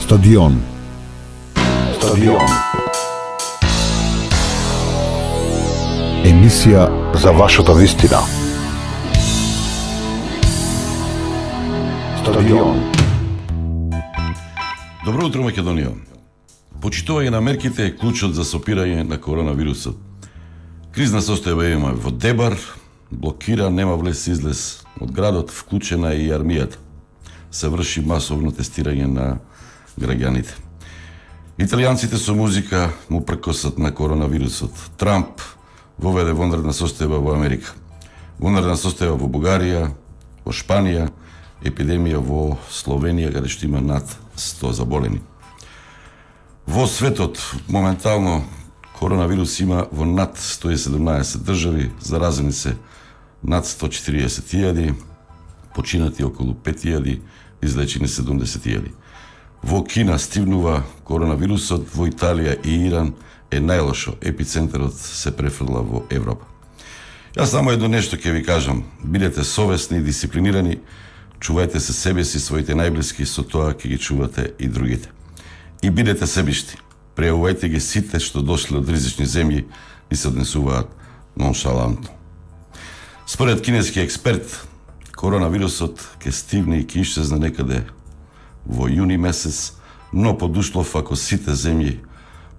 Стадион. Стадион. Емисија за вашата вистина. Стадион. Добро утро, Македонија. Почитување на мерките е клучот за сопирање на коронавирусот. Кризна состојба има во Дебар, блокира, нема влез-излез од градот, вклучена и армијата. Се врши масовно тестирање на граѓаните. Италијанците со музика му пркосат на коронавирусот. Трамп воведе вонредна состојба во Америка. Вонредна состојба во Бугарија, во Шпанија, епидемија во Словенија, каде што има над 100 заболени. Во светот моментално коронавирус има во над 117 држави, заразени се над 140.000, починати околу 5.000, излечени 70.000. Во Кина стивнува коронавирусот, во Италија и Иран е најлошо, епицентарот се префрла во Европа. Јас само едно нешто ќе ви кажам, бидете совесни и дисциплинирани, чувајте се себе си, своите најблиски, со тоа ќе ги чувате и другите. И бидете себишти, прејавувајте ги сите што дошле од ризични земји и се однесуваат ноншалантно. Според кинески експерт, коронавирусот ќе стигне и ќе исчезне некаде во јуни месец, но под услов ако сите земји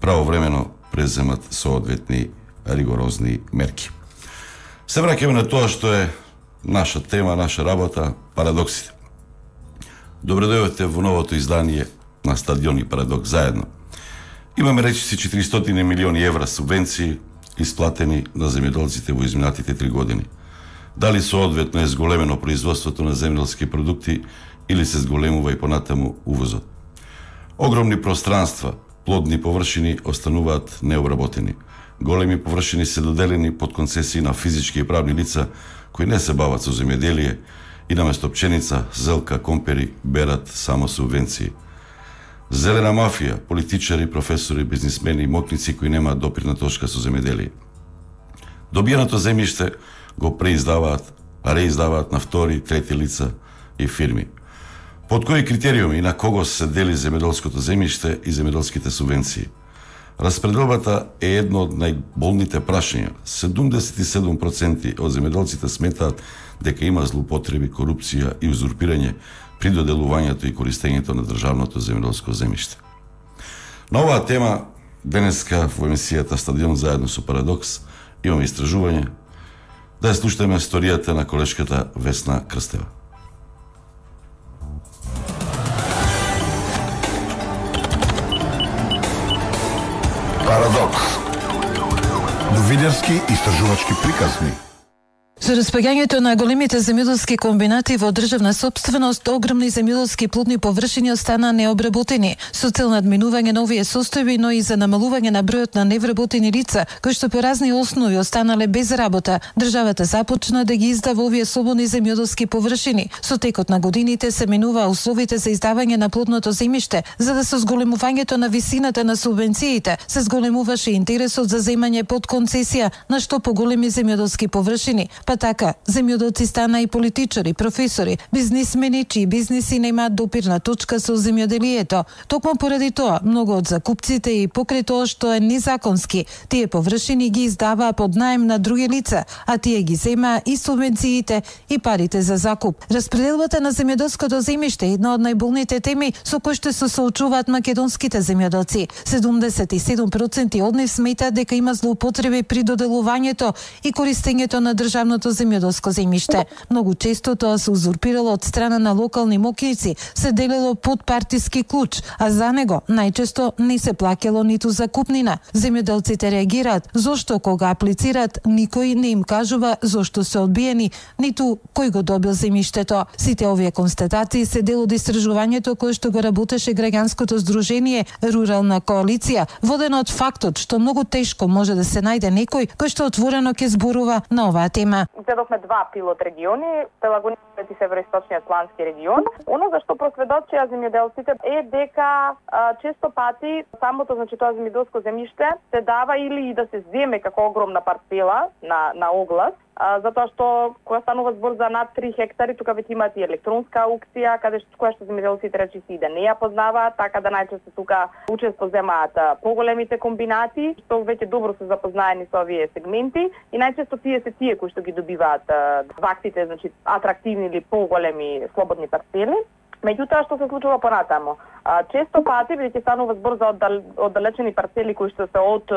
правовремено преземат соодветни ригорозни мерки. Се враќаме на тоа што е наша тема, наша работа, парадоксите. Добре дојдовте во новото издание на Стадион и Парадокс заедно. Имаме речиси 400 милиони евра субвенции исплатени на земјоделците во изминатите 3 години. Дали соодветно е зголемено производството на земјоделски продукти или се зголемува и понатаму увозот. Огромни пространства, плодни површини остануваат необработени. Големи површини се доделени под концесии на физички и правни лица кои не се бават со земјоделие и наместо пченица, зелка, компери берат само субвенции. Зелена мафија, политичари, професори, бизнисмени и мокници кои немаат допирна точка со земјоделие. Добиеното земјиште го преиздаваат, а реиздаваат на втори, трети лица и фирми. Под кои критериуми и на кого се дели земјоделското земјиште и земјоделските субвенции? Распределбата е едно од најболните прашања. 77% од земјоделците сметаат дека има злоупотреби, корупција и узурпирање при доделувањето и користењето на државното земјоделско земјиште. На оваа тема денеска во емисијата Стадион заедно со Парадокс имаме истражување. Да ја слушаме историјата на колешката Весна Крстева. Парадокс. Новинарски истражувачки приказни. Со распаѓањето на големите земјоделски комбинати во државна сопственост, огромни земјоделски плодни површини остана необработени, со цел надминување на овие состојби, но и за намалување на бројот на невработени лица, кои што по разни основи останале без работа. Државата започна да ги издава овие слободни земјоделски површини. Со текот на годините се менуваа условите за издавање на плодното земјиште, за да со зголемувањето на висината на субвенциите се зголемуваше интересот за земање под концесија на што поголеми земјоделски површини. Па така, земјоделци стана и политичари, професори, бизнисмени, чии бизниси немаат допирна точка со земјоделието. Токму поради тоа, многу од закупците и покрај тоа што е незаконски, тие површини ги издаваа под наем на други лица, а тие ги земаа и субвенциите и парите за закуп. Распределбата на земјоделското земјиште е една од најболните теми со кои што се соочуваат македонските земјоделци. 77% од нив сметаат дека има злоупотреби при доделувањето и користењето на државното земјоделско земјиште. Многу често тоа се узурпирало од страна на локални мокници, се делело под партиски клуч, а за него најчесто не се плаќало ниту закупнина. Земјоделците реагираат зошто кога аплицираат никој не им кажува зошто се одбиени, ниту кој го добил земјиштето. Сите овие констатации се дел од истражувањето кое што го работеше граѓанското здружение Рурална коалиција, водено од фактот што многу тешко може да се најде некој кој што отворено ќе зборува на оваа тема. Изедовме 2 пилот региони, Пелагоничниот и Североисточниот плански регион. Оно за што просведочија земјоделците е дека често пати самото, тоа земјоделско земјиште се дава или и да се земе како огромна парцела на оглас, затоа што кога станува збор за над 3 хектари, тука веќе имаат и електронска аукција, која што земјоделците речиси да не ја познаваат, така да најчесто тука учество земаат поголемите комбинати, што веќе добро се запознаени со овие сегменти и најчесто тие кои што ги добиваат ваксите, значи атрактивни или поголеми слободни парцели. Меѓутоа, што се случува понатамо? Често пати, бидејќи станува збор за оддалечени парцели кои што се од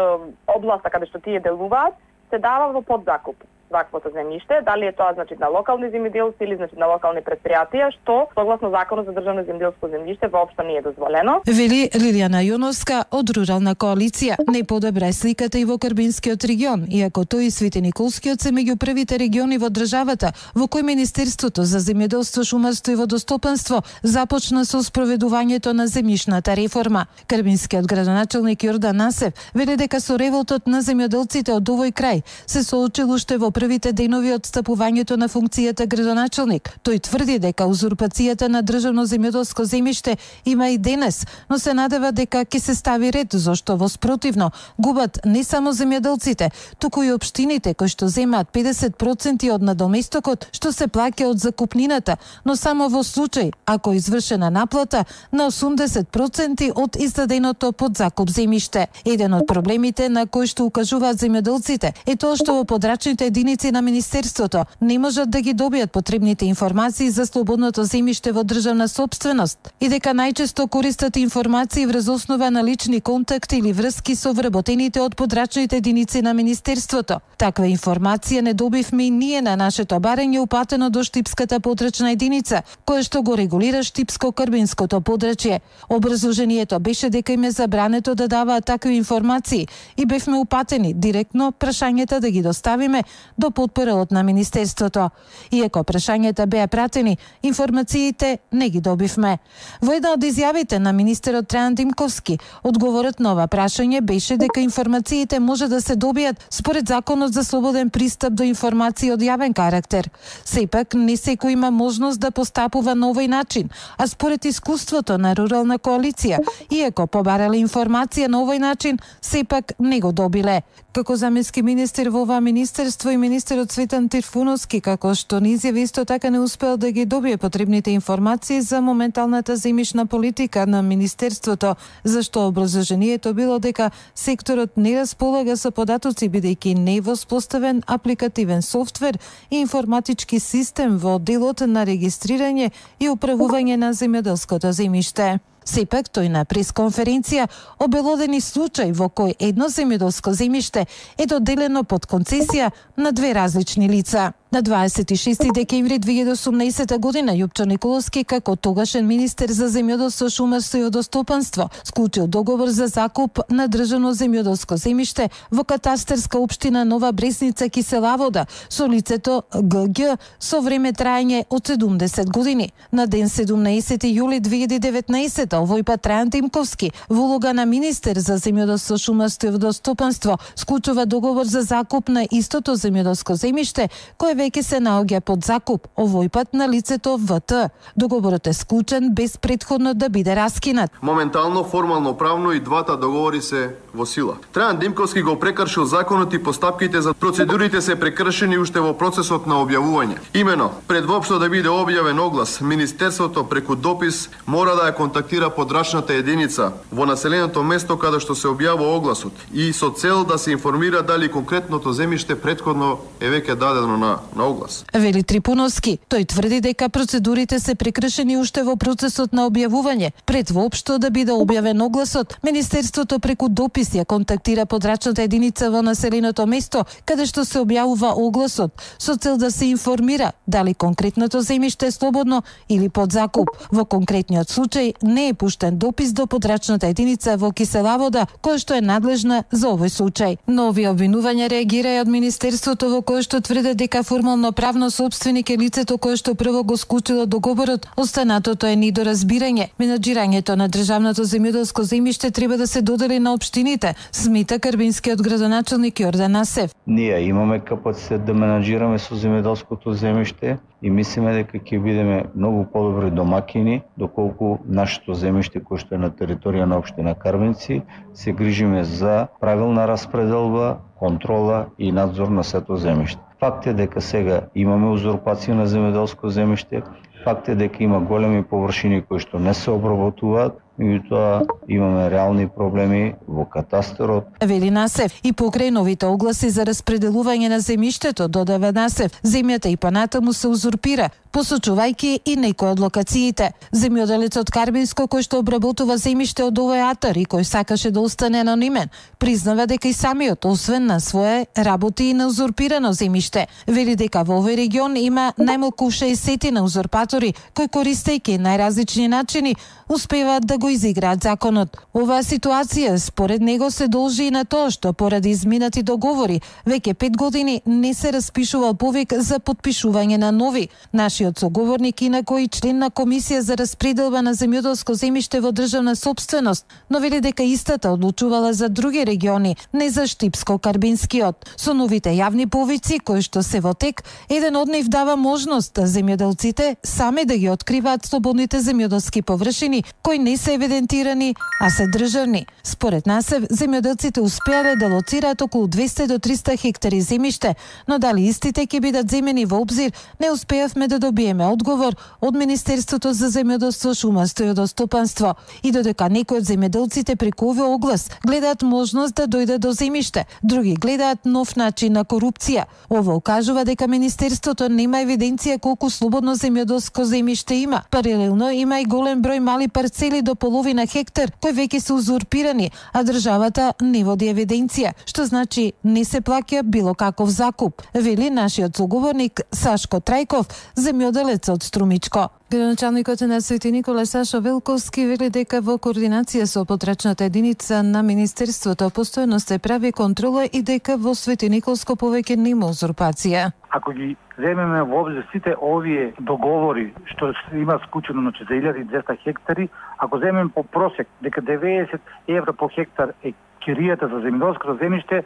областа каде што тие делуваат, се дава во подзакуп ваквото земјиште, дали е тоа значи на локални земјоделци или значи на локални предпријатија, што согласно законот за државно земјоделско земјиште воопшто не е дозволено. Вели Лилијана Јоновска од Рурална коалиција. Не подобра е сликата и во Карбинскиот регион, иако тој и Светениколскиот се меѓу првите региони во државата во кој Министерството за земјоделство, шумарство и водостопанство започна со спроведувањето на земјишната реформа. Карбинскиот градоначелник Јордан Насев вели дека со револтот на земјоделците од овој крај се соочил уште во првите денови од стапувањето на функцијата градоначелник. Тој тврди дека узурпацијата на државно земјоделско земјиште има и денес, но се надева дека ќе се стави ред, зашто во спротивно губат не само земјоделците, туку и општините кои што земаат 50% од надоместокот што се плаќа од закупнината, но само во случај ако е извршена наплата на 80% од издаденото подзакуп земјиште. Еден од проблемите на кои што укажуваат земјоделците е тоа што во подрачните единици на Министерството не можат да ги добијат потребните информации за слободното земјиште во државна сопственост и дека најчесто користат информации врз основа на лични контакти или врски со вработените од подрачните единици на Министерството. Таква информација не добивме и ние на нашето барање упатено до Штипската подрачна единица, која што го регулира Штипско-Карбинското подрачје. Образложението беше дека им е забрането да даваат такви информации и бевме упатени директно прашањата да ги доставиме до потпоралот на Министерството. Иако прашањата беа пратени, информациите не ги добивме. Во една од изјавите на министерот Трајан Димковски, одговорот на ова прашање беше дека информациите може да се добијат според Законот за слободен пристап до информации од јавен карактер. Сепак, не секој има можност да постапува на овој начин, а според искуството на Рурална коалиција, иако побарале информација на овој начин, сепак не го добиле. Како заменски министер во ова министерство и министерот Цветан Трифуновски, како што ни изјави, исто така не успеал да ги добие потребните информации за моменталната земјишна политика на министерството, зашто образложението било дека секторот не располага со податоци бидејќи не е воспоставен апликативен софтвер и информатички систем во делот на регистрирање и управување на земјоделското земјиште. Сепак тој на пресконференција обелодени случај во кој едно земјоделско земјиште е доделено под концесија на две различни лица. На 26 декември 2018 година Јупчо Николовски, како тогашен министер за земјоделство, шумарство и водостопанство, склучил договор за закуп на државно земјоделско земјиште во катастарска општина Нова Бресница, Киселавода, со лицето ГГ со време траење од 70 години. На ден 17 јули 2019 овој пат Трајан Димковски, во улога на министер за земјоделство, шумарство и водостопанство, склучува договор за закуп на истото земјоделско земјиште, кое веќе се наоѓа под закуп, овој пат на лицето ВТ. Договорот е склучен без претходно да биде раскинат. Моментално, формално правно и двата договори се во сила. Трајан Димковски го прекршил законот и постапките за процедурите се прекршени уште во процесот на објавување. Имено, пред воопшто да биде објавен оглас, Министерството преку допис мора да ја контактира подрачната единица во населеното место каде што се објавува огласот и со цел да се информира дали конкретното земјиште претходно е веќе дадено на оглас. Вели Трипуновски, тој тврди дека процедурите се прекршени уште во процесот на објавување. Пред воопшто да биде објавен огласот, Министерството преку допис ја контактира подрачната единица во населеното место каде што се објавува огласот со цел да се информира дали конкретното земјиште е слободно или под закуп. Во конкретниот случај не е пуштен допис до подрачната единица во Киселавода, која што е надлежна за овој случај. Но овие обвинувања реагира и од Министерството, во кое што тврде дека формално правно собственик е лицето кое што прво го склучило договорот. Останатото е недоразбирање. Менаџирањето на државното земјоделско земјиште треба да се додели на општините, смета карбинскиот градоначелник Јордан Насев. Ние имаме капацитет да менаџираме со земјоделското земјиште и мислиме дека ќе бидеме многу подобри домакини доколку нашето земјиште кое што е на територија на општина Карбинци се грижиме за правилна распределба, контрола и надзор на сето земјиште. Факт е дека сега имаме узурпација на земјоделско земјиште, факт е дека има големи површини кои што не се обработуваат, меѓутоа имаме реални проблеми во катастарот. Вели Насев, и покрај новите огласи за распределување на земјиштето, додава Насев, земјата и понатаму се узурпира, посочувајќи и некои од локациите. Земјоделецот Карбинско, кој што обработува земјиште од овој атар и кој сакаше да остане анонимен, признава дека и самиот, освен на свое, работи и на узурпирано земјиште. Вели дека во овој регион има најмалку 60 на узурпатори кои, користејќи најразлични начини, успеваат да го изиграат законот. Оваа ситуација според него се должи и на тоа што поради изминати договори веќе 5 години не се распишува повик за потпишување на нови. Нашиот соговорник инако и член на комисија за распределба на земјоделско земјиште во државна сопственост, но вели дека истата одлучувала за други региони, не за Штипско-Карбинскиот. Со новите јавни повици кои што се во тек, еден од нив дава можност земјоделците сами да ги откриваат слободните земјоделски површини кои не се евидентирани, а се државни. Според Насев, земјоделците успеале да лоцираат околу 200 до 300 хектари земјиште, но дали истите ќе бидат земени во обзир, не успеавме да добиеме одговор од Министерството за земјоделство, шумарство и водостопанство. И додека некои од земјоделците преку овој оглас гледаат можност да дојдат до земјиште, други гледаат нов начин на корупција. Ова укажува дека Министерството нема евиденција колку слободно земјоделско земјиште има. Паралелно има и голем број мали парцели до половина хектар кои веќе се узурпирани, а државата не води евиденција, што значи не се плаќа било каков закуп, вели нашиот соговорник Сашко Трајков, земјоделец од Струмичко. Градоначалникот на Свети Никола Сашо Велковски вели дека во координација со потрачната единица на Министерството постојано се прави контрола и дека во Свети Николско повеќе нема узурпација. Ако ги земеме во обзир сите овие договори што има склучено на 1200 хектари, ако земеме по просек дека 90 евра по хектар е киријата за земјоделското земјиште,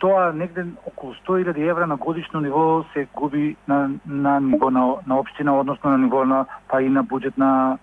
тоа негде околу 100.000 евра на годишно ниво се губи на ниво на општина, односно на ниво па и на буџет на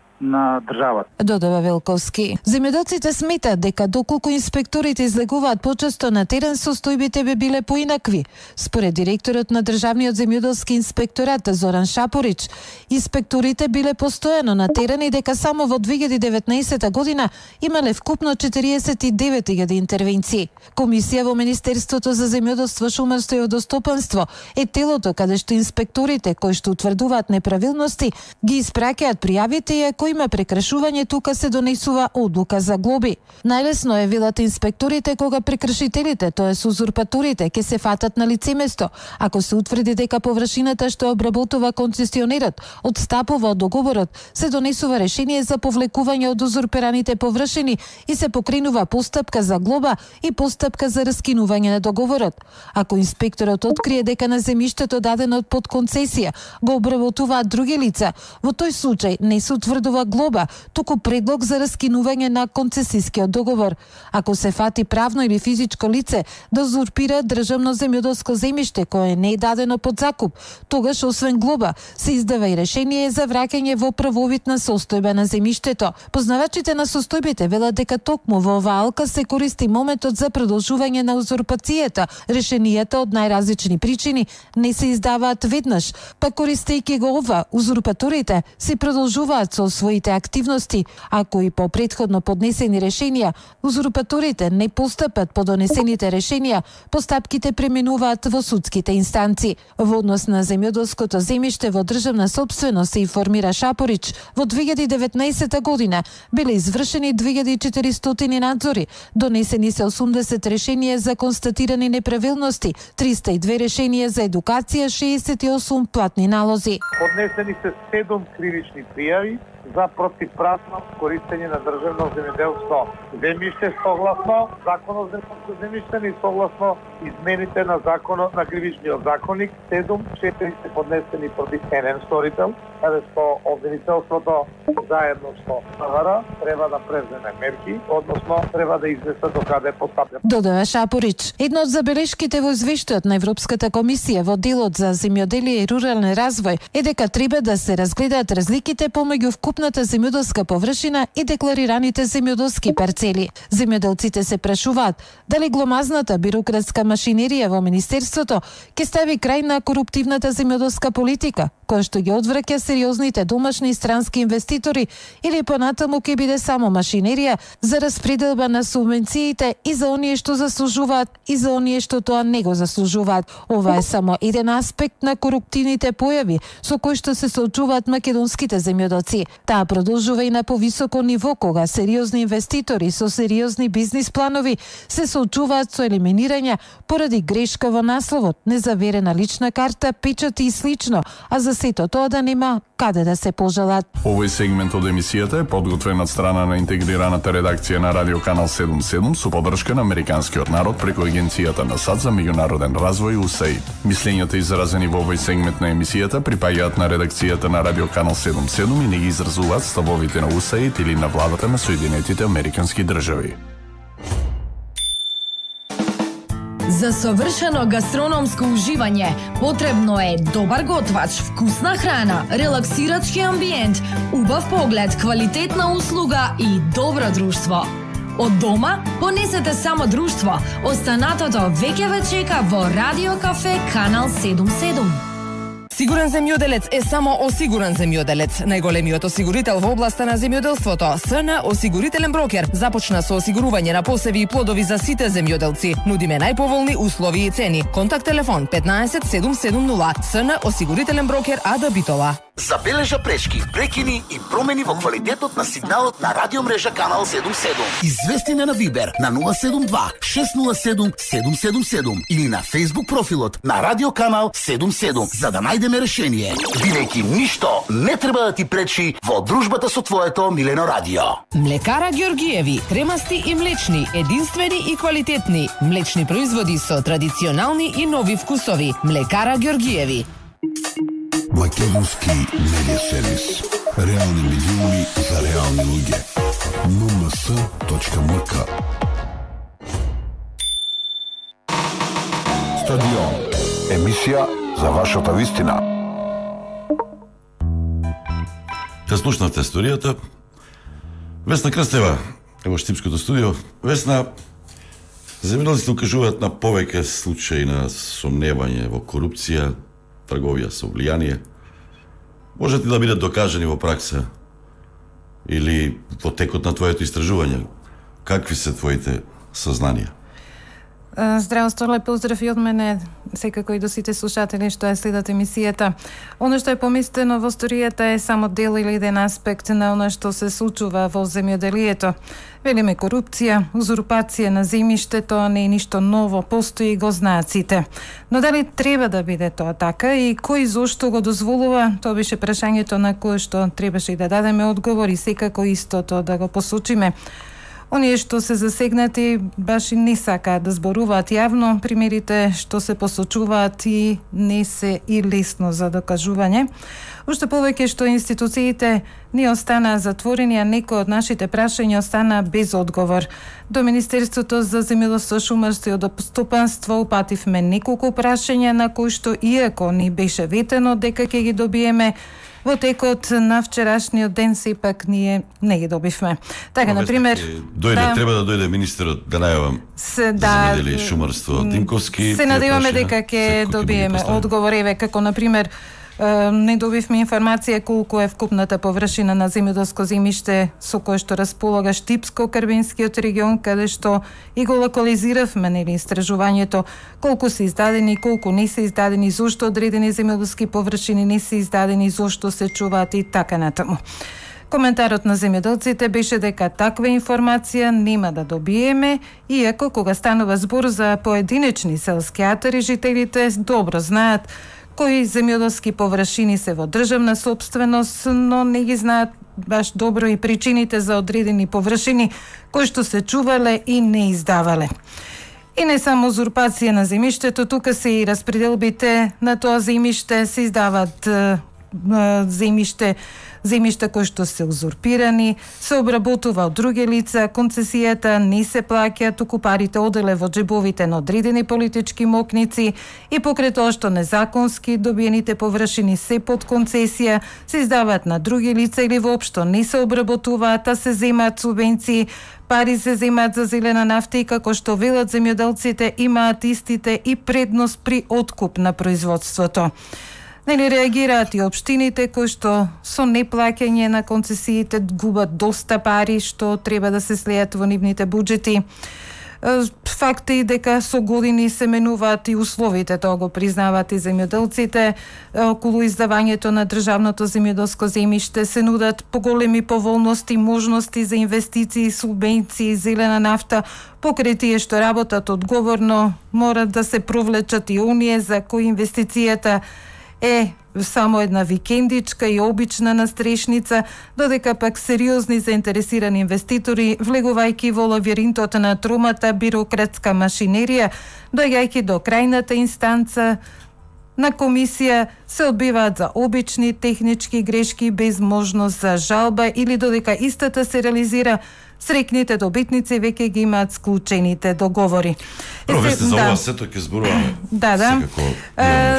државата. Додава Велковски. Земјоделците сметаат дека доколку инспекторите излегуваат почесто на терен, состојбите би биле поинакви. Според директорот на Државниот земјоделски инспекторат Зоран Шапорич, инспекторите биле постојано на терен и дека само во 2019 година имале вкупно 49.000 интервенции. Комисија во Министерството за земјоделство, шумарство и водостопанство е телото каде што инспекторите кои што утврдуваат неправилности ги испраќаат пријавите и ако има прекршување, тука се донесува одлука за глоби. Најлесно е, велат инспекторите, кога прекршителите, тоест узурпаторите, ќе се фатат на лице место. Ако се утврди дека површината што обработува концесионерот отстапува од договорот, се донесува решение за повлекување од узурпираните површини и се покренува постапка за глоба и постапка за раскинување на договорот. Ако инспекторот открие дека на земјиштето дадено под концесија го обработуваат други лица, во тој случај не се утврдува глоба, туку предлог за раскинување на концесискиот договор. Ако се фати правно или физичко лице да узурпира државно земјоделско земјиште кое не е дадено под закуп, тогаш освен глоба се издава и решение за враќање во правовитна состојба на земјиштето. Познавачите на состојбите велат дека токму во оваа алка се користи моментот за продолжување на узурпацијата. Решенијата од најразлични причини не се издаваат веднаш, па користејќи го ова, узурпаторите се продолжуваат со своите активности. Ако и по претходно поднесени решенија, узурпаторите не постапат по донесените решенија, постапките преминуваат во судските инстанции. Во однос на земјоделското земјиште во државна сопственост, се информира Шапорич, во 2019 година биле извршени 2400 надзори, донесени се 80 решенија за констатирани неправилности, 302 решенија за едукација, 68 платни налози. Поднесени се 7 кривични пријави за противправно користење на државно земјоделско земјиште согласно Законот за земјиште и согласно измените на Законот на Кривичниот законник. 4 се поднесени против еден сторител, каде што обвинителството заедно со МВР треба да преземе мерки, односно треба да изнесе докаде постапува. Додава Шапорич. Една од забелешките во извештајот на Европската комисија во делот за земјоделие и рурален развој е дека треба да се разгледаат разликите помеѓу вкупните целокупната земјоделска површина и декларираните земјоделски парцели. Земјоделците се прашуваат дали гломазната бирократска машинерија во Министерството ќе стави крај на коруптивната земјоделска политика, која што ги одвраќа сериозните домашни и странски инвеститори, или понатаму ќе биде само машинерија за распределба на субвенциите и за оние што заслужуваат и за оние што тоа не го заслужуваат. Ова е само еден аспект на коруптивните појави со кои што се соочуваат македонските земјоделци. Таа продолжува и на повисоко ниво, кога сериозни инвеститори со сериозни бизнис планови се соочуваат со елиминирање поради грешка во насловот, незаверена лична карта, печати и слично, а за сето тоа да нема каде да се пожалат. Овој сегмент од емисијата е подготвен од страна на интегрираната редакција на Радио Канал 77 со поддршка на Американскиот народ преку Агенцијата на САД за меѓународен развој USAID. Мислењата изразени во овој сегмент на емисијата припаѓаат на редакцијата на Радио Канал 77 и не ги изразуваат ставовите на USAID или на владата на Соединетите Американски држави. За совршено гастрономско уживање потребно е добар готвач, вкусна храна, релаксирачки амбиент, убав поглед, квалитетна услуга и добро друштво. Од дома понесете само друштво. Останатото веќе ве чека во Радио Кафе Канал 77. Сигурен земјоделец е само осигурен земјоделец. Најголемиот осигурител во областа на земјоделството, СН Осигурителен брокер, започна со осигурување на посеви и плодови за сите земјоделци. Нудиме најповолни услови и цени. Контакт телефон 15 770. СН Осигурителен брокер АД Битола. Забележа пречки, прекини и промени во квалитетот на сигналот на радиомрежа Канал 77. Извести ме на Вибер на 072 607 777 или на Facebook профилот на Радио Канал 77 за да најдеме решение. Бидејќи ништо не треба да ти пречи во дружбата со твоето милено радио. Млекара Ѓоргиеви, кремасти и млечни, единствени и квалитетни. Млечни производи со традиционални и нови вкусови. Млекара Ѓоргиеви. Македонски медиа сервис. Реални медиуми за реални луѓе. mms.mk. Стадион. Емисија за вашата вистина. Ја слушнавте историјата. Весна Крстева е во Штипското студио. Весна, земјоделците укажуваат на повеќе случаи на сомневање во корупција, трговија со влијание. Можат ли да бидат докажани во пракса или во текот на твоето истражување? Какви се твоите сознанија? Здраво, Сторле, поздрав и од мене, секако и до сите слушатели што ја следат емисијата. Оно што е поместено во историјата е само дел или еден аспект на оно што се случува во земјоделието. Велиме корупција, узурпација на земјиште, тоа не е ништо ново, постои и го знаат сите. Но дали треба да биде тоа така и кој зошто го дозволува, тоа беше прашањето на кое што требаше и да дадеме одговор и секако истото да го посочиме. Оние што се засегнати баш и не сакаат да зборуваат јавно, примерите што се посочуваат и не се и лесно за докажување. Уште повеќе што институциите не останаа затворени, а некои од нашите прашања останаа без одговор. До Министерството за земјоделство, шумарство и водостопанство упативме неколку прашања на кои што иако ни беше ветено дека ќе ги добиеме, во текот на вчерашниот ден сепак ние не ги добивме. Така, например, треба да дојде министерот да најавам земјоделие и шумарство Тинковски. Се надеваме дека ќе добиеме одговор, еве како например не добивме информација колку е вкупната површина на земјоделско земјиште со кое што располага Штипско-Карбинскиот регион, каде што и го локализиравме нели истражувањето, колку се издадени, колку не се издадени, зошто одредени земјоделски површини не се издадени, зошто се чуваат и така натаму. Коментарот на земјоделците беше дека таква информација нема да добиеме, иако кога станува збор за поединечни селски атари, жителите добро знаат кои земјоделски површини се во државна собственост, но не ги знаат баш добро и причините за одредени површини кои што се чувале и не издавале. И не само узурпација на земјиштето, тука се и распределбите на тоа земјиште, се издават земјиште Земјишта кои што се узурпирани, се обработува од други лица, концесијата не се плаќа, туку парите оделе во џебовите на одредени политички мокници и покрај тоа што незаконски добиените површини се под концесија, се издаваат на други лица или воопшто не се обработуваат, а се земаат субвенции, пари се земаат за зелена нафта и како што велат земјоделците имаат истите и предност при откуп на производството. Нели реагираат и општините кои што со неплаќање на концесиите губат доста пари што треба да се слеат во нивните буџети. Факт е и дека со години се менуваат и условите, тоа го признаваат и земјоделците. Околу издавањето на државното земјоделско земјиште се нудат поголеми поволности, можности за инвестиции, субвенции, зелена нафта. Покрај тие што работат одговорно, морат да се провлечат и оние за кои инвестицијата е само една викендичка и обична настрешница, додека пак сериозни заинтересирани инвеститори, влегувајќи во лавиринтот на тромата бирократска машинерија, доаѓајќи до крајната инстанца на комисија, се одбиваат за обични технички грешки без можност за жалба или додека истата се реализира, срекните добитници веќе ги имаат склучените договори. Весте за ова сето ќе зборуваме. Да.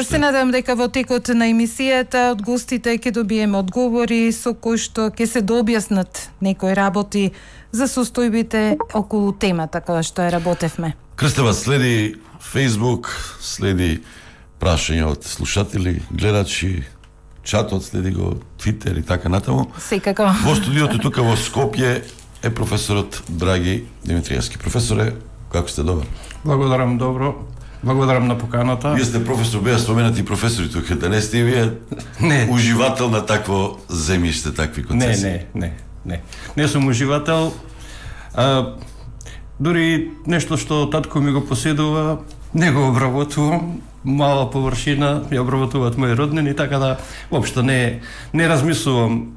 Се надам дека во текот на емисијата од гостите ќе добиеме одговори со кои што ќе се дообјаснат некои работи за состојбите околу темата која што ја работевме. Крстева, следи Facebook, следи прашања од слушатели, гледачи, чатот, следи го Twitter и така натаму. Секако. Во студиото тука во Скопје е професорот Драги Димитриевски. Професоре, како сте, добар? Благодарам, добро. Благодарам на поканата. Вие сте професор, беа споменати професори тука, да не сте вие уживател на такво земјиште, такви концесии? Не сум уживател. Дури нешто што татко ми го поседува, не го обработувам. Мала површина ја обработуваат мои роднини, така да воопшто не размислувам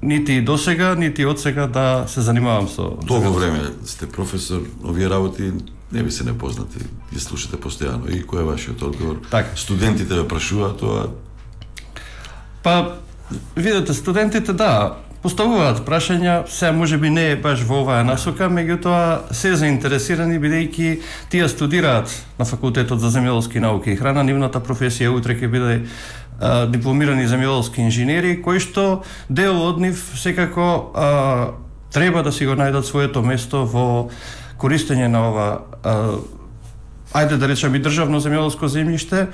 нити досега, нити одсега да се занимавам со... Долго време сте професор, овие работи не ви се непознати, ги слушате постојано. И кој е вашиот одговор? Так. Студентите ве прашуваат тоа? Па, видите, студентите, да, поставуваат прашања, се може би не е баш во оваа насока, меѓутоа се заинтересирани бидејќи тие студираат на факултетот за земјоделски науки и храна, нивната професија утре ќе биде дипломирани земјоделски инженери, кои што дел од нив секако треба да си го најдат своето место во користење на ова ајде да речеме државно земјоделско земјиште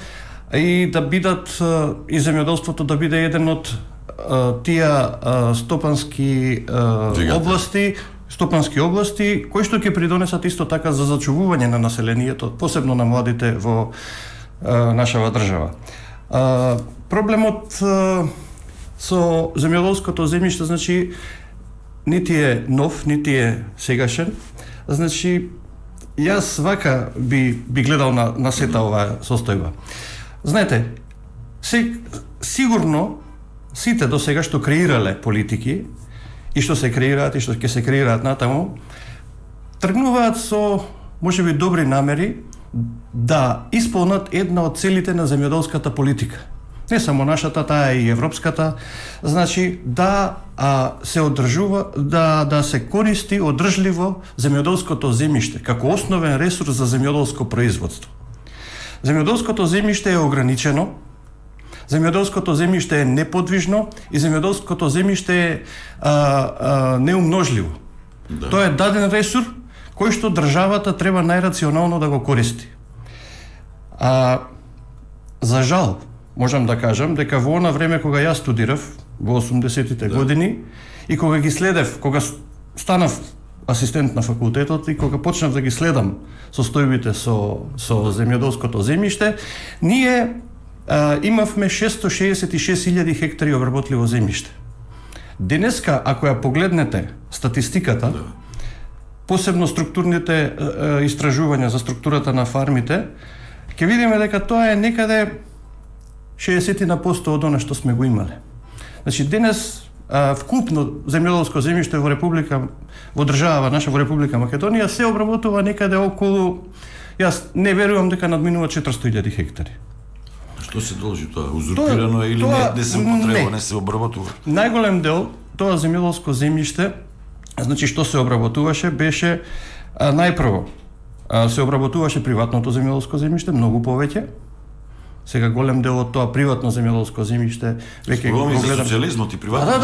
и да бидат и земјоделството да биде еден од тие стопански области кои што ќе придонесат исто така за зачувување на населението, посебно на младите во нашава држава. Проблемот со земјоделското земјиште, значи, нити е нов, нити е сегашен. Значи, јас вака би гледал на сета оваа состојба. Знаете, сигурно сите до сега што креирале политики и што се креираат и што ќе се креираат натаму, тргнуваат со можеби добри намери да исполнат една од целите на земјоделската политика. Не само нашата, таа и европската, значи да се одржува, да се користи одржливо земјоделското земјиште како основен ресурс за земјоделско производство. Земјоделското земјиште е ограничено, земјоделското земјиште е неподвижно и земјоделското земјиште е неумножливо. Да. Тоа е даден ресурс кој што државата треба најрационално да го користи. За жал, можам да кажам дека во она време кога јас студирав во 80-тите години и кога ги следев, кога станав асистент на факултетот и кога почнав да ги следам состојбите со земјоделското земјиште, ние имавме 666.000 хектари обработливо земјиште. Денеска, ако ја погледнете статистиката, посебно структурните истражувања за структурата на фармите, ќе видиме дека тоа е некаде 60% од она што сме го имале. Значи, денес вкупно земјоделско земјиште во држава наша, во Република Македонија, се обработува некаде околу, јас не верувам дека надминува 400.000 хектари. Што се должи тоа? Узурпирано е или не се употреба, не се обработува? Најголем дел тоа земјоделско земјиште, значи што се обработуваше беше најпрво се обработуваше приватното земјоделско земјиште многу повеќе. Сега голем дел од тоа приватно земјоделско земјиште веќе го гледам. Социјализмот и приватното.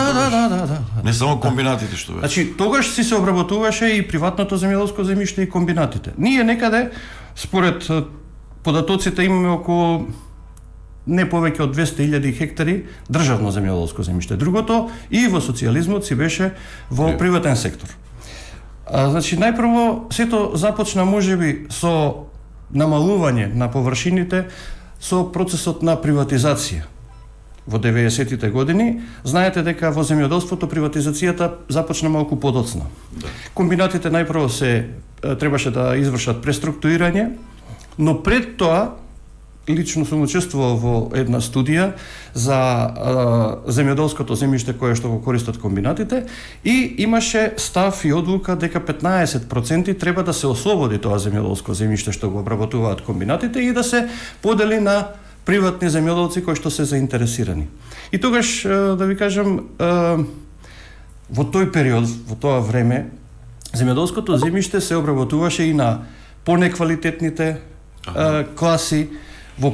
Да. Не само комбинатите што беше. Значи тогаш си се обработуваше и приватното земјоделско земјиште и комбинатите. Ние некаде според податоците имаме околу не повеќе од 200.000 хектари државно земјоделско земјиште. Другото и во социјализмот си беше во приватен сектор. Значи најпрво сето започна можеби со намалување на површините со процесот на приватизација. Во 90-тите години, знаете дека во земјоделството приватизацијата започна малку подоцна. Да. Комбинатите најпрво требаше да извршат преструктурирање, но пред тоа лично сум учествувал во една студија за земјоделското земјиште кое што го користат комбинатите и имаше став и одлука дека 15% треба да се ослободи тоа земјоделско земјиште што го обработуваат комбинатите и да се подели на приватни земјоделци кои што се заинтересирани. И тогаш, да ви кажам, во тој период, во тоа време, земјоделското земјиште се обработуваше и на понеквалитетните класи, во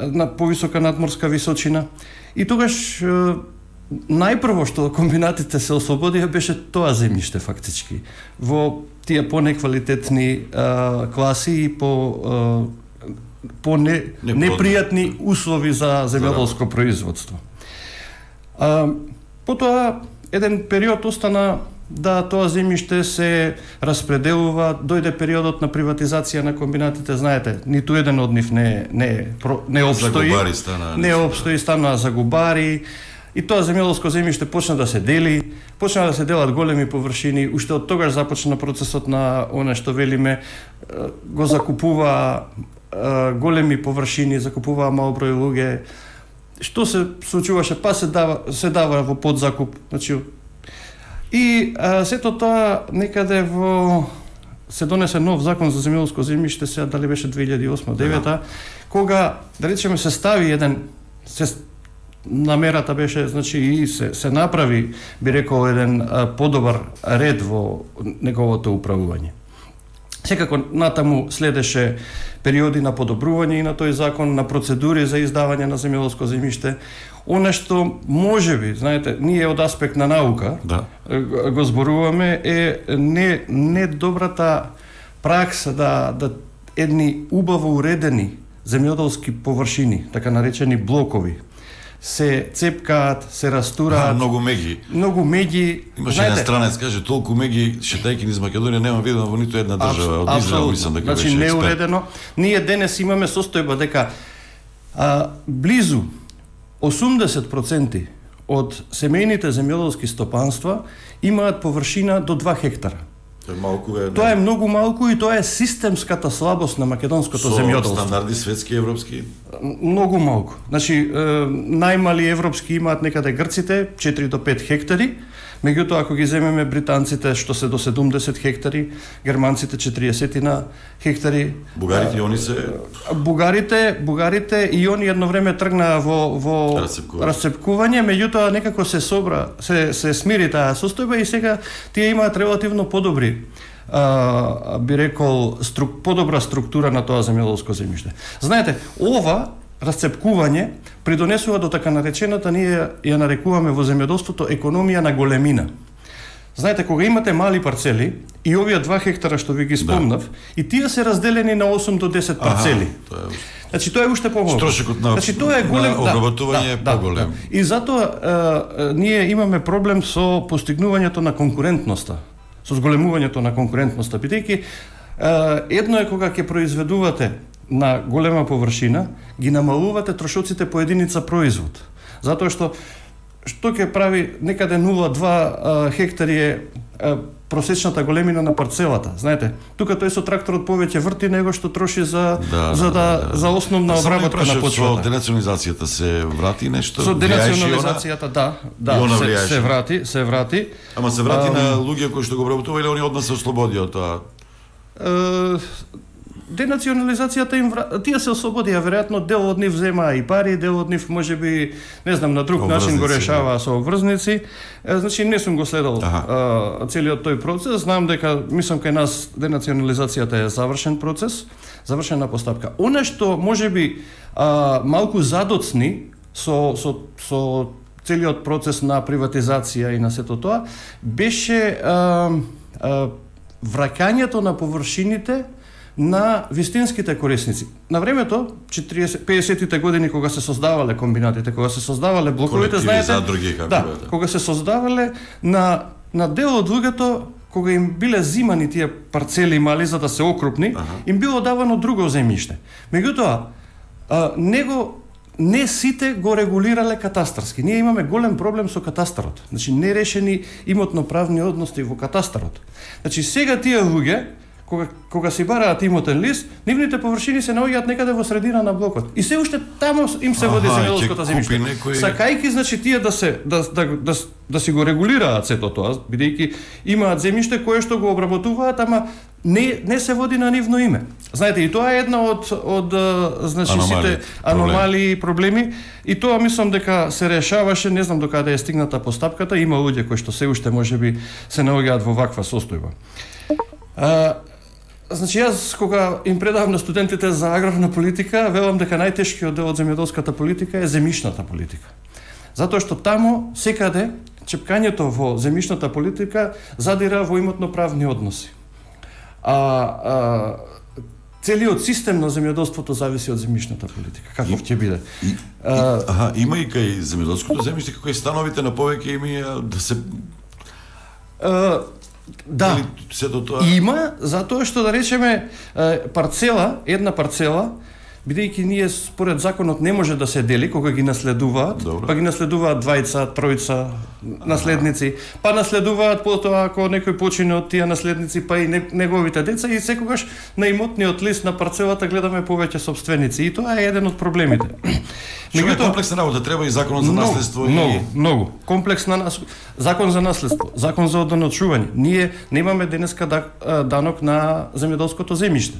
на повисока надморска височина. И тогаш најпрво што комбинатите се ослободија беше тоа земјиште фактички. Во тие понеквалитетни класи и по непријатни услови за земјоделско производство. Потоа еден период остана да тоа земјиште се распределува, дојде периодот на приватизација на комбинатите, знаете, ниту еден од нив не обстои, станаа загубари, и тоа земјоделско земјиште почна да се дели, почна да се делат големи површини, уште од тогаш започна процесот на она што велиме, го закупува големи површини, закупуваа мал број луѓе, што се случуваше, па се дава во подзакуп, значи. И сето тоа некаде се донесе нов закон за земјоделско земјиште, сега дали беше 2008-2009, кога, да речеме, се стави намерата беше, значи, и се направи, би рекол, еден подобар ред во неговото управување. Секако натаму следеше периоди на подобрување и на тој закон, на процедури за издавање на земјоделско земјиште. Она што можеби, знаете, ние од аспект на наука го зборуваме е не добрата пракса да едни убаво уредени земјоделски површини, така наречени блокови, се цепкаат, се растураат. Многу меѓи. Имаше еден странец, каже, толку меѓи шетајки низ Македонија нема видено во ниту една држава. Од Израел мислам дека беше експерт. Значи неуредено. Ние денес имаме состојба дека близу 80% од семејните земјоделски стопанства имаат површина до 2 хектара. Тоа е многу малку и тоа е системската слабост на македонското земјоделство. Со стандарди светски, европски? Многу малку. Значи, најмали европски имаат некаде грците, 4 до 5 хектари, меѓутоа ако ги земеме британците што се до 70 хектари, германците 40 хектари. Бугарите и они се... Бугарите и они едно време тргнаа во расцепкување, меѓутоа некако се смири таа состојба и сега тие имаат релативно подобри, би рекол, подобра структура на тоа земјоделско земјиште. Знаете, ова расцепкување придонесува до така наречената, ние ја нарекуваме во земјоделството економија на големина. Знаете, кога имате мали парцели и овие 2 хектара што ви ги спомнав, и тие се разделени на 8 до 10 парцели. Значи тоа е уште помалку. Строшокот на обработување е поголем. И затоа ние имаме проблем со постигнувањето на конкурентноста, со зголемувањето на конкурентноста, бидејќи едно е кога ќе произведувате на голема површина, ги намалувате трошоците по единица производ. Затоа што ќе прави некаде 0,2 хектари е просечната големина на парцелата. Знаете, тука тој со тракторот повеќе врти него што троши за основна обработка на почвата. Со денационализацијата се врати нешто? Со денационализацијата, се врати. Ама се врати на луѓе кои што го обработува или они одма се ослободија од тоа? денационализацијата им тие се ослободија, веројатно дел од нив земаа и пари, дел од нив можеби, не знам, на друг начин го решаваа со обврзници. Значи не сум го следел целиот тој процес, знам дека мислам кај нас денационализацијата е завршен процес, завршена постапка. Она што можеби малку задоцни со целиот процес на приватизација и на сето тоа беше враќањето на површините на вистинските корисници. На времето, 50-тите години кога се создавале комбинатите, кога се создавале блоковите, знаете, кога се создавале на дел од луѓето, кога им биле зимани тие парцели мали за да се окрупни, им било давано друго земјиште. Меѓутоа, не сите го регулирале катастарски. Ние имаме голем проблем со катастарот. Значи, нерешени имотно-правни односи во катастарот. Значи, сега тие луѓе, кога си бараат имотен лист, нивните површини се наоѓаат некаде во средина на блокот. И се уште таму им се води земјоделското земјиште. Сакајки, значи, тие да си го регулираат сето тоа, бидејќи имаат земјиште кое што го обработуваат, ама не се води на нивно име. Знаете, и тоа е една од значи сите аномалии и проблеми, и тоа мислам дека се решаваше, не знам докаде е стигната постапката, има луѓе кои што се уште можеби се наоѓаат во ваква состојба. Значи, јас кога им предавам на студентите за аграрна политика, велам дека најтешкиот дел од земјоделската политика е земјишната политика. Затоа што таму секаде чепкањето во земјишната политика задира во имотно-правни односи. Целиот систем на земјоделството зависи од земјишната политика. Каков ќе биде? Има и кај земјоделското земјиште како и становите на повеќе име да се да, има, затоа што да речеме една парцела, бидејќи ние според законот не може да се дели кога ги наследуваат, па ги наследуваат двајца, тројца наследници, па наследуваат потоа ако некој почине од тие наследници, па и неговите деца, и секогаш на имотниот лист на парцелата гледаме повеќе собственици, и тоа е еден од проблемите. Што е комплексна работа, треба и законот за наследство. Многу. Комплексна закон за наследство, закон за одданочување. Ние немаме денеска данок на земјоделското земјиште.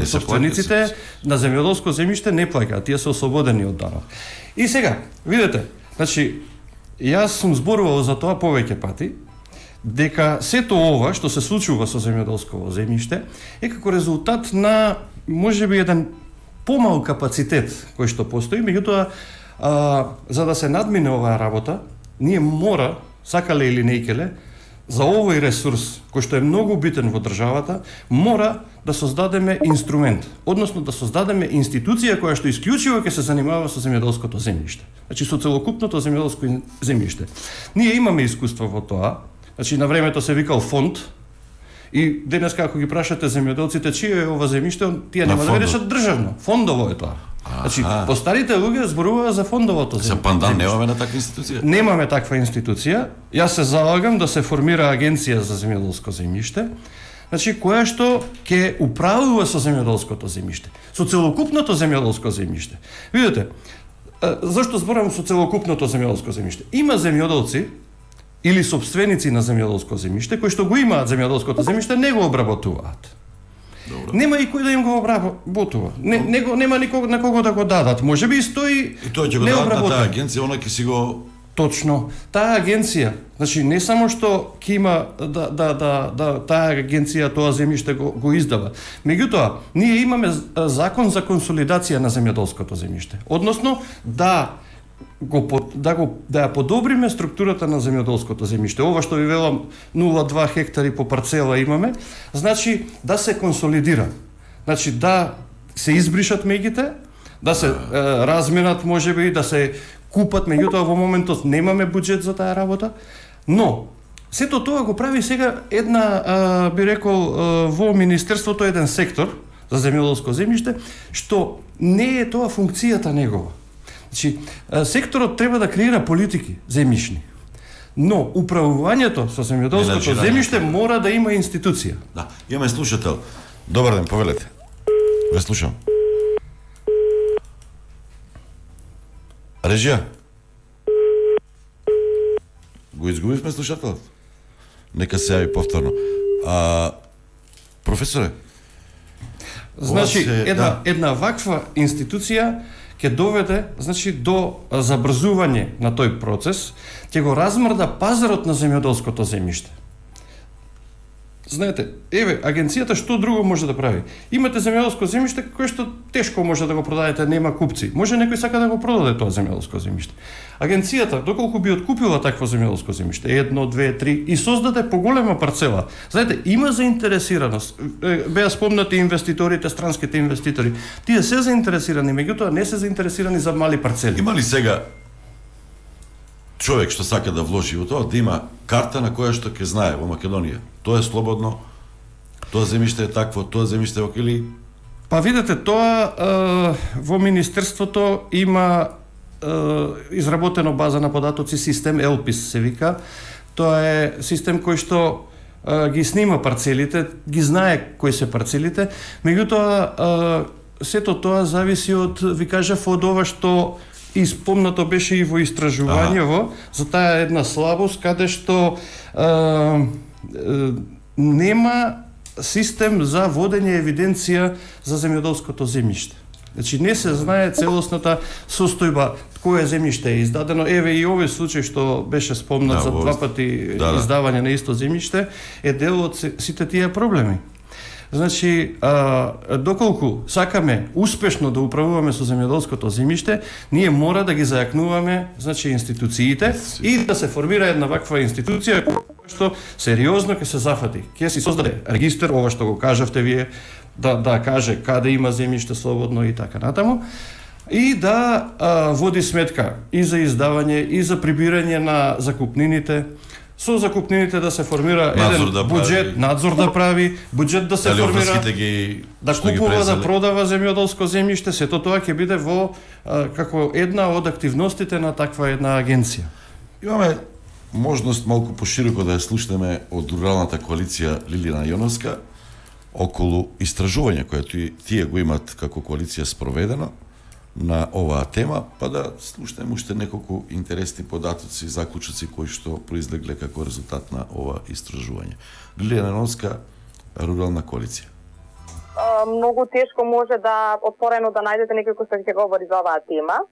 Собствениците на земјоделско земјиште не плаќаат, тие се ослободени од данок. И сега, видете, значи, јас сум зборувал за тоа повеќе пати, дека сето ова што се случува со земјоделско земјиште е како резултат на можеби еден помал капацитет кој што постои, меѓутоа за да се надмине оваа работа, ние мора, сакале или не икеле, за овој ресурс, кој што е многу битен во државата, мора да создадеме инструмент, односно да создадеме институција која што исклучиво ќе се занимава со земјоделското земјиште. Значи со целокупното земјоделско земјиште. Ние имаме искуство во тоа. Значи на времето се викал фонд, и денеска ако ги прашате земјоделците чие е ова земјиште, тие нема да речат државно, фондово е тоа. Значи, постарите луѓе зборуваат за фондовото земјиште. За пандан немаме на таква институција? Немаме таква институција. Јас се залагам да се формира агенција за земјоделско земјиште, значи која што ќе управува со земјоделското земјиште, со целокупното земјоделско земјиште. Видете, зашто зборам со целокупното земјоделско земјиште? Има земјоделци или собственици на земјоделско земјиште кои што го имаат земјоделското земјиште, не го обработуваат. Нема и кој да им го обработува. Нема никого на кого да го дадат. Можеби и стои и тоа ќе го дадат на таа агенција, она ќе си го точно. Таа агенција, значи не само што ќе има таа агенција тоа земјиште го издава. Меѓутоа, ние имаме закон за консолидација на земјоделското земјиште. Односно да ја подобриме структурата на земјоделското земјиште. Ова што ви велам 0,2 хектари по парцела имаме, значи да се консолидира. Значи да се избришат меѓите, да се разменат можеби, да се купат, меѓутоа во моментот немаме буџет за таа работа, но сето тоа го прави сега една, би рекол, во министерството еден сектор за земјоделско земјиште, што не е тоа функцијата негова. Значи, секторот треба да креира политики земјишни, но управувањето со земјоделското земјиште мора да има институција. Да, имаме слушател. Добар ден, повелете. Ве слушам. Режија. Го изгубивме слушателот. Нека се јави повторно. Професоре, Значи, една ваква институција ќе доведе, значи, до забрзување на тој процес, ќе го размрда пазарот на земјоделското земјиште. Знаете, еве, агенцијата што друго може да прави? Имате земјоделско земјиште кое што тешко може да го продадете, нема купци. Може некој сака да го продаде тоа земјоделско земјиште. Агенцијата, доколку би откупила такво земјоделско земјиште, 1, 2, 3 и создаде поголема парцела. Знаете, има заинтересираност. Беа спомнати инвеститорите, странските инвеститори. Тие се заинтересирани, меѓутоа не се заинтересирани за мали парцели. Има ли сега човек што сака да вложи во тоа, да има карта на која што ќе знае во Македонија? Тоа е слободно, тоа земјиште е такво, тоа земјиште е окили? Па видете, тоа во Министерството има изработено база на податоци, систем Елпис се вика. Тоа е систем кој што ги снима парцелите, ги знае кои се парцелите, меѓутоа сето тоа зависи од, ви кажав, од ова што испомнато беше и во истражувањево, за таа една слабост каде што нема систем за водење евиденција за земјоделското земјиште. Значи не се знае целосната состојба кое земјиште е издадено. Еве и овој случај што беше спомнат за два пати издавање на исто земјиште е дел од сите тие проблеми. Значи, доколку сакаме успешно да управуваме со земјоделското земјиште, ние мора да ги зајакнуваме, значи, институциите и да се формира една ваква институција што сериозно ќе се зафати. Ќе си создаде регистар, ова што го кажавте вие, да каже каде има земјиште слободно и така натаму, и да води сметка и за издавање, и за прибирање на закупнините, со закупнините да се формира еден буџет, надзор да прави, буџет да се формира, да купува, да продава земјоделско земјиште, сето тоа ќе биде во како една од активностите на таква една агенција. Имаме можност малку пошироко да ја слушнеме од Руралната коалиција Лилијана Јоновска околу истражување koje тие го имат како коалиција спроведено на оваа тема, па да слушнеме уште неколку интересни податоци, заклучоци кои што произлегле како резултат на ова истражување. Лилијана Јоновска, Рурална коалиција. Многу тешко може да отворено да најдете некој кој што ќе говори за оваа тема.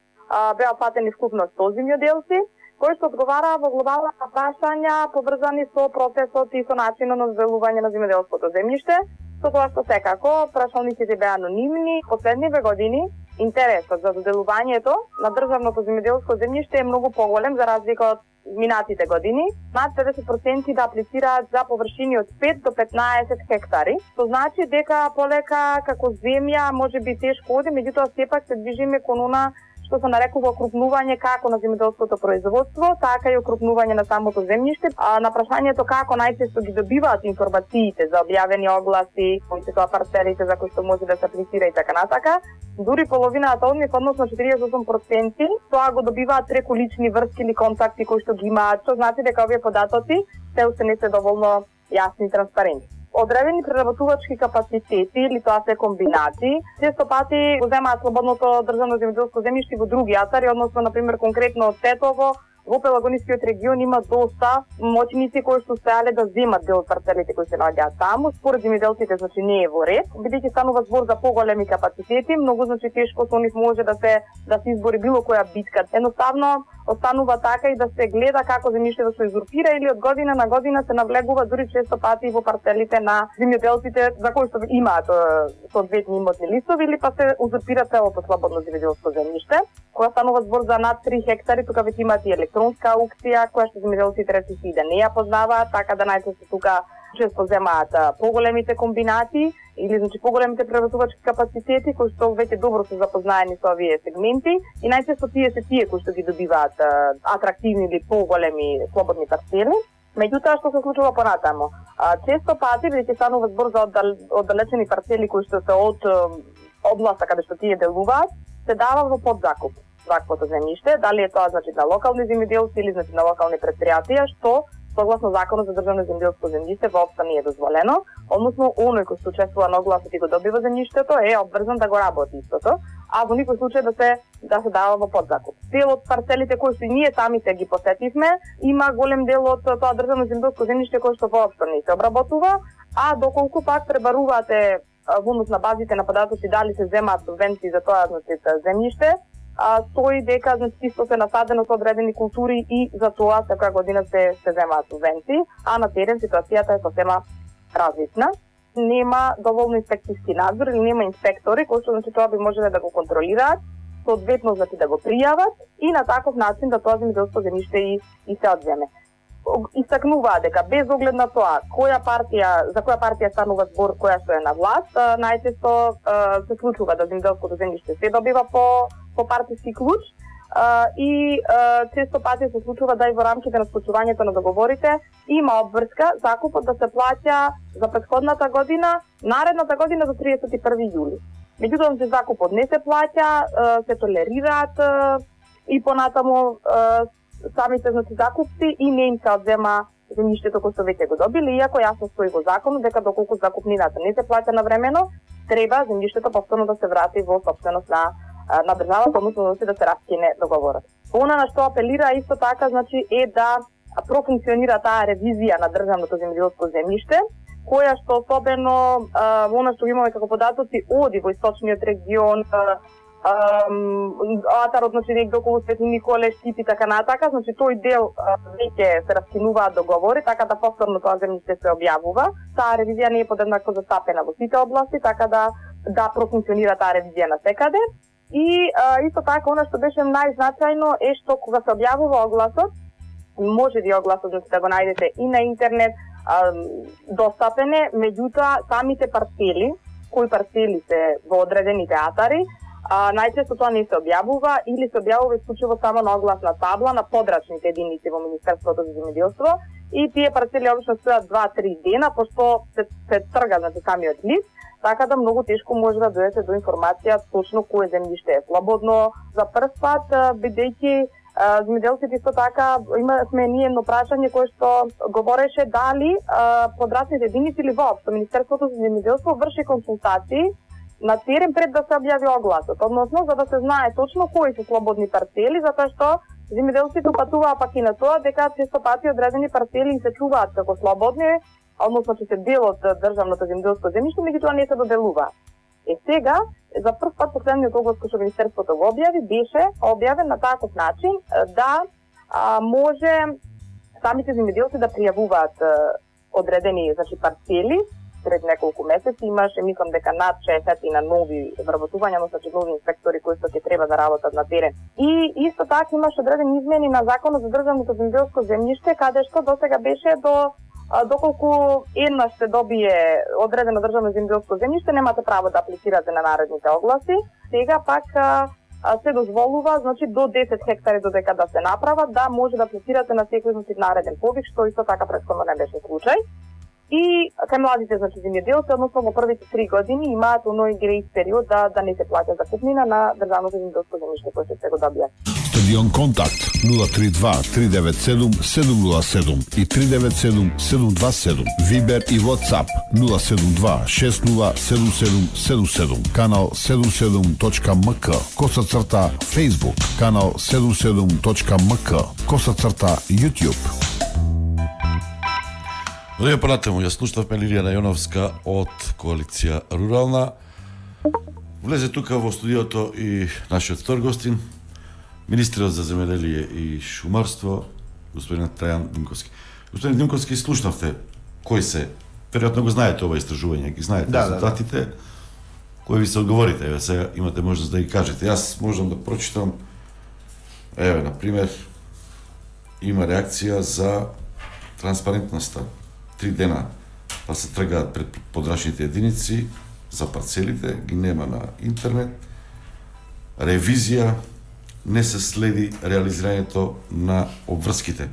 Беа фатени вкупно 100 земјоделци кои што одговараа во глобална прашања поврзани со процесот и со начинот на зделување на земјоделското земјиште, со тоа што секако прашалниците беа анонимни. Последниве години интересот за доделувањето на државното земјоделско земјиште е многу поголем за разлика од минатите години. Над 50% да аплицираат за површини од 5 до 15 хектари, што значи дека полека како земја можеби тешко оди, меѓутоа сепак се движиме кон она што се нарекува окрупнување како на земјоделското производство, така и окрупнување на самото земјиште. На прашањето како најчесто ги добиваат информациите за објавени огласи, кои се тоа парцелите за кои што може да се аплицира и така натака, дури половината од нив, односно 48%, тоа го добиваат преку лични врски или контакти кои што ги имаат, што значи дека овие податоци се уште не се доволно јасни и транспарентни. Одредени преработувачки капацитети или тоа се комбинати, често пати го земаат слободното државно земјоделско земјиште во други атари, односно на пример конкретно од Тетово, во Пелагонискиот регион има доста моќници кои што успеале да земат дел од парцелите кои се наоѓаат таму. Според земјоделците, значи не е во ред, бидејќи станува збор за поголеми капацитети, многу значи тешко со нив може да се избори било која битка. Едноставно останува така и да се гледа како земјиштето се узурпира или од година на година се навлегува дури често пати во парцелите на земјоделците за кои што имаат соодветни имотни листови или па се узурпира целото слободно земјоделско земјиште. Кога станува збор за над 3 хектари, тука веќе имаат и електронска аукција, која што земјоделците речиси да не ја познаваат, така да најчесто тука често земаат поголемите комбинати или значи поголемите преработувачки капацитети кои што веќе добро се запознаени со овие сегменти и најчесто тие се тие кои што ги добиваат атрактивни или поголеми слободни парцели. Меѓутоа што се случува понатаму? Често пати веќе станува збор за оддалечени парцели кои што се од областа каде што тие делуваат, се дава во подзакуп ваквото земјиште, дали е тоа значи на локални земјоделци или значи на локални претпријатија, што согласно законот за државно земјоделско земјиште воопшто не е дозволено, односно оној кој се учествува на огласот и го добива земјиштето е обврзан да го работи истото, а во никој случај да се дава во подзакуп. Дел од парцелите кои што ние самите ги посетивме, има голем дел од тоа државно земјоделско земјиште кој што воопшто не се обработува, а доколку пак пребарувате во однос на базите на податоци дали се земаат субвенции за тоа земјиште, стои дека исто се насадено со одредени култури и за тоа секоја година се земаат субвенции, а на терен ситуацијата е сосема различна. Нема доволно инспекцијски надзор или нема инспектори кои што тоа би можеле да го контролираат, соодветно да го пријават и на таков начин да тоа земјоделско земјиште и се одземе. Истакнуваа дека без оглед на тоа за која партија станува збор, која што е на власт, најчесто се случува да земјоделското земјиште се добива по партиски клуч и често пати се случува да и во рамките на склучувањето на договорите има обврска закупот да се плаќа за претходната година, наредната година до 31 јули. Меѓутоа, закупот не се плаќа, се толерираат и понатаму самите закупци и не им се одзема земјиштето кој што веќе го добили, иако јасно стои во законот дека доколку закупнината не се плаќа навремено, треба земјиштето повторно да се врати во сопственост на државата, односно да се раскине договорот. Она на што апелира исто така е да профункционира таа ревизија на државното земјоделско земјиште, која што особено она што имаме како податоци оди во источниот регион, Атарот, негде околу Свети Николе, Штип и така натака, тој дел веќе се раскинуваат договори, така да повторно тоа земјиште се објавува. Таа ревизија не е подеднакво застапена во сите области, така да профункционира таа ревизија насекаде. И исто така, она што беше најзначајно е што кога се објавува огласот, може би огласот да го најдете и на интернет, достапен е, меѓутоа самите парцели, кои парцели се во одредените атари, најчесто тоа не се објавува или се објавува исклучиво само на огласна табла на подрачните единици во Министерството за земјоделство и тие парцели обично стојат 2-3 дена, пошто се трга самиот лист, така да многу тешко може да дојдете до информација точно кое земјиште е слободно. За прв пат, бидејќи земјоделците исто така сме ние едно прашање кое што говореше дали подрачните единици или воопшто Министерството за земјоделство врши консултации на терен пред да се објави огласот, односно за да се знае точно кои се слободни парцели, затоа што земјоделците упатуваа пак и на тоа дека често пати одредени парцели се чуваат како слободни, односно че се дел од државното земјоделско земјиште, меѓутоа не се доделуваат. Сега, за прв пат последниот оглас кој што Министерството го објави, беше објавен на таков начин да може самите земјоделци да пријавуваат одредени парцели. Пред неколку месеци имаше, мислам дека над 60 на нови вработувања, нови инспектори кои што ќе треба да работат на терен. И исто така имаше одредени измени на Законот за државното земјоделско земјиште, каде што досега беше доколку еднаш се добие одредено државно земјоделско земјиште, немате право да аплицирате на наредните огласи. Сега пак се дозволува, до 10 хектари додека да се направат, да може да аплицирате на секој нареден повик, што исто така претходно не беше случај. И кај младите земјоделци, односно во првите 3 години имаат оној грејс период да не се плаќа закупнина на државното земјоделско земјиште кој се го добија. Стадион Контакт 032-397-707 и 397-727. Вибер и WhatsApp 072-607777. Канал 77.mk. _Facebook. Канал 77.mk. _YouTube. Одеја понатаму, ја слушнавме Лилијана Јоновска од Коалиција Рурална. Влезе тука во студиото и нашиот втор гостин, министерот за земјоделие и шумарство, господин Трајан Димковски. Господин Димковски, слушнавте кои се, веројатно го знаете ова истражување, ги знаете резултатите, кои ви се одговорите, еве сега имате можност да ги кажете. Јас можам да прочитам, еве, например, има реакција за транспарентноста. 3 дена па се тргаат пред подрачните единици за парцелите, ги нема на интернет. Ревизија, не се следи реализирањето на обврските.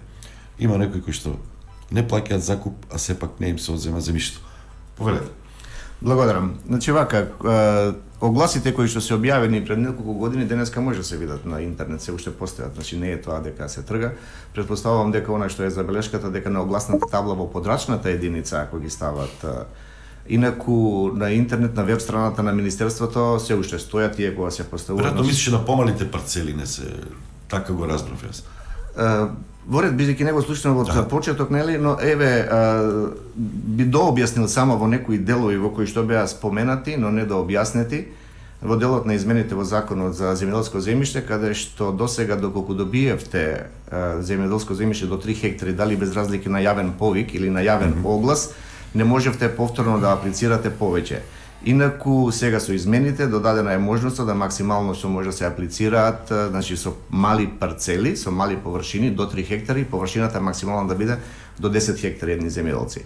Има некои кои што не плаќаат закуп, а сепак не им се одзема земјишто. Повелете. Благодарам. Вака, огласите кои што се објавени пред неколку години денеска може да се видат на интернет, се уште постојат, не е тоа дека се трга. Претпоставувам дека она што е забелешката дека на огласната табла во подрачната единица ако ги стават инаку на интернет на веб страната на министерството се уште стојат и кога се поставуваат. Веројатно мислиш на помалите парцели не се така го разбрав јас. Во ред, бидејќи него слушнав од почеток, нели, но еве би дообјаснил само во некои делови во кои што беа споменати, но не дообјаснети, во делот на измените во Законот за земјоделско земјиште, каде што досега доколку добиевте земјоделско земјиште до 3 хектари, дали без разлики на јавен повик или на јавен оглас, не можевте повторно да аплицирате повеќе. Инаку сега со измените додадена е можноста да максимално што може да се аплицираат, значи со мали парцели, со мали површини до 3 хектари, површината максимално да биде до 10 хектари едни земјоделци.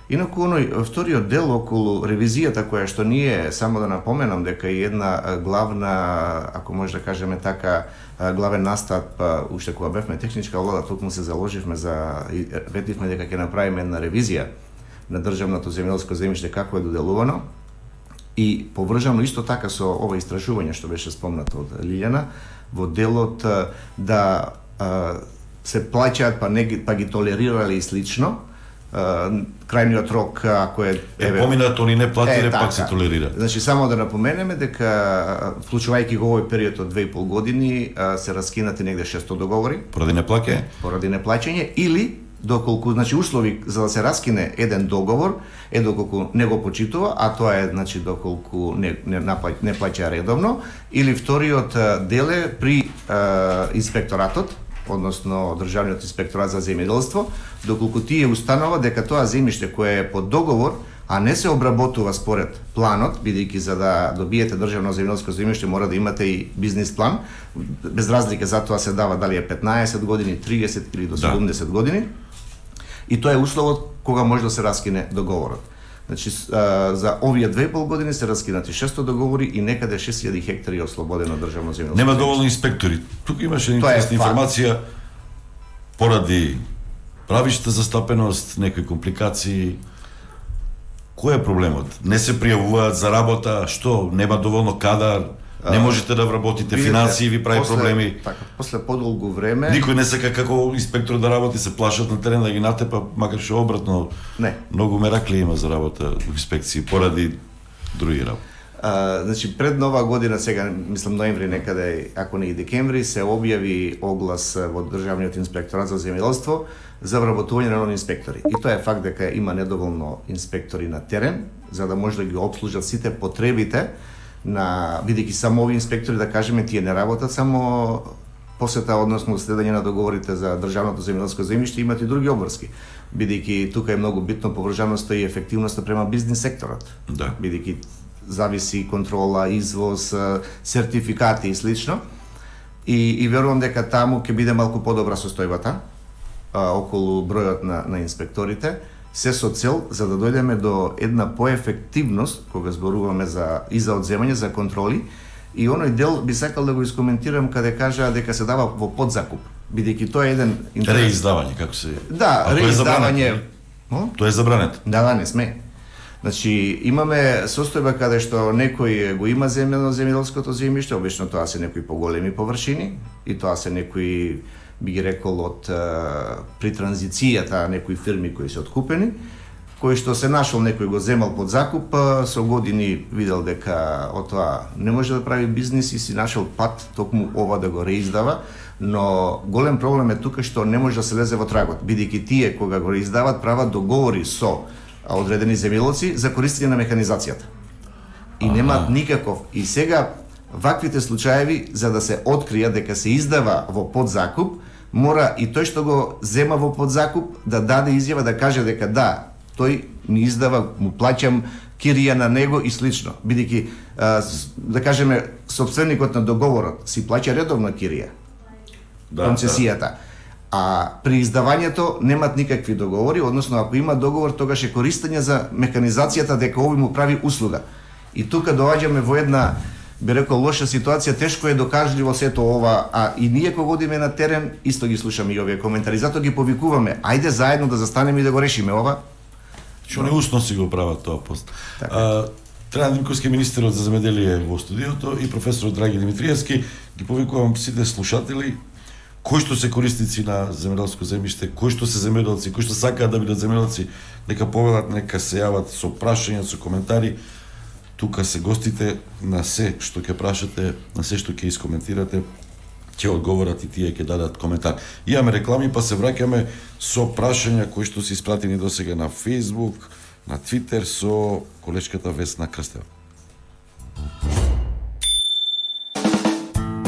Инаку оној вториот дел околу ревизијата која што ние, само да напоменам дека е една главна, ако може да кажеме така, главен настап, уште кога бевме техничка влада, токму се заложивме за ветивме дека ќе направиме една ревизија на државното земјоделско земјиште како е доделувано. И поврзано исто така со ова истражување што беше спомнато од Лилјана, во делот да се плаќаат па ги толерирале и слично, крајниот рок ако е поминат, они не платиле, пак се толерира. Значи само да напоменеме дека вклучувајќи го овој период од 2,5 години се раскинати негде 600 договори поради неплаќање или доколку, значи, услови за да се раскине еден договор е доколку не го почитува, а тоа е, значи, доколку не плаќа редовно, или вториот дел е при инспекторатот, односно Државниот инспекторат за земјоделство, доколку тие установа дека тоа земјиште кое е под договор, а не се обработува според планот, бидејќи за да добиете државно земјоделско земјиште мора да имате и бизнис план, без разлика за тоа се дава дали е 15 години, 30 или до 70 години. И тоа е условот кога може да се раскине договорот. Значи, за овие 2,5 години се раскинати 600 договори и некаде 6000 хектари ослободено државно земјоделско. Нема доволно инспектори. Тука имаше интересна информација поради правишта застапеност, некои компликации. Кој е проблемот? Не се пријавуваат за работа, што нема доволно кадар, не можете да вработите, финансии ви прави проблеми. Така, после подолго време никој не сака како инспектор да работи, се плашат на терен да ги натепа, макар што обратно. Не. Многу меракли има за работа во инспекции поради други работи. Значи пред Нова година, сега мислам ноември некаде, ако не и декември, се објави оглас во Државниот инспекторат за земјоделство за вработување на нови инспектори. И тоа е факт дека има недоволно инспектори на терен за да може да ги обслужат сите потребите на, бидејќи само овие инспектори, да кажеме, тие не работат само посета, односно следење на договорите за државното земјоделско земјиште, имат и други обврски. Бидејќи тука е многу битно поврзаноста и ефективноста према бизнис секторот. Да. Бидејќи зависи контрола, извоз, сертификати и слично. И верувам дека таму ќе биде малку подобра состојбата околу бројот на инспекторите, се со цел за да дојдеме до една поефективност кога зборуваме за одземање, за контроли. И оној дел би сакал да го искоментирам каде кажа дека се дава во подзакуп, бидејќи тоа е еден реиздавање, како се. Да, реиздавање. Тоа е забрането. Да, не сме. Значи, имаме состојба каде што некој го има земјоделското земјиште, обично тоа се некои поголеми површини и тоа се некои, би ги рекол, од при транзицијата некои фирми кои се откупени, кој што се нашол некој го земал под закуп, со години видел дека од тоа не може да прави бизнис и си нашол пат токму ова да го реиздава, но голем проблем е тука што не може да се лезе во трагот, бидејќи тие кога го реиздават прават договори со одредени земјоделци за користење на механизацијата. И немаат никаков. И сега ваквите случаеви, за да се открија дека се издава во подзакуп, мора и тој што го зема во подзакуп да даде изјава, да каже дека да, тој ми издава, му плаќам кирија на него и слично. Бидејќи, да кажеме, сопственикот на договорот си плаќа редовно кирија, концесијата. А при издавањето немат никакви договори, односно ако има договор, тогаш е користење за механизацијата дека овој му прави услуга. И тука доаѓаме во една, би рекол, лоша ситуација, тешко е докажливо сето ова, а и ние кога одиме на терен, исто ги слушаме и овие коментари, затоа ги повикуваме, ајде заедно да застанеме и да го решиме ова. Што не усно си го прават тоа пост. Трајан Димковски, министерот за земјоделие во студиото, и професорот Драги Димитриевски, ги повикувам сите слушатели, кои што се корисници на земјоделско земјиште, кои што се земјоделци, кои што сакаат да бидат земјоделци, нека повелат, нека се јават со прашања, со коментари. Тука се гостите, на се што ќе прашате, на се што ќе искоментирате, ќе одговорат и тие ќе дадат коментар. Имаме реклами, па се враќаме со прашања кои што се испратени досега на Facebook, на Твитер со колешката Весна Крстева.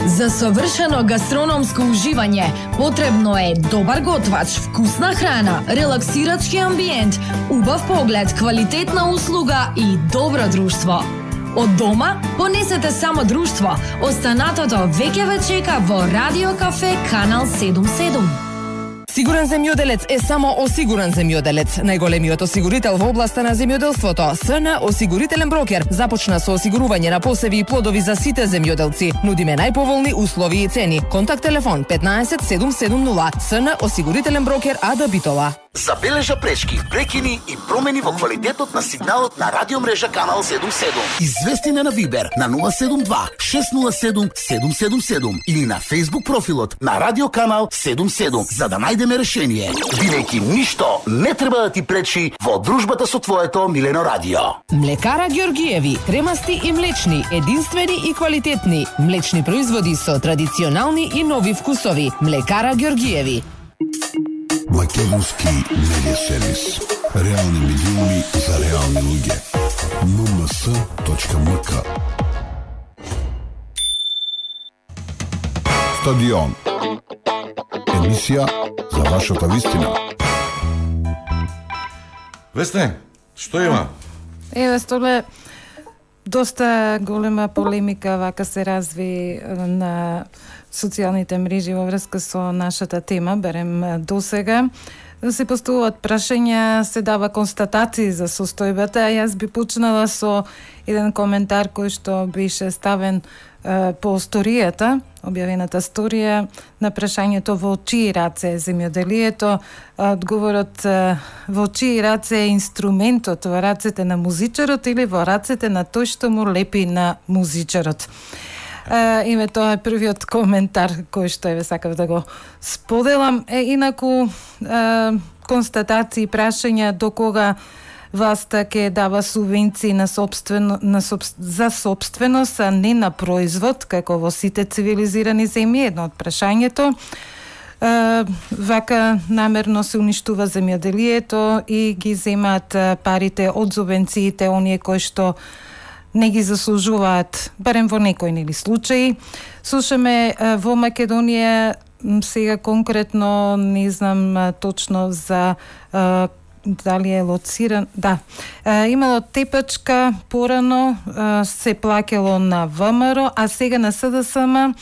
За совршено гастрономско уживање потребно е добар готвач, вкусна храна, релаксирачки амбиент, убав поглед, квалитетна услуга и добро друштво. Од дома понесете само друштво. Останатото веќе ве чека во Радио Кафе Канал 77. Сигурен земјоделец е само осигурен земјоделец. Најголемиот осигурител во областа на земјоделството, СН Осигурителен брокер, започна со осигурување на посеви и плодови за сите земјоделци. Нудиме најповолни услови и цени. Контакт телефон 15 770. СН Осигурителен брокер АД Битола. Забележа пречки, прекини и промени во квалитетот на сигналот на радиомрежа Канал 77. Извести на Вибер на 072 607 777 или на Facebook профилот на Радио Канал 77 за да најдеме решение. Бидејќи ништо не треба да ти пречи во дружбата со твоето милено радио. Млекара Ѓоргиеви, кремасти и млечни, единствени и квалитетни. Млечни производи со традиционални и нови вкусови. Млекара Ѓоргиеви. Македонски медиа сервис. Реални медиуми за реални луѓе. mms.mk. Стадион. Емисија за вашата вистина. Весне, што има? Еве, Столе, доста голема полемика вака се разви на социјалните мрежи во врска со нашата тема, берем досега. Се поставуваат прашања, се дава констатации за состојбата, а јас би почнала со еден коментар кој што беше ставен по сторијата, објавената сторија на прашањето во чии раце е земјоделието. Одговорот во чии раце е инструментот, во рацете на музичарот или во рацете на тој што му лепи на музичарот. Име тоа е првиот коментар кој што еве сакав да го споделам. Инаку констатации, прашања до кога власта ќе дава субвенции за собственост, а не на производ, како во сите цивилизирани земји, едно од прашањето. Вака намерно се уништува земјоделието и ги земаат парите од субвенциите оние кои што не ги заслужуваат, барем во некои нели случаи. Слушаме во Македонија сега конкретно, не знам точно за дали е лоциран, да. Имало тепачка порано, се плакело на ВМРО, а сега на СДСМ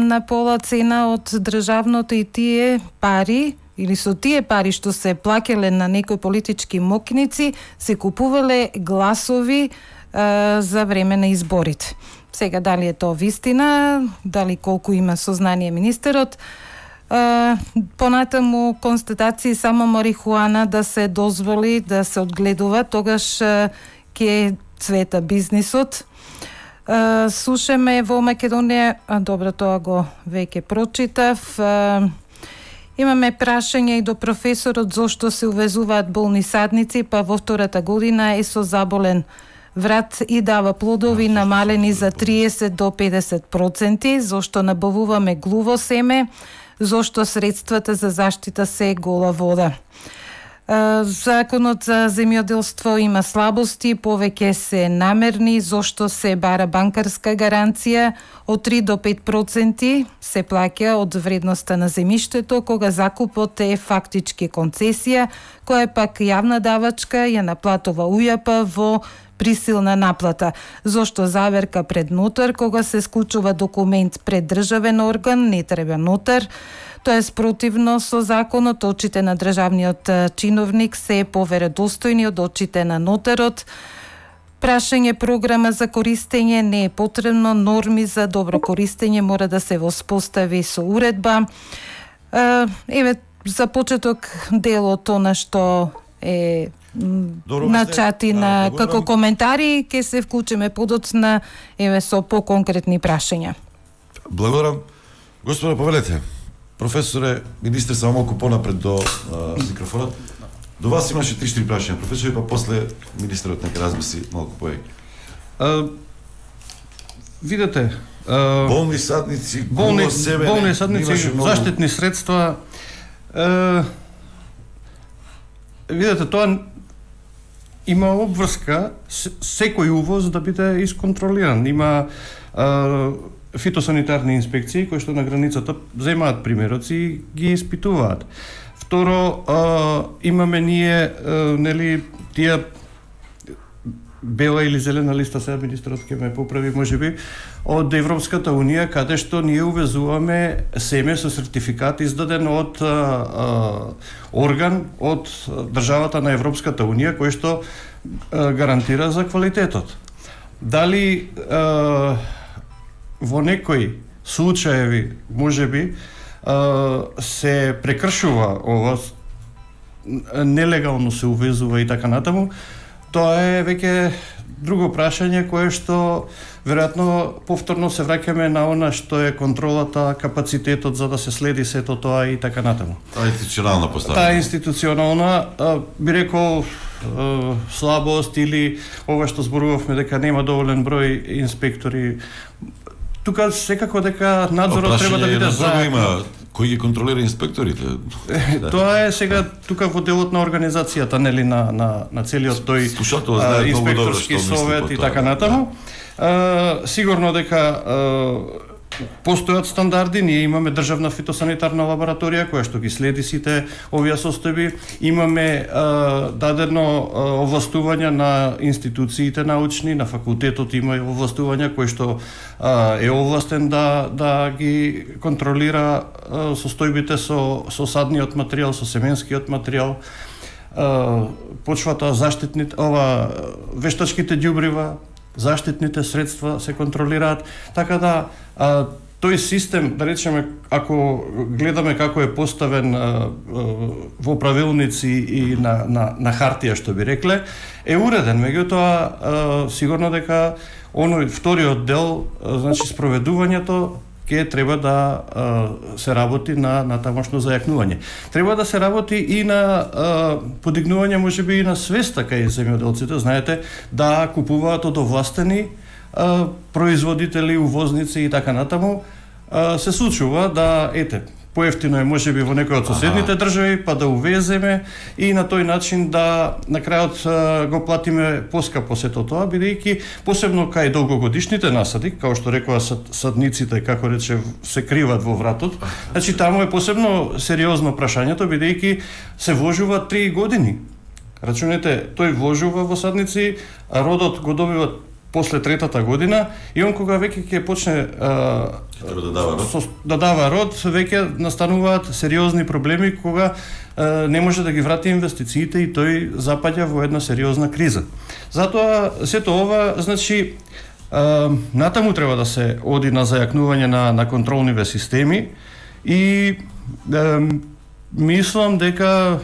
на пола цена од државното и тие пари, или со тие пари што се плакеле на некои политички мокници, се купувале гласови за време на изборите. Сега, дали е тоа вистина, дали колку има сознание министерот, понатаму констатации само марихуана да се дозволи да се одгледува, тогаш ќе цвета бизнисот. Слушаме во Македонија, добро, тоа го веќе прочитав. Имаме прашање и до професорот зошто се увезуваат болни садници, па во втората година е со заболен врат и дава плодови намалени за 30 до 50%, зошто набавуваме глуво семе, зошто средствата за заштита се гола вода. Законот за земјоделство има слабости, повеќе се намерни, зошто се бара банкарска гаранција од 3 до 5% се плаќа од вредноста на земјиштето, кога закупот е фактички концесија, која е пак јавна давачка, ја наплатува УЈП во присилна наплата. Зошто заверка пред нотар, кога се склучува документ пред државен орган, не треба нотар. Тоа е спротивно со законот, очите на државниот чиновник се поверодостојни од очите на нотарот. Прашање програма за користење не е потребно, норми за добро користење мора да се воспостави со уредба. Еве, за почеток делот она што е на чати на како коментари, ќе се вклучиме подоцна еве со поконкретни прашања. Благодарам. Господа, повелете. Професоре, министр, само малку понапред до микрофонот. До вас имаше 3-4 прашања, професоре, па после министерот нека размисли малку повеќе. Видете, болни садници, болни садници, заштитни средства. Видете, тоа има обврска секој увоз да биде исконтролиран. Има фитосанитарни инспекции кои што на границата земаат примероци и ги испитуваат. Второ, имаме ние нели тие бела или зелена листа, сега министрот ќе ме поправи можеби, од Европската унија, каде што ние увезуваме семе со сертификат издаден од орган од државата на Европската унија кој што гарантира за квалитетот. Дали во некои случаеви можеби се прекршува ова, нелегално се увезува и така натаму, тоа е веќе друго прашање кое што веројатно повторно се враќаме на она што е контролата, капацитетот за да се следи сето тоа и така натаму. Таа институционална поставка. Таа институционална, би рекол, слабост или ова што зборувавме дека нема доволен број инспектори. Тука секако дека надзорот треба да биде заедно. Кој ги контролира инспекторите? Тоа е сега тука во делот на организацијата, нели, на целиот тој инспекторски совет и така натаму. Сигурно дека постојат стандарди, ние имаме државна фитосанитарна лабораторија која што ги следи сите овие состојби, имаме дадено овластување на институциите научни, на факултетот има овластување кој што е овластен да ги контролира состојбите со садниот материјал, со семенскиот материјал, почвата, заштитните, вештачките ѓубрива, заштитните средства се контролираат, така да тој систем, да речеме, ако гледаме како е поставен во правилници и на хартија, што би рекле, е уреден, меѓутоа сигурно дека оној вториот дел, значи спроведувањето, ќе треба да се работи на тамошно зајакнување. Треба да се работи и на подигнување можеби и на свеста кај земјоделците, знаете, да купуваат од овластени производители, увозници и така натаму. Се случува да, поевтино е можеби во некој од соседните држави, па да увеземе и на тој начин да на крајот го платиме поскапо сето тоа, бидејќи посебно кај долгогодишните насади, како што рекоа садниците, како рече, се криват во вратот. Значи таму е посебно сериозно прашањето, бидејќи се вложува 3 години. Рачунете, тој вложува во садници, а родот го добива после 3-та година и он кога веќе ќе почне да дава род, веќе настануваат сериозни проблеми кога не може да ги врати инвестициите и тој запаѓа во една сериозна криза. Затоа сето ова, значи, натаму треба да се оди на зајакнување на контролниве системи и мислам дека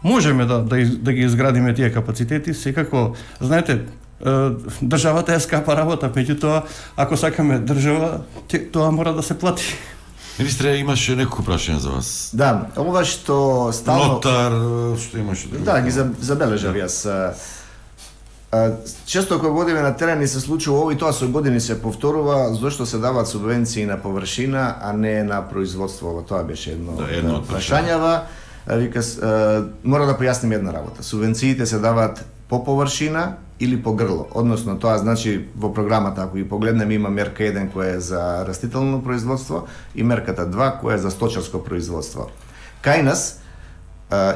можеме да ги изградиме тие капацитети, секако, знаете, државата е скапа работа, меѓутоа, ако сакаме држава, тоа мора да се плати. Министре, имаше некој прашање за вас? Да, ова што стално... Нотар, што имаше? Да, ги забележав јас. Често кога одиме на терен и се случува ово и тоа со години се повторува, зашто се даваат субвенции на површина, а не на производство. Тоа беше едно од прашањава. Мора да појасним една работа. Субвенциите се даваат по површина или по грло. Односно, тоа значи во програмата, ако ги погледнеме, има мерка 1 која е за растително производство и мерката 2 која е за сточарско производство. Кај нас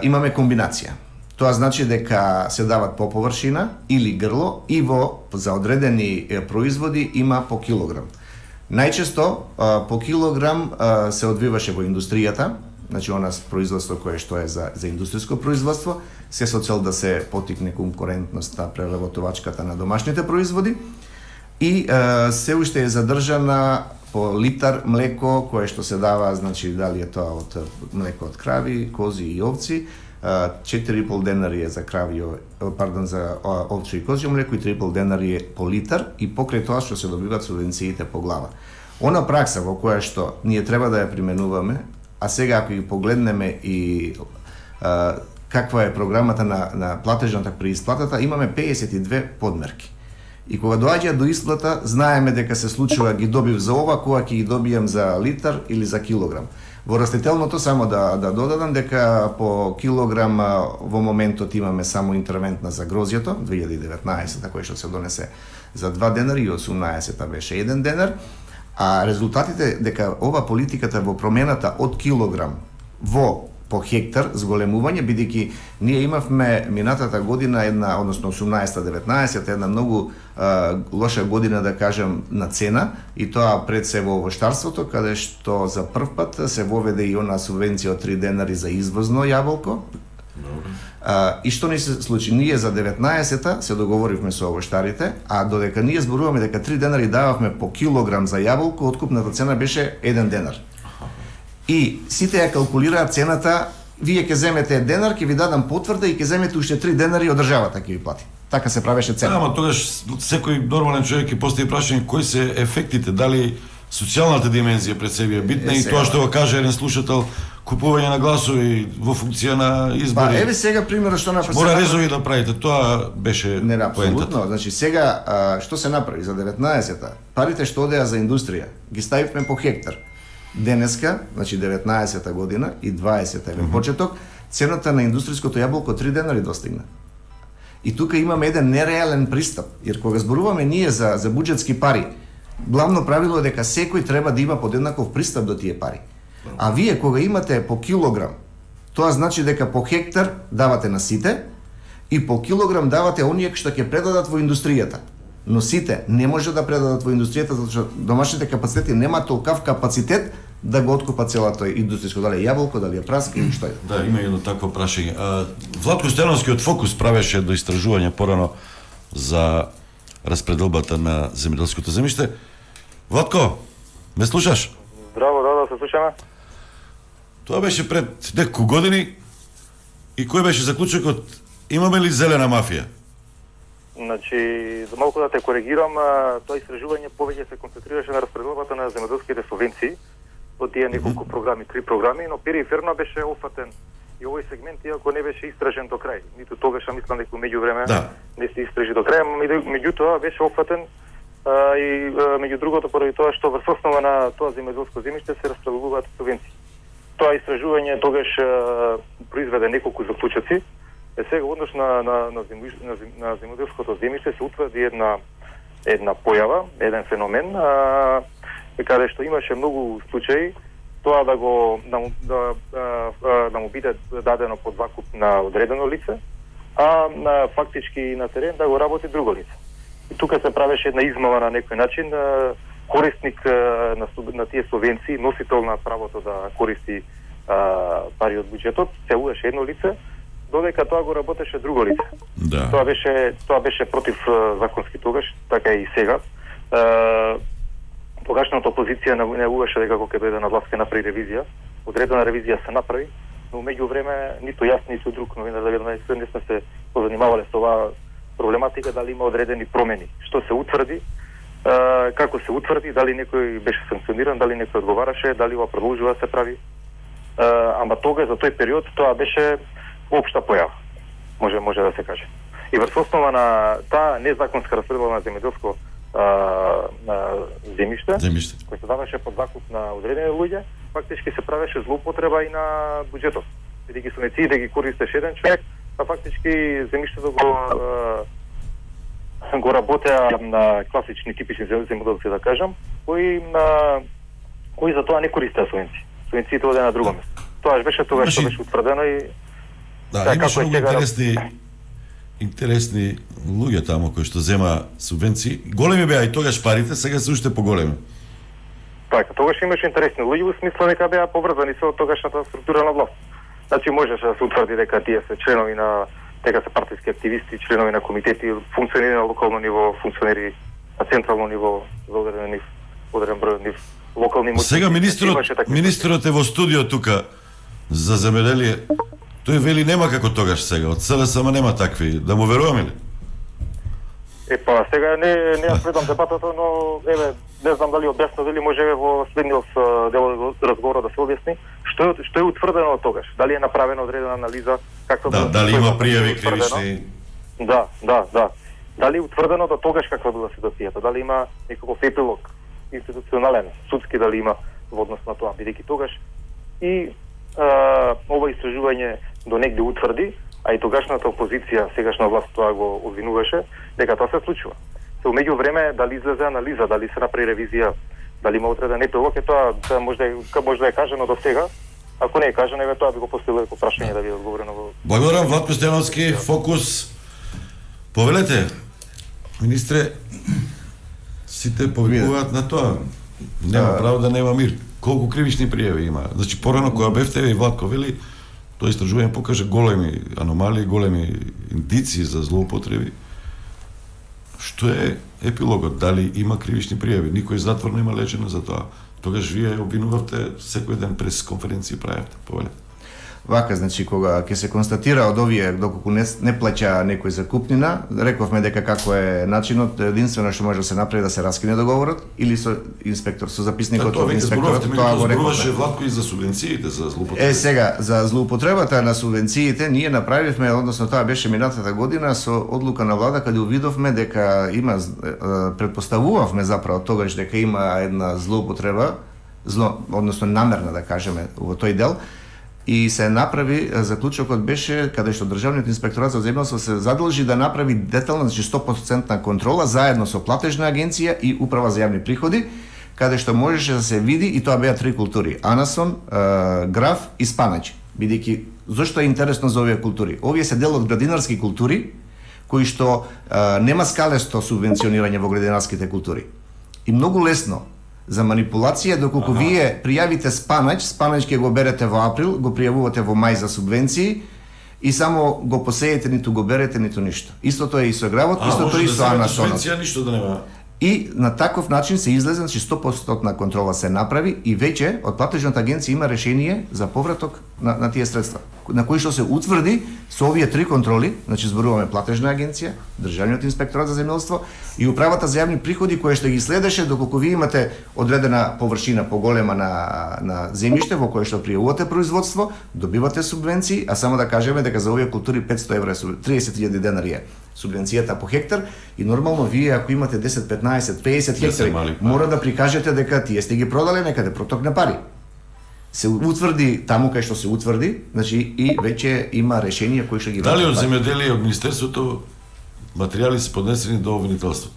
имаме комбинација. Тоа значи дека се дават по површина или грло и за одредени производи има по килограм. Најчесто по килограм се одвиваше во индустријата, значи она производство кое што е за индустријско производство, се со цел да се потикне конкурентност на преработувачката на домашните производи и се уште е задржана по литар млеко кое што се дава, значи дали е тоа од млеко од крави, кози и овци, 4,5 денари е за крави, за овче и козјо млеко и 3,5 денари е по литар и покрај тоа што се добиваат субвенциите по глава. Она пракса во која што ние треба да ја применуваме, а сега ако ги погледнеме и каква е програмата на платежната при исплатата, имаме 52 подмерки. И кога доаѓа до исплата, знаеме дека се случува ги добив за ова, кога ќе ги добијам за литар или за килограм. Во растителното само да додадам дека по килограм во моментот имаме само интервентна за грозјето 2019 кој што се донесе за 2 денари и 18 беше 1 денар, а резултатите дека ова политиката во промената од килограм во по хектар зголемување, бидејќи ние имавме минатата година една, односно 18-19, една многу лоша година, да кажем, на цена, и тоа пред се во овощарството, каде што за прв пат се воведе и она субвенција од 3 денари за извозно јаболко. И што ни се случи? Ние за 19-та се договоривме со овощарите, а додека ние зборуваме дека 3 денари дававме по килограм за јаболко, откупната цена беше 1 денар. И сите ја калкулираат цената, вие ќе земете денар, ќе ви дадам потврда и ќе земете уште 3 денари од државата ќе ви плати. Така се правеше цена. Ама тогаш секој нормален човек ќе постави прашање кои се ефектите, дали социјалната димензија пред себе е битна и тоа што го каже еден слушател, купување на гласови во функција на избори. Па еве сега примерот што направи. Мора резови да правите, тоа беше поентата. Значи сега што се направи за 19-та? Парите што одеа за индустрија ги ставивме по хектар. Денеска, значи 19-та година и 20-та е почеток, цената на индустријското јаболко 3 денари достигна. И тука имаме еден нереален пристап, jer кога зборуваме ние за буџетски пари, главно правило е дека секој треба да има подеднаков пристап до тие пари. А вие кога имате по килограм, тоа значи дека по хектар давате на сите и по килограм давате оние што ќе предадат во индустријата. Но сите не може да предадат во индустријата затоа што домашните капацитети нема толкав капацитет да го откупат целото индустријско, дали е јаболко, дали е праска или што е. Да, има едно такво прашање. Владко Стојановски од Фокус правеше до истражување порано за распределбата на земјоделското земјиште. Владко, ме слушаш? Здраво, да се слушаме. Тоа беше пред неколку години и кој беше заклучокот? Имаме ли зелена мафија? Значи, за малку да те коригирам, тоа истражување повеќе се концентрираше на распределбата на земјоделските субвенции од тие неколку програми, 3 програми, но периферно беше офатен и овој сегмент, иако не беше истражен до крај. Ниту тогаш мислам дека меѓувреме не се истражи до крај, меѓутоа беше офатен и меѓу другото поради тоа што врз основа на тоа земјоделско земјиште се распределуваат субвенции. Тоа истражување тогаш произведе неколку заклучоци. Сега однош на земјоделското земјиште се утврди една појава, еден феномен, каде што имаше многу случаи тоа да му биде дадено под закуп на одредено лице, а фактички на терен да го работи друго лице. И тука се правеше една измама на некој начин, корисник на тие субвенции, носител на правото да користи пари од буџетот, се уеше едно лице, додека тоа го работеше друго лице. Да. Тоа беше против законски тогаш, така и сега. Тогашната опозиција најавуваше дека кога ќе дојде на власт ќе направи ревизија. Одредена ревизија се направи, но меѓувреме ниту јас, ниту друг новинар да не сме се позанимавале со оваа проблематика, дали има одредени промени. Што се утврди, како се утврди, дали некој беше санкциониран, дали некој одговараше, дали ова продолжува да се прави. Ама тога за тој период тоа беше општа појава, може да се каже. И врз основа на таа незаконска распределба на земјоделско земјиште, кој се даваше под закуп на одредени луѓе, фактички се правеше злоупотреба и на буџетот. Бидејќи субвенции да ги користеше еден човек, а фактички земјиштето го работеа на класични типични земјоделци, да кажам, кои за тоа не користеа субвенции. Субвенциите оде на друго место. Тоа беше тогаш што беше утврдено и да, имаше многу интересни луѓе таму кои што зема субвенции. Големи беа и тогаш парите, сега се уште поголеми. Така, тогаш имаше интересни луѓе во смисла дека беа поврзани со тогашната структура на власт. Значи можеше да се утврди дека тие се членови на дека се партиски активисти, членови на комитети, функционери на локално ниво, функционери на централно ниво, за одреден број нив локални мотиви. Сега министерот е во студио тука за земјоделие. Тој вели нема како тогаш сега, од СДС нема такви, да му веруваме ли? Па сега не ја следам дебатата, но еве не знам дали објаснува или може во следниот дел разговор да се објасни што е утврдено од тогаш, дали е направена одредена анализа, каква дали има пријави кривични. Да. Дали е утврдено до тогаш каква била ситуацијата, дали има некаков епилог институционален, судски дали има во однос на тоа, бидејќи тогаш и ова истражување до негде утврди, а и тогашната опозиција, сегашна власт тоа го обвинуваше, дека тоа се случува. Се умеѓу време дали излезе анализа, дали се направи ревизија, дали има отреден епилог, тоа може да е кажано до сега. Ако не е кажано, еве тоа би го поставило како прашање да биде одговорено во. Благодарам, Владко Стојановски, Фокус. Повелете, министре, сите повикуваат на тоа. Нема право да нема мир. Колку кривични пријави има? Значи, порано кога бевте и Владко вели, тоа истражување покаже големи аномалии, големи индици за злоупотреби. Што е епилогот? Дали има кривични пријави? Никој затвор нема лечено за тоа. Тогаш вие обвинувавте секој ден прес конференции правевте. Повелете. Вака, значи, кога ќе се констатира од овие, доколку не плаќа некој закупнина, рековме дека како е начинот, единствено што може да се направи да се раскине договорот или со инспектор, со записникот од инспекторот, тоа го рековме. Владко и за субвенциите, за злоупотребата. Сега, за злоупотребата на субвенциите, ние направивме, односно тоа беше минатата година со одлука на влада, каде увидовме дека има, предпоставувавме заправо тогаш дека има една злоупотреба, односно намерна да кажеме во тој дел, и се направи, заклучокот беше каде што Државниот инспекторат за земјоделство се задолжи да направи детална, значи 100% контрола заедно со платежна агенција и управа за јавни приходи, каде што можеше да се види, и тоа беа 3 култури: анасон, граф и спанач. Бидејќи зошто е интересно за овие култури? Овие се дел од градинарски култури кои што нема скалесто субвенционирање во градинарските култури. И многу лесно за манипулација, доколку вие пријавите спанач ќе го берете во април, го пријавувате во мај за субвенции и само го посеете, ниту го берете, ниту ништо. Истото е и со гравот, истото е и со анасонот. Ништо да нема. И на таков начин се излезе, значи 100% контрола се направи и веќе од платежната агенција има решение за повраток на тие средства, на кои што се утврди со овие 3 контроли, значи зборуваме платежна агенција, Државниот инспекторат за земјоделство и управата за јавни приходи, која што ги следеше доколку вие имате одредена површина поголема на земјиште во кое што пријавувате производство, добивате субвенции, а само да кажеме дека за овие култури 500 евра, 30.000 денари е субвенцијата по хектар и нормално вие ако имате 10, 15, 50 хектари, мора да прикажете дека тие сте ги продале некаде, протокне пари. Се утврди таму кај што се утврди, значи и веќе има решение кои што ги враќаат. Дали од земјоделие од министерството материјали се поднесени до обвинителството?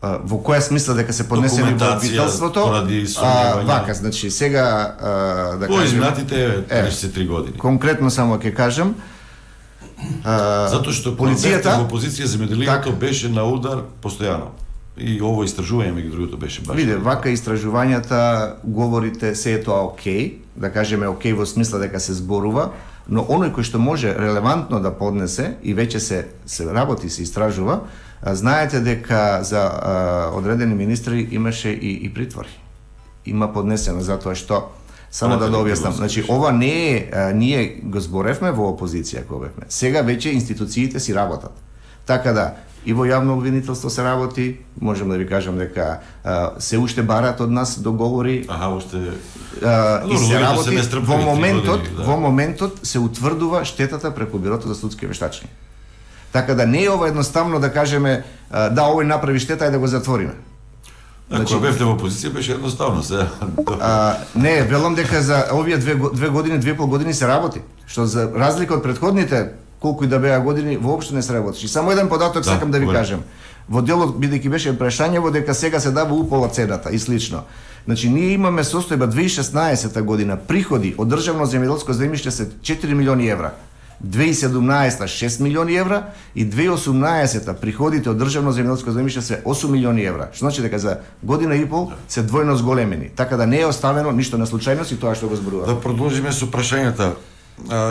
Во која смисла дека се поднесени до обвинителството? Вака, значи сега да кажем... По изминатите 33 години. Конкретно само ќе кажам, затоа што полицијата во опозиција земјоделието беше на удар постојано. И ово истражување меѓу другото беше баш. Виде, вака истражувањата говорите се е тоа окей, да кажеме окей во смисла дека се зборува, но оној кој што може релевантно да поднесе и веќе се работи, се истражува, знаете дека за одредени министри имаше и притвори. Има поднесено затоа што само да објаснам. Значи ова не е ние го зборевме во опозиција кога бевме. Сега веќе институциите си работат. Така да и во јавно обвинителство се работи, можам да ви кажам дека се уште барат од нас договори. И се работи во моментот се утврдува штетата преку Бирото за судски вештачење. Така да не е ова едноставно да кажеме да овој направи штета и да го затвориме. Ако бевте во опозиција беше едноставно се. Не, велам дека за овие 2,5 години се работи, што за разлика од претходните колку и да беа години, воопшто не се работи. Само еден податок сакам да ви кажам. Во делот, бидејќи беше прашањево дека сега се дава упола цената и слично. Значи, ние имаме состојба 2016 година, приходи од државно земјоделско земјиште се 4 милиони евра. 2017 6 милиони евра и 2018 приходите од државно земјоделско земјиште се 8 милиони евра. Што значи дека за година и пол се двојно зголемени. Така да не е оставено ништо на случајност и тоа што го зборува. Да продолжиме со прашањата.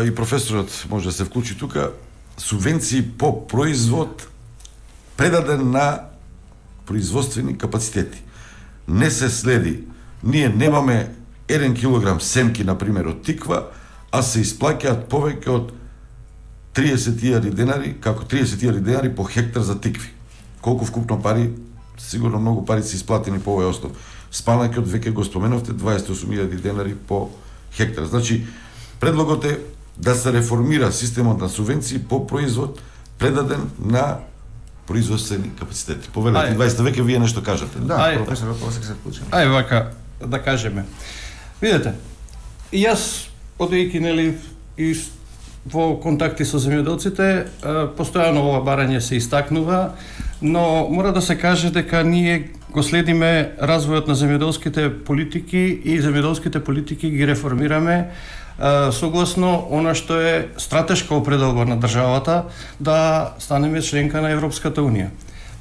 И професорот може да се вклучи тука. Субвенции по производ предаден на производствени капацитети. Не се следи. Ние немаме 1 килограм семки, например, од тиква, а се исплаќаат повеќе од 30.000 денари, како 30.000 денари по хектар за тикви. Колку вкупно пари? Сигурно многу пари се исплатени по овој основ. Спанаќот веќе го споменавте, 28.000 денари по хектар. Значи, предлогот е да се реформира системот на субвенции по производ предаден на производствени капацитети. Повелете, 20 веќе вие нешто кажете. Да, професорот, после се вклучи. Вака, да кажеме. Видете, и јас одејќи нели и во контакти со земјоделците, постојано ова барање се истакнува, но мора да се каже дека ние го следиме развојот на земјоделските политики и земјоделските политики ги реформираме согласно она што е стратешка определба на државата да станеме членка на Европската Унија.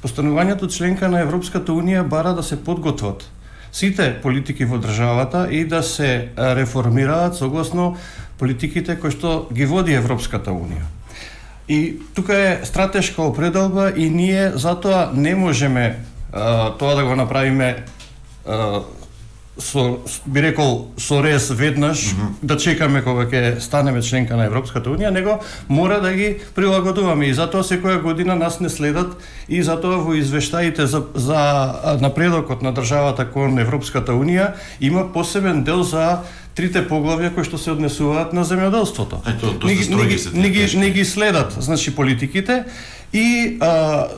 Постанувањето членка на Европската Унија бара да се подготват сите политики во државата и да се реформираат согласно политиките кои што ги води Европската Унија. И тука е стратешка определба и ние затоа не можеме тоа да го направиме би рекол со рез веднаш, да чекаме кога ќе станеме членка на Европската Унија, него мора да ги прилагодуваме и затоа секоја година нас не следат и затоа во извештаите за напредокот на државата кон Европската Унија има посебен дел за трите поглавја кои што се однесуваат на земјоделството. Не ги следат, значи, политиките и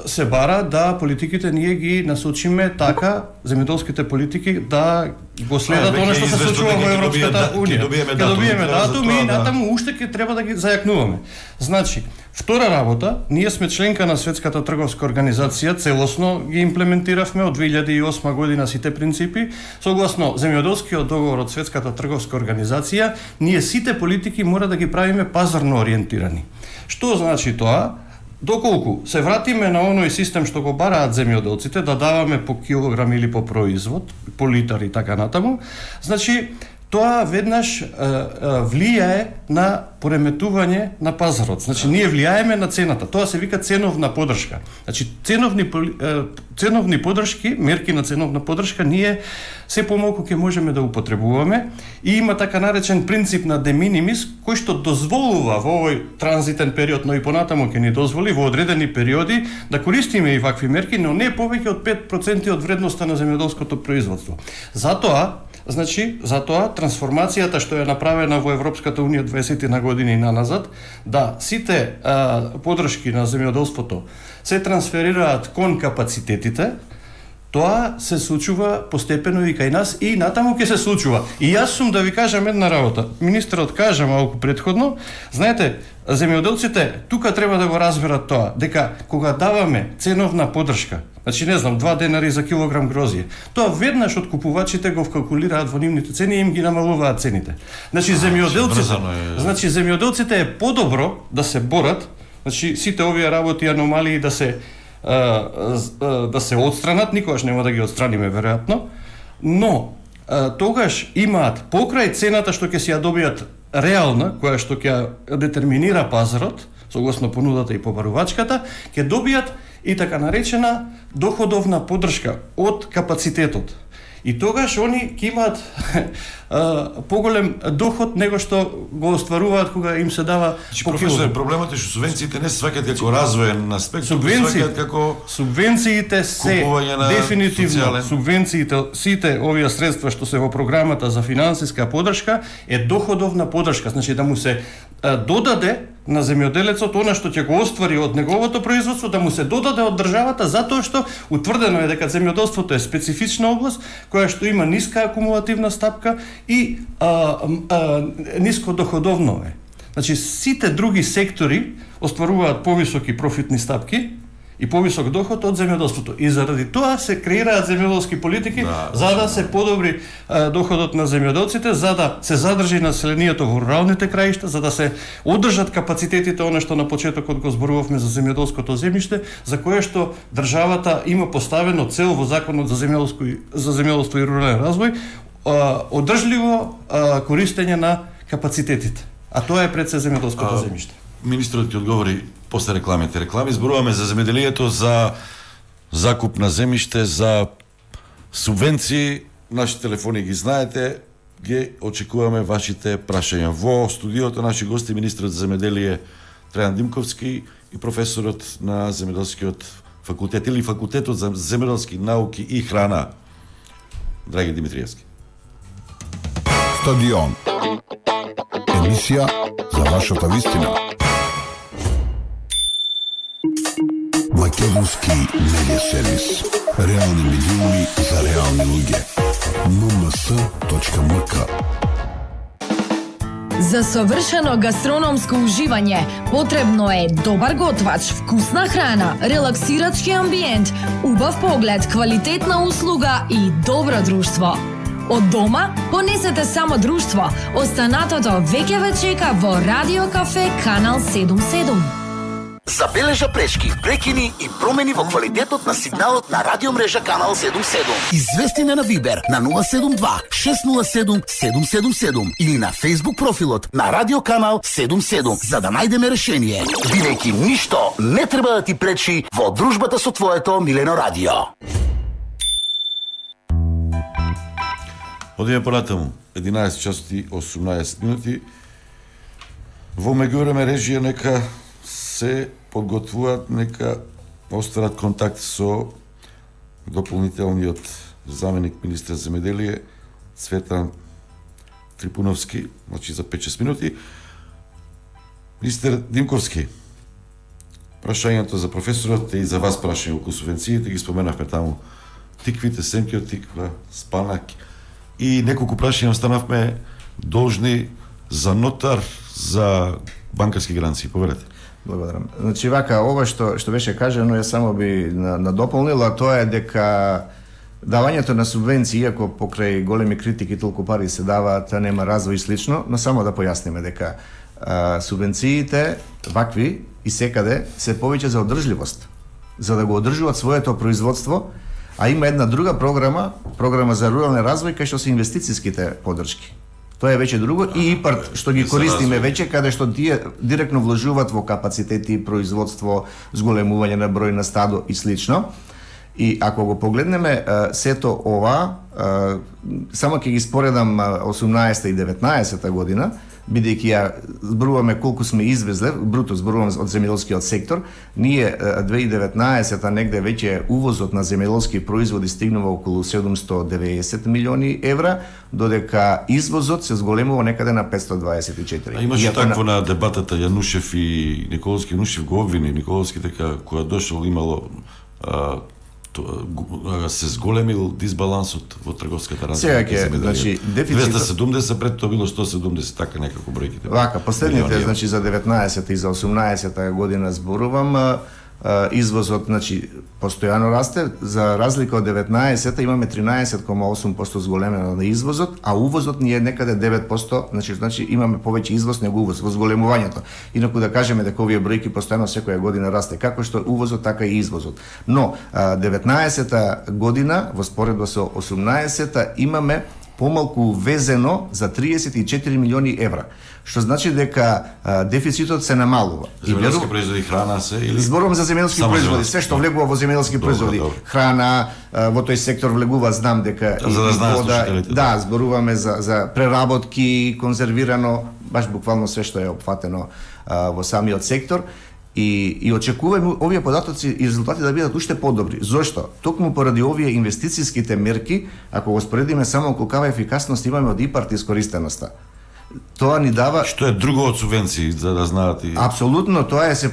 се бара да политиките ние ги насочиме така, земјоделските политики да го следат она што се случува во Европската Унија. Ќе добиеме датум и натаму уште ќе треба да ги зајакнуваме. Значи, втора работа, ние сме членка на Светската трговска организација, целосно ги имплементиравме од 2008 година сите принципи, согласно земјоделскиот договор од Светската трговска организација, ние сите политики мора да ги правиме пазарно ориентирани. Што значи тоа? Доколку се вратиме на оној систем што го бараат земјоделците, да даваме по килограм или по производ, по литар и така натаму, значи тоа веднаш влијае на пореметување на пазарот. Значи ние влијаеме на цената. Тоа се вика ценовна поддршка. Значи ценовни поддршки, мерки на ценовна поддршка ние се помалку ќе можеме да употребуваме и има така наречен принцип на de minimis кој што дозволува во овој транзитен период, но и понатаму ќе ни дозволи во одредени периоди да користиме и вакви мерки, но не повеќе од 5% од вредноста на земјоделското производство. Затоа трансформацијата што е направена во Европската Унија 20 на години наназад, да сите поддршки на земјоделството се трансферираат кон капацитетите, тоа се случува постепено и кај нас и натаму ќе се случува. И јас сум да ви кажам една работа. Министерот кажа малку претходно, знаете, земјоделците тука треба да го разберат тоа, дека кога даваме ценовна поддршка, значи не знам, 2 денари за килограм грозје, тоа веднаш од купувачите го вкалкулираат во нивните цени и им ги намалуваат цените. Значи земјоделците е подобро да се борат, значи сите овие работи аномалии да се отстранат, никогаш нема да ги отстраниме веројатно, но тогаш имаат покрај цената што ќе си ја добијат реална, која што ќе детерминира пазарот, согласно понудата и побарувачката, ќе добијат и така наречена доходовна поддршка од капацитетот. И тогаш они ќе имаат поголем доход него што го остваруваат кога им се дава по килограм. Проблемот е што субвенциите не се сваќаат како развоен аспект, сваќаат како субвенциите се дефинитивно субвенциите, сите овие средства што се во програмата за финансиска поддршка е доходовна поддршка, значи да му се додаде на земјоделецот она што ќе го оствари од неговото производство, да му се додаде од државата, затоа што утврдено е дека земјоделството е специфична област која што има ниска акумулативна стапка и ниско доходовно е. Значи сите други сектори остваруваат повисоки профитни стапки и повисок доход од земјоделството. И заради тоа се креираат земјоделски политики за да се подобри доходот на земјоделците, за да се задржи населението во руралните краишта, за да се одржат капацитетите, она што на почетокот го зборувавме за земјоделското земјиште, за кое што државата има поставено цел во законот за земјоделство и рурален развој, одржливо користење на капацитетите. А тоа е пред се земјоделското земјиште. Министрот ти одговори после рекламите. Реклами зборуваме за земјоделието, за закуп на земјиште, за субвенции. Нашите телефони ги знаете, ги очекуваме вашите прашања. Во студиото наши гости министрот за земјоделие Трајан Димковски и професорот на земјоделскиот факултет или факултетот за земјоделски науки и храна Драги Димитриевски. Стадион. Емисија за вашата вистина. Македонски медиа сервис. Реални милиони за реални луѓе. mms.mk. За совршено гастрономско уживање потребно е добар готвач, вкусна храна, релаксирачки амбиент, убав поглед, квалитетна услуга и добро друштво. Од дома понесете само друштво. Останатото веќе ве чека во Радио Кафе Канал 77. Забележа пречки, прекини и промени во квалитетот на сигналот на радиомрежа Канал 77. Извести на Вибер на 072 607 777 или на Facebook профилот на Радио Канал 77 за да најдеме решение. Бидејќи ништо не треба да ти пречи во дружбата со твоето милено радио. Одиме понатаму. 11 часоти 18 минути. Во меѓувреме режија нека се подготвуваат, нека остварат контакт со дополнителниот заменик министер земеделие Цветан Трипуновски, значи за 5-6 минути. Министер Димковски, прашањето за професорот и за вас прашање околу субвенциите, ги споменавме таму тиквите, семки од тиква, спанак и неколку прашања останавме должни за нотар, за банкарски гаранции. Поверете. Благодарам. Значи вака, ова што беше кажано, ја само би надополнила, тоа е дека давањето на субвенции, иако покрај големи критики толку пари се даваат, нема развој и слично, но само да појасниме дека субвенциите вакви и секаде се повеќе за одржливост, за да го одржуваат своето производство, а има една друга програма за рурален развој, кај што се инвестициските поддршки. Тоа е веќе друго и ИПАРТ што ги користиме веќе, каде што тие директно вложуваат во капацитети, производство, зголемување на број на стадо и слично. И ако го погледнеме сето ова, само ќе ги споредам 18 и 19 година, бидејќи ја зборуваме колку сме извезле, бруто зборувам од земјоделскиот сектор, ние 2019-та негде веќе увозот на земјоделски производи стигнува околу 790 милиони евра, додека извозот се зголемува некаде на 524. А имаше такво на дебатата Јанушев и Николовски. Јанушев го обвини Николовски дека кога дошол имало се зголемил дисбалансот во трговската размена. Сега ќе, значи, дефицитот 270 пред тоа било 170, така некако бројките. Вака, последните, значи за 19 и за 18 година зборувам, извозот, значи, постојано расте, за разлика од 19-та имаме 13,8% зголемено на извозот, а увозот ни е некаде 9%, значи имаме повеќе извоз него увоз во зголемувањето. Инаку да кажеме дека овие бројки постојано секоја година расте, како што увозот, така и извозот. Но 19-та година во споредба со 18-та имаме помалку увезено за 34 милиони евра, што значи дека дефицитот се намалува. Земјоделски производи, храна се или зборувам за земјоделски производи, се што влегува во земјоделски производи, храна, во тој сектор влегува, знам дека за да знаат слушателите. Да, зборуваме за преработки, конзервирано, баш буквално се што е опфатено во самиот сектор. И очекуваме овие податоци и резултати да бидат уште подобри. Зошто? Токму поради овие инвестициските мерки, ако го споредиме само колкава ефикасност имаме од ИПАРТ искористеноста. Тоа ни дава... Што е друго од субвенции, за да знаат и... Апсолутно, тоа е се...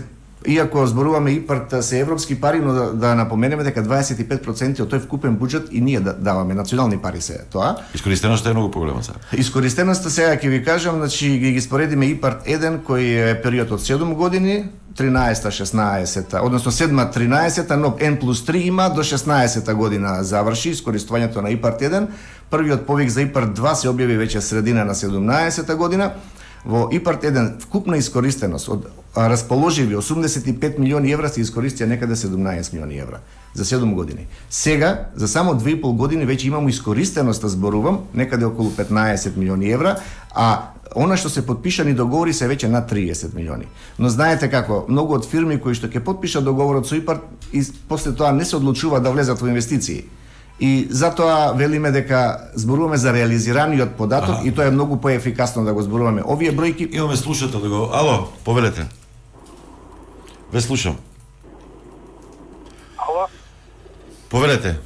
Иако зборуваме ИПАРТ се европски пари, но да напоменеме дека 25% од тој вкупен буџет и ние даваме, национални пари се тоа. Искористеноста е многу поголема сега. Искористеноста сега ќе ви кажам, значи ги споредиме ИПАРТ 1 кој е период од 7 години, 13-16, односно 7-13, но N+3 има до 16 година заврши искористувањето на ИПАРТ 1. Првиот повик за ИПАРТ 2 се објави веќе средина на 17 година. Во ИПАРТ 1 вкупна искористеност од расположиви 85 милиони евра се искористија некаде 17 милиони евра за 7 години. Сега, за само 2,5 години веќе имамо искористеност, зборувам, некаде околу 15 милиони евра, а она што се подпишани договори се веќе над 30 милиони. Но знаете како, многу од фирми кои што ќе подпишат договорот со ИПАРТ и после тоа не се одлучуваат да влезат во инвестиции. И затоа велиме дека зборуваме за реализираниот податок и тоа е многу поефикасно да го зборуваме. Овие бројки... Имаме слушател да го... Ало, повелете. Ве слушам. Ало? Повелете.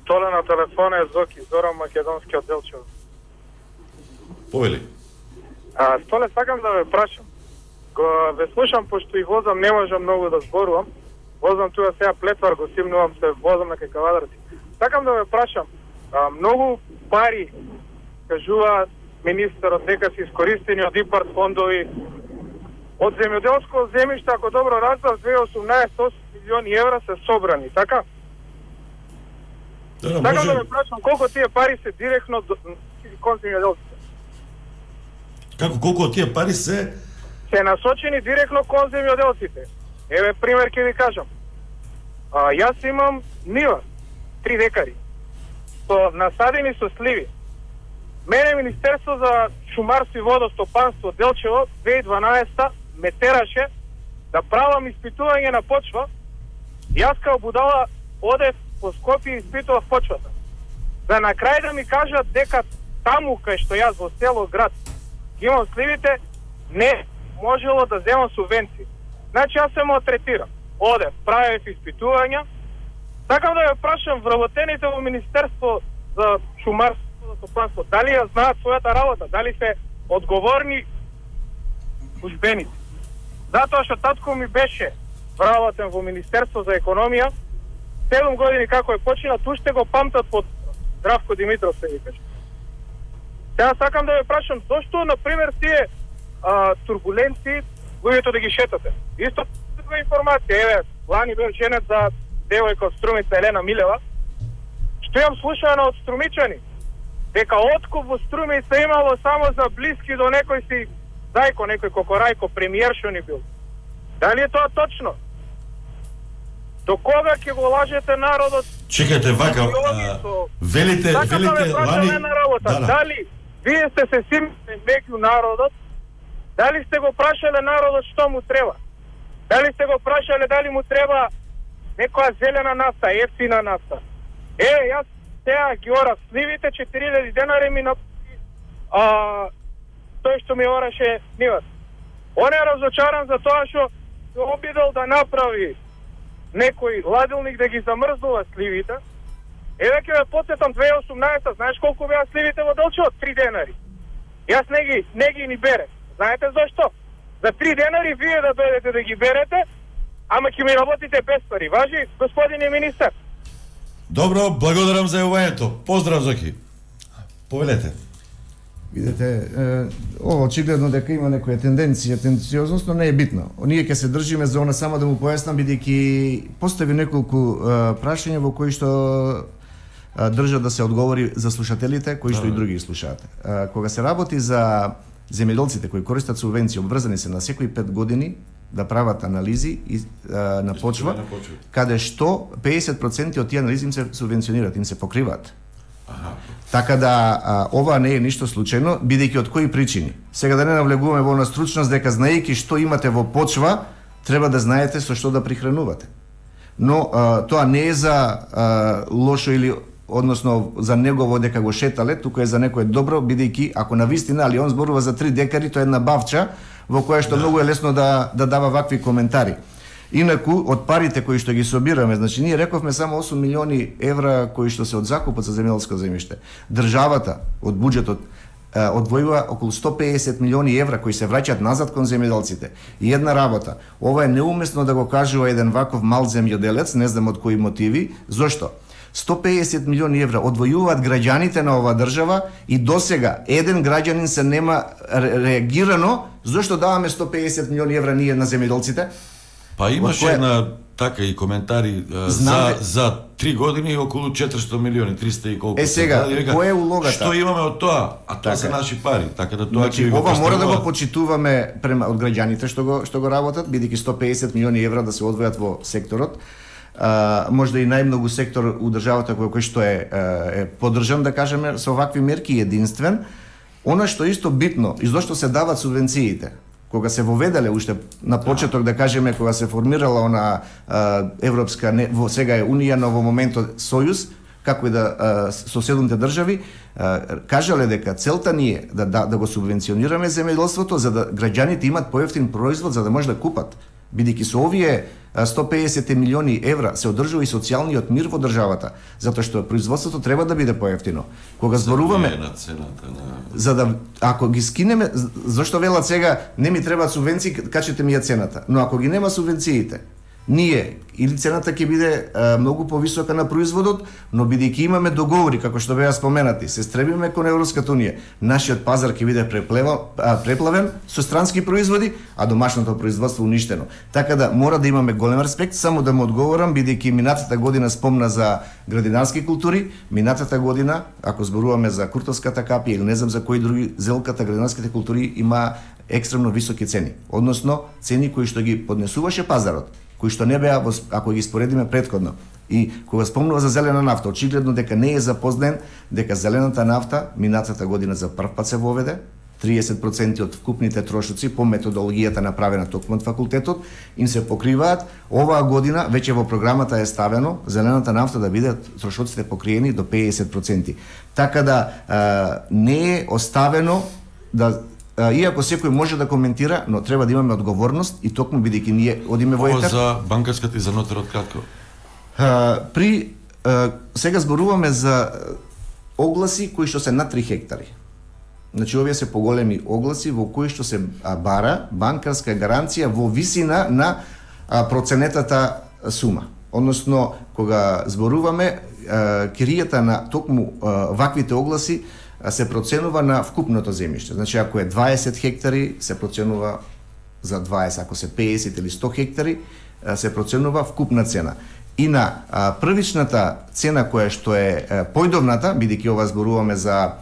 Толе на телефона е Зоки, Зоран Македонски од Делчево. Повели. Столе, сакам да ве прашам. Ве слушам, пошто и возам, не можам многу да зборувам. Возам тука сега Плетвар, го симнувам се, возам на кај Кавадарци. Сакам да ве прашам, Многу пари, кажува министерот, дека се искористени од ИПАРД фондови. Од земјоделско земјиште, ако добро разбрав, 2018 8 милиони евра се собрани, така? Така да ме прашам, колку тие пари се директно кон земјоделците? Како, колку од тие пари се насочени директно кон земјоделците? Еве пример ќе ви кажам. Јас имам нива, 3 декари, насадени со сливи. Мене Министерство за шумарство и водостопанство Делчево 2012 ме тераше да правам испитување на почва. Јас као будала одев по Скопје и испитував почвата. За на крај да ми кажат дека таму кај што јас во село град имам сливите, не можело да земам субвенции. Значи јас се малтретирам. Одев, правев испитувања. Сакам да ја прашам вработените во Министерство за шумарство и водостопанство, дали ја знаат својата работа, дали се одговорни службеници. Затоа што татко ми беше вработен во Министерство за економија, 7 години како е починат, уште го памтат под Здравко Димитров, се ви кажа. Сега сакам да ве прашам, зошто, например, тие турбуленции, луѓето да ги шетате? Исто информација, еве, лани бев женет за девојка од Струмица Елена Милева, што имам слушано од струмичани, дека откуп во Струмица имало само за блиски до некој си зајко, некој кокорајко, премиер што ни бил. Дали е тоа точно? До кога ќе го лажете народот? Чекајте, вака, велите лани... Да. Дали вие сте се симите меѓу народот, дали сте го прашале народот што му треба? Дали сте го прашале дали му треба некоја зелена нафта, ефтина нафта? Јас сега ги ора сливите, 4000 денари ми тој што ми ораше ниват. Он е разочаран за тоа што се обидел да направи некој ладилник да ги замрзнува сливите. Еве ќе ве потсетам 2018, знаеш колку беа сливите во Делчево? 3 денари. Јас не ги ни бере. Знаете зашто? За 3 денари вие да дојдете да ги берете, ама ќе ми работите без пари. Важи, господине министар? Добро, благодарам за јавувањето. Поздрав, Зоки. Повелете. Видете, ова очигледно дека има некоја тенденциозност, но не е битно. Ние ќе се држиме за она, само да му појаснам, бидејќи постави неколку прашања во кои што држа да се одговори за слушателите, кои што и други слушаат. Кога се работи за земјоделците кои користат субвенции, обврзани се на секои 5 години да прават анализи на почва, каде што 50% од тие анализи им се субвенционираат, им се покриваат. Така да ова не е ништо случајно, бидејќи од кои причини. Сега да не навлегуваме во стручност дека знаејќи што имате во почва, треба да знаете со што да прихранувате. Но тоа не е за лошо или односно за негово дека го шетале, туку е за некое добро, бидејќи ако навистина, али он зборува за 3 декари, тоа е една бавча во која што многу е лесно да дава вакви коментари. Инаку, од парите кои што ги собираме, значи ние рековме само 8 милиони евра кои што се од закупот за земјоделско земјиште. Државата од буџетот одвојува околу 150 милиони евра кои се враќаат назад кон земјоделците. И една работа, ова е неуместно да го кажува еден ваков мал земјоделец, не знам од кои мотиви, зошто? 150 милиони евра одвојуваат граѓаните на оваа држава и досега еден граѓанин се нема реагирано зошто даваме 150 милиони евра ние на земјоделците. Па имаше една така и коментари за 3 години околу 400 милиони, 300 и колку. Сега, која е улогата? Што имаме од тоа? А тоа се наши пари, така да тоа ќе го ова мора да го почитуваме према од граѓаните што го работат, бидејќи 150 милиони евра да се одвојат во секторот. Можда и најмногу сектор у државата кој што е поддржан, да кажеме, со овакви мерки единствен. Она што исто битно, и зошто се дават субвенциите, кога се воведеле уште на почеток, да кажеме, кога се формирала она Европска, сега е Унија, но во моментот Сојуз, како и да соседните држави, кажале дека целта ни е да го субвенционираме земјоделството за да граѓаните имат поевтин производ за да може да купат. Бидејќи со овие 150 милиони евра се одржува и социјалниот мир во државата, затоа што производството треба да биде поевтино. Кога зборуваме за да ако ги скинеме, зашто велат сега не ми требаат субвенции, качете ми ја цената. Но ако ги нема субвенциите, ние или цената ќе биде многу повисока на производот, но бидејќи имаме договори, како што беа споменати, се стремиме кон Европската унија, нашиот пазар ќе биде преплавен со странски производи, а домашното производство уништено. Така да мора да имаме голем респект. Само да му одговорам, бидејќи минатата година спомна за градинарски култури, минатата година, ако зборуваме за куртовската капија или не знам за кои други, зелката, градинарските култури има екстремно високи цени, односно цени кои што ги поднесуваше пазарот, кои што не беа, ако ги споредиме претходно. И кога спомнува за зелена нафта, очигледно дека не е запознен дека зелената нафта минатата година за прв пат се воведе, 30% од вкупните трошоци по методологијата направена токму од факултетот им се покриваат. Оваа година веќе во програмата е ставено зелената нафта да бидат трошоците покриени до 50%. Така да не е оставено да иако секој може да коментира, но треба да имаме одговорност и токму бидејќи ние одиме во етер. За банкарската и за нотерот кратко. Сега зборуваме за огласи кои што се над 3 хектари. Значи овие се поголеми огласи во кои што се бара банкарска гаранција во висина на проценетата сума. Односно, кога зборуваме, киријата на токму ваквите огласи се проценува на вкупното земјиште. Значи, ако е 20 хектари, се проценува за 20, ако се 50 или 100 хектари, се проценува вкупна цена. И на првичната цена која што е појдовната, бидејќи ова зборуваме за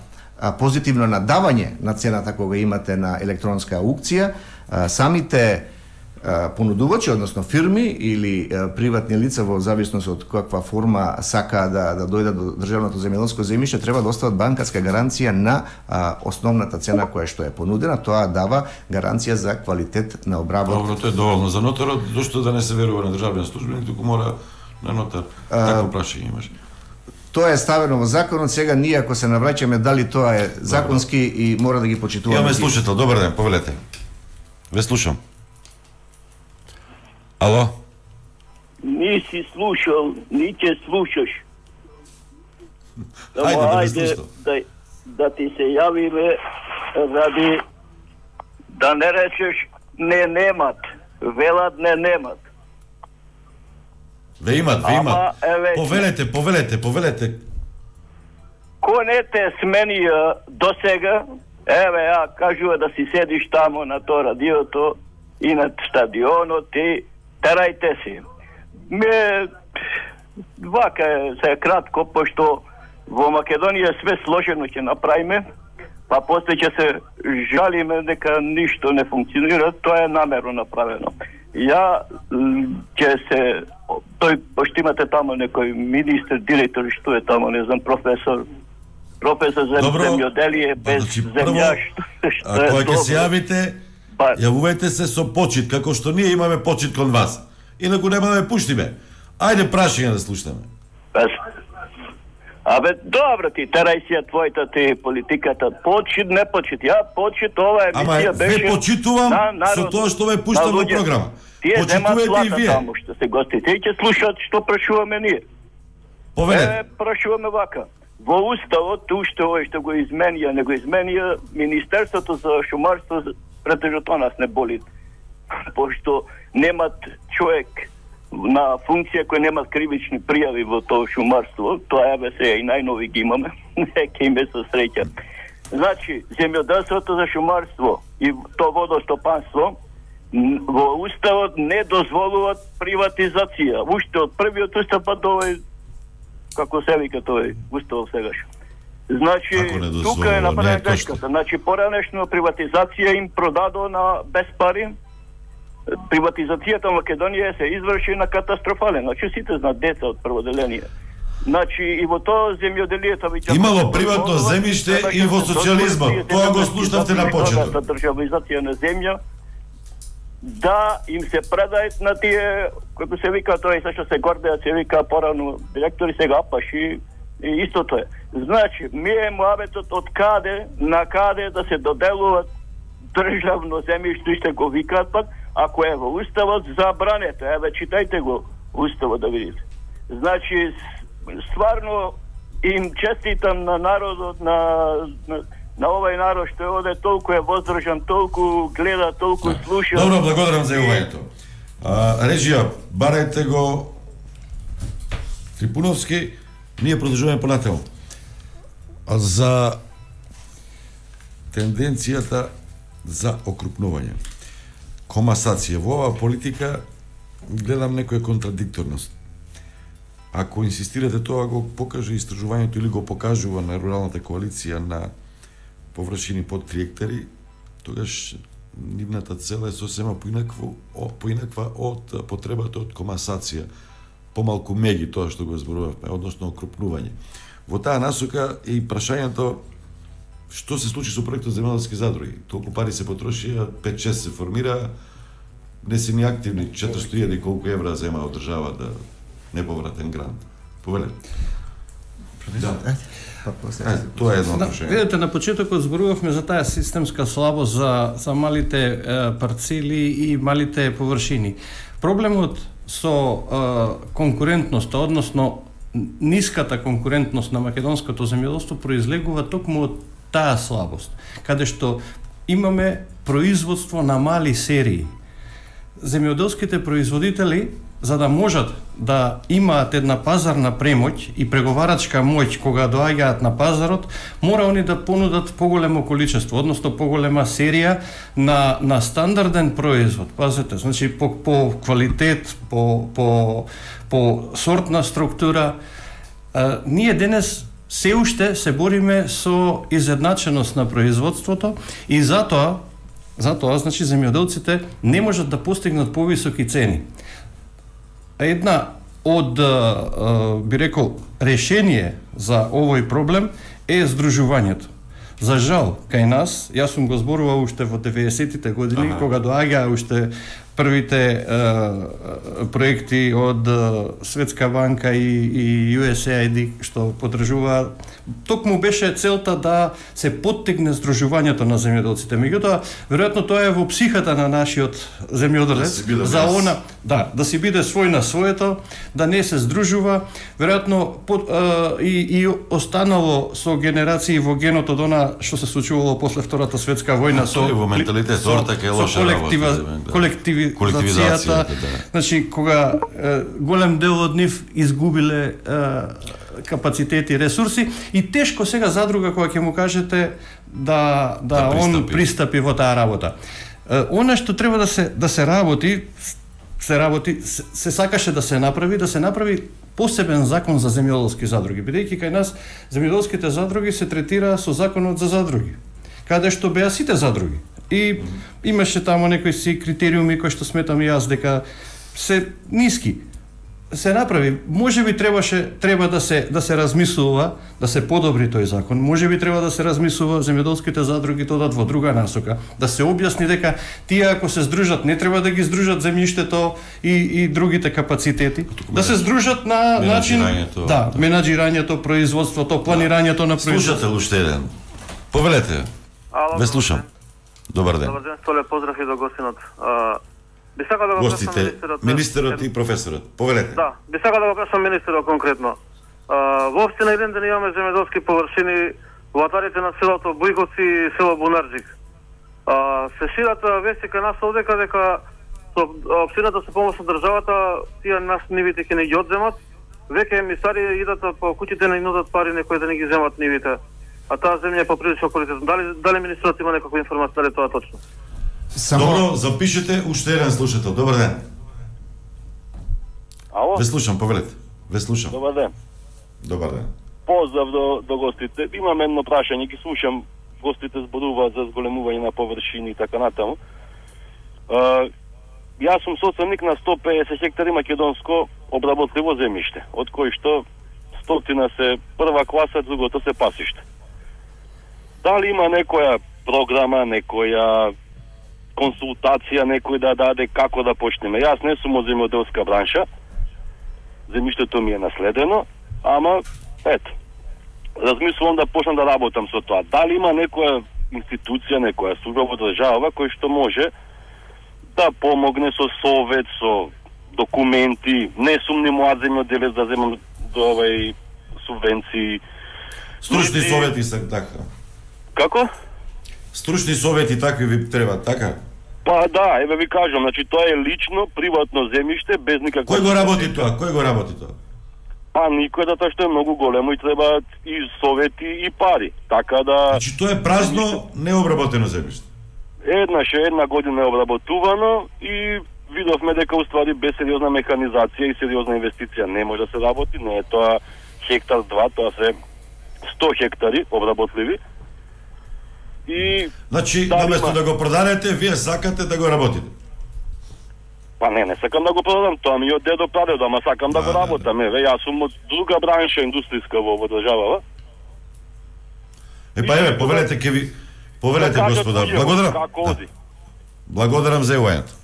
позитивно надавање на цената кога имате на електронска аукција, самите понудувачи, односно фирми или приватни лица во зависност од каква форма сака да дојдат до државното земјоделско земјиште, треба да остават банкарска гаранција на основната цена која што е понудена. Тоа дава гаранција за квалитет на обработка. Добро, тоа е доволно за нотарот, зашто да не се верува на државен службеник, туку мора на нотар. Такво прашање имаш. Тоа е ставено во законот, сега ние ако се навраќаме дали тоа е законски и мора да ги почитуваме. Имаме слушател, добар ден, повелете. Ве слушам. Ало? Ни си слушал, ни ќе слушаш. Ајде, да ти се јавиме ради да не речеш не немат, велат не немат. Ве имат. Повелете. Кој не те сменија до сега, еве ја кажува да си седиш тамо на тоа радиото и на стадионот и терајте си. Вака се кратко, пошто во Македонија све сложено ќе направиме, па после ќе се жалиме дека ништо не функционира, тоа е намерно направено. Ја ќе се тој пошто имате тамо некој министр, директор, што е тамо, не знам, професор за земјоделие без земја, што е кога ќе се јавите, јавувајте се со почит, како што ние имаме почит кон вас. Инаку нема да ме пуштиме. Ајде прашање да слушаме. Абе, добро ти, терај си ја твојата ти политиката. Почит, не почит. Ја почит, ова емисија беше... Ама, ве почитувам со тоа што ве пуштам во програма. Тие земат плата таму што се гостите и ќе слушат што прашуваме ние. Повелете. Прашуваме вака. Во уставот, уште овој што го изменија, не го изменија Министерството за шумарство, претежно тоа нас не боли. Пошто немат човек на функција кој немат кривични пријави во тоа шумарство, тоа еве се и најнови ги имаме, нека им се среќа. Значи, земјоделството за шумарство и тоа водостопанство во уставот не дозволуваат приватизација. Уште од првиот устав па до овој, како се вика тој устав сегаш. Значи, тука е направена грешката. Значи, поранешно приватизација им продадо на без пари. Приватизацијата во Македонија се изврши на катастрофален. Значи, сите знаат деца од прводеление. Значи, и во тоа земјоделието веќе имало приватно земјиште и во социјализмот. Тоа го слушнавте на почеток. Државизација на земја да им се предајат на тие, како се вика тоа и се што се гордеат, се вика порано директори, сега апаши и истото е. Значи, ми е муабетот од каде на каде да се доделуваат државно земјиште, што го викаат пак, ако е во уставот, забранете. Еве, читајте го уставот да видите. Значи, стварно им честитам на народот, на овој народ што оде толку е воздржан, толку гледа, толку слуша. Добро, благодарам за јавувањето. Режија, барајте го Трипуновски, ние продолжуваме понатаму. За тенденцијата за окрупнување. Комасација. Во оваа политика гледам некоја контрадикторност. Ако инсистирате тоа, го покаже истражувањето или го покажува на руралната коалиција на површини под 3 хектари, тогаш нивната цел е сосема поинаква од потребата од комасација, помалку меги тоа што го зборувавме, односно окрупнување. Во таа насока е и прашањето што се случи со проектот земјоделски задруги. Толку пари се потрошија, 5-6 се формира, не се ни активни, 400.000 колку евра зема од држава да неповратен грант. Повелете. Да. Тоа е едно прашање. Видете, на почетокот зборувавме за таа системска слабост за малите парцели и малите површини. Проблемот со конкурентноста, односно ниската конкурентност на македонското земјоделство произлегува токму од таа слабост, каде што имаме производство на мали серии. Земјоделските производители, за да можат да имаат една пазарна премоќ и преговарачка моќ кога доаѓаат на пазарот, мора они да понудат поголемо количество, односно поголема серија на стандарден производ. Пазете, значи по квалитет, по сортна структура. Ние денес се уште се бориме со изедначеност на производството и затоа значи земјоделците не можат да постигнат повисоки цени. Една од, би рекол, решение за овој проблем е здружувањето. За жал, кај нас, јас сум го зборувал уште во 90-тите години, кога доаѓаа уште првите проекти од Светска банка и USAID што подржува, токму беше целта да се поттегне здружувањето на земјоделците. Меѓутоа, веројатно тоа е во психата на нашиот земјоделец, за она, да си биде свој на своето, да не се здружува, веројатно и останало со генерации во генот од она што се случувало после Втората светска војна со во менталитет, така е лоша работа. Колективизацијата, значи кога голем дел од нив изгубиле капацитети и ресурси и тешко сега задруга кога ќе му кажете да он пристапи во таа работа. Она што треба да се работи, се сакаше да се направи посебен закон за земјоделски задруги, бидејќи кај нас земјоделските задруги се третираа со законот за задруги, каде што беа сите задруги. И имаше таму некои си критериуми кои што сметам и јас дека се ниски. Се направи, можеби треба да се размислува, да се подобри тој закон. Можеби треба да се размислува земјоделските задруги додат во друга насока, да се објасни дека тие ако се здружат не треба да ги здружат земјиштето и другите капацитети, да се здружат на начин менаџирањето, производството, планирањето на производството. Слушате уште еден. Повелете. Ве слушам. Добар ден. Добар ден, Столе, поздрав и до гостинот. Би сакал да го гостите, министерот и професорот. Повелете. Да, би сакал да го прашам министерот конкретно. Во општина Илинден имаме земјоделски површини во атарите на селото Бујковци и село Бунарџик. Се шират вести кај нас овдека дека со општината со помош од државата тие нас нивите ќе не ги одземат. Веќе емисари идат по куќите на нудат пари некои да не ги земат нивите. А таа земја е поприлично квалитетна. Дали министерот има некаква информација, дали тоа точно? Добро, запишете уште еден слушател. Добар ден. Ало? Ве слушам, повелете. Ве слушам. Добар ден. Добар ден. Поздрав до гостите. Имам едно прашање, ги слушам, гостите зборуваат за зголемување на површини и така натаму. Јас сум собственик на 150 хектари македонско обработливо земјиште, од кои што 100 се прва класа, другото се пасиште. Дали има некоја програма, некоја консултација, некој да даде како да почнеме? Јас не сум од земјоделска бранша, земјиштето ми е наследено, ама ето, размислувам да почнам да работам со тоа. Дали има некоја институција, некоја служба во држава кој што може да помогне со совет, со документи? Не сум ни млад земјоделец да земам до овај субвенции. Стручни совети се така. Како? Стручни совети такви ви треба, така? Па да, еве ви кажам, значи тоа е лично, приватно земјиште без никаква... Кој го работи тоа? Кој го работи тоа? Па никој, затоа што е многу големо и требаат и совети и пари. Така да... Значи тоа е празно, необработено земјиште. Една година е обработувано и видовме дека уствари без сериозна механизација и сериозна инвестиција не може да се работи, не е тоа хектар 2, тоа се 100 хектари обработливи. И значи, наместо да го продадете, вие сакате да го работите. Па не сакам да го продадам, тоа ми е од дедо прадедо, ама сакам да го работам. Еве, јас сум од друга бранша индустријска во државава. Еве, повелете господа. Благодарам. Благодарам за јавањето.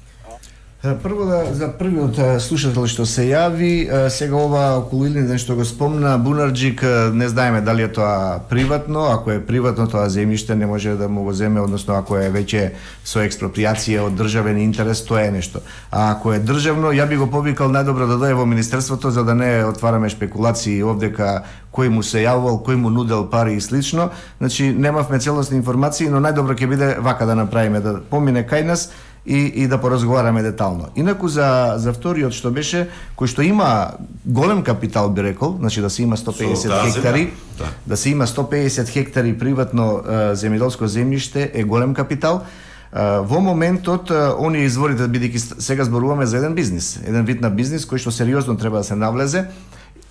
Прво за првиот слушател што се јави, сега ова околу Илинден што го спомна, Бунарџик, не знаеме дали е тоа приватно, ако е приватно тоа земјиште не може да му го земе, односно ако е веќе со експроприација од државен интерес, тоа е нешто. А ако е државно, ја би го повикал најдобро да дое во Министерството за да не отвараме шпекулации овдека кој му се јавувал, кој му нудел пари и слично. Значи немавме целосни информации, но најдобро ќе биде вака да направиме, да помине кај нас и да поразговараме детално. Инаку за вториот што беше, кој што има голем капитал би рекол, значи да се има 150 хектари, да се има 150 хектари приватно земјоделско земјиште е голем капитал. Во моментот оние изворите, бидејќи сега зборуваме за еден бизнис, еден вид на бизнис кој што сериозно треба да се навлезе.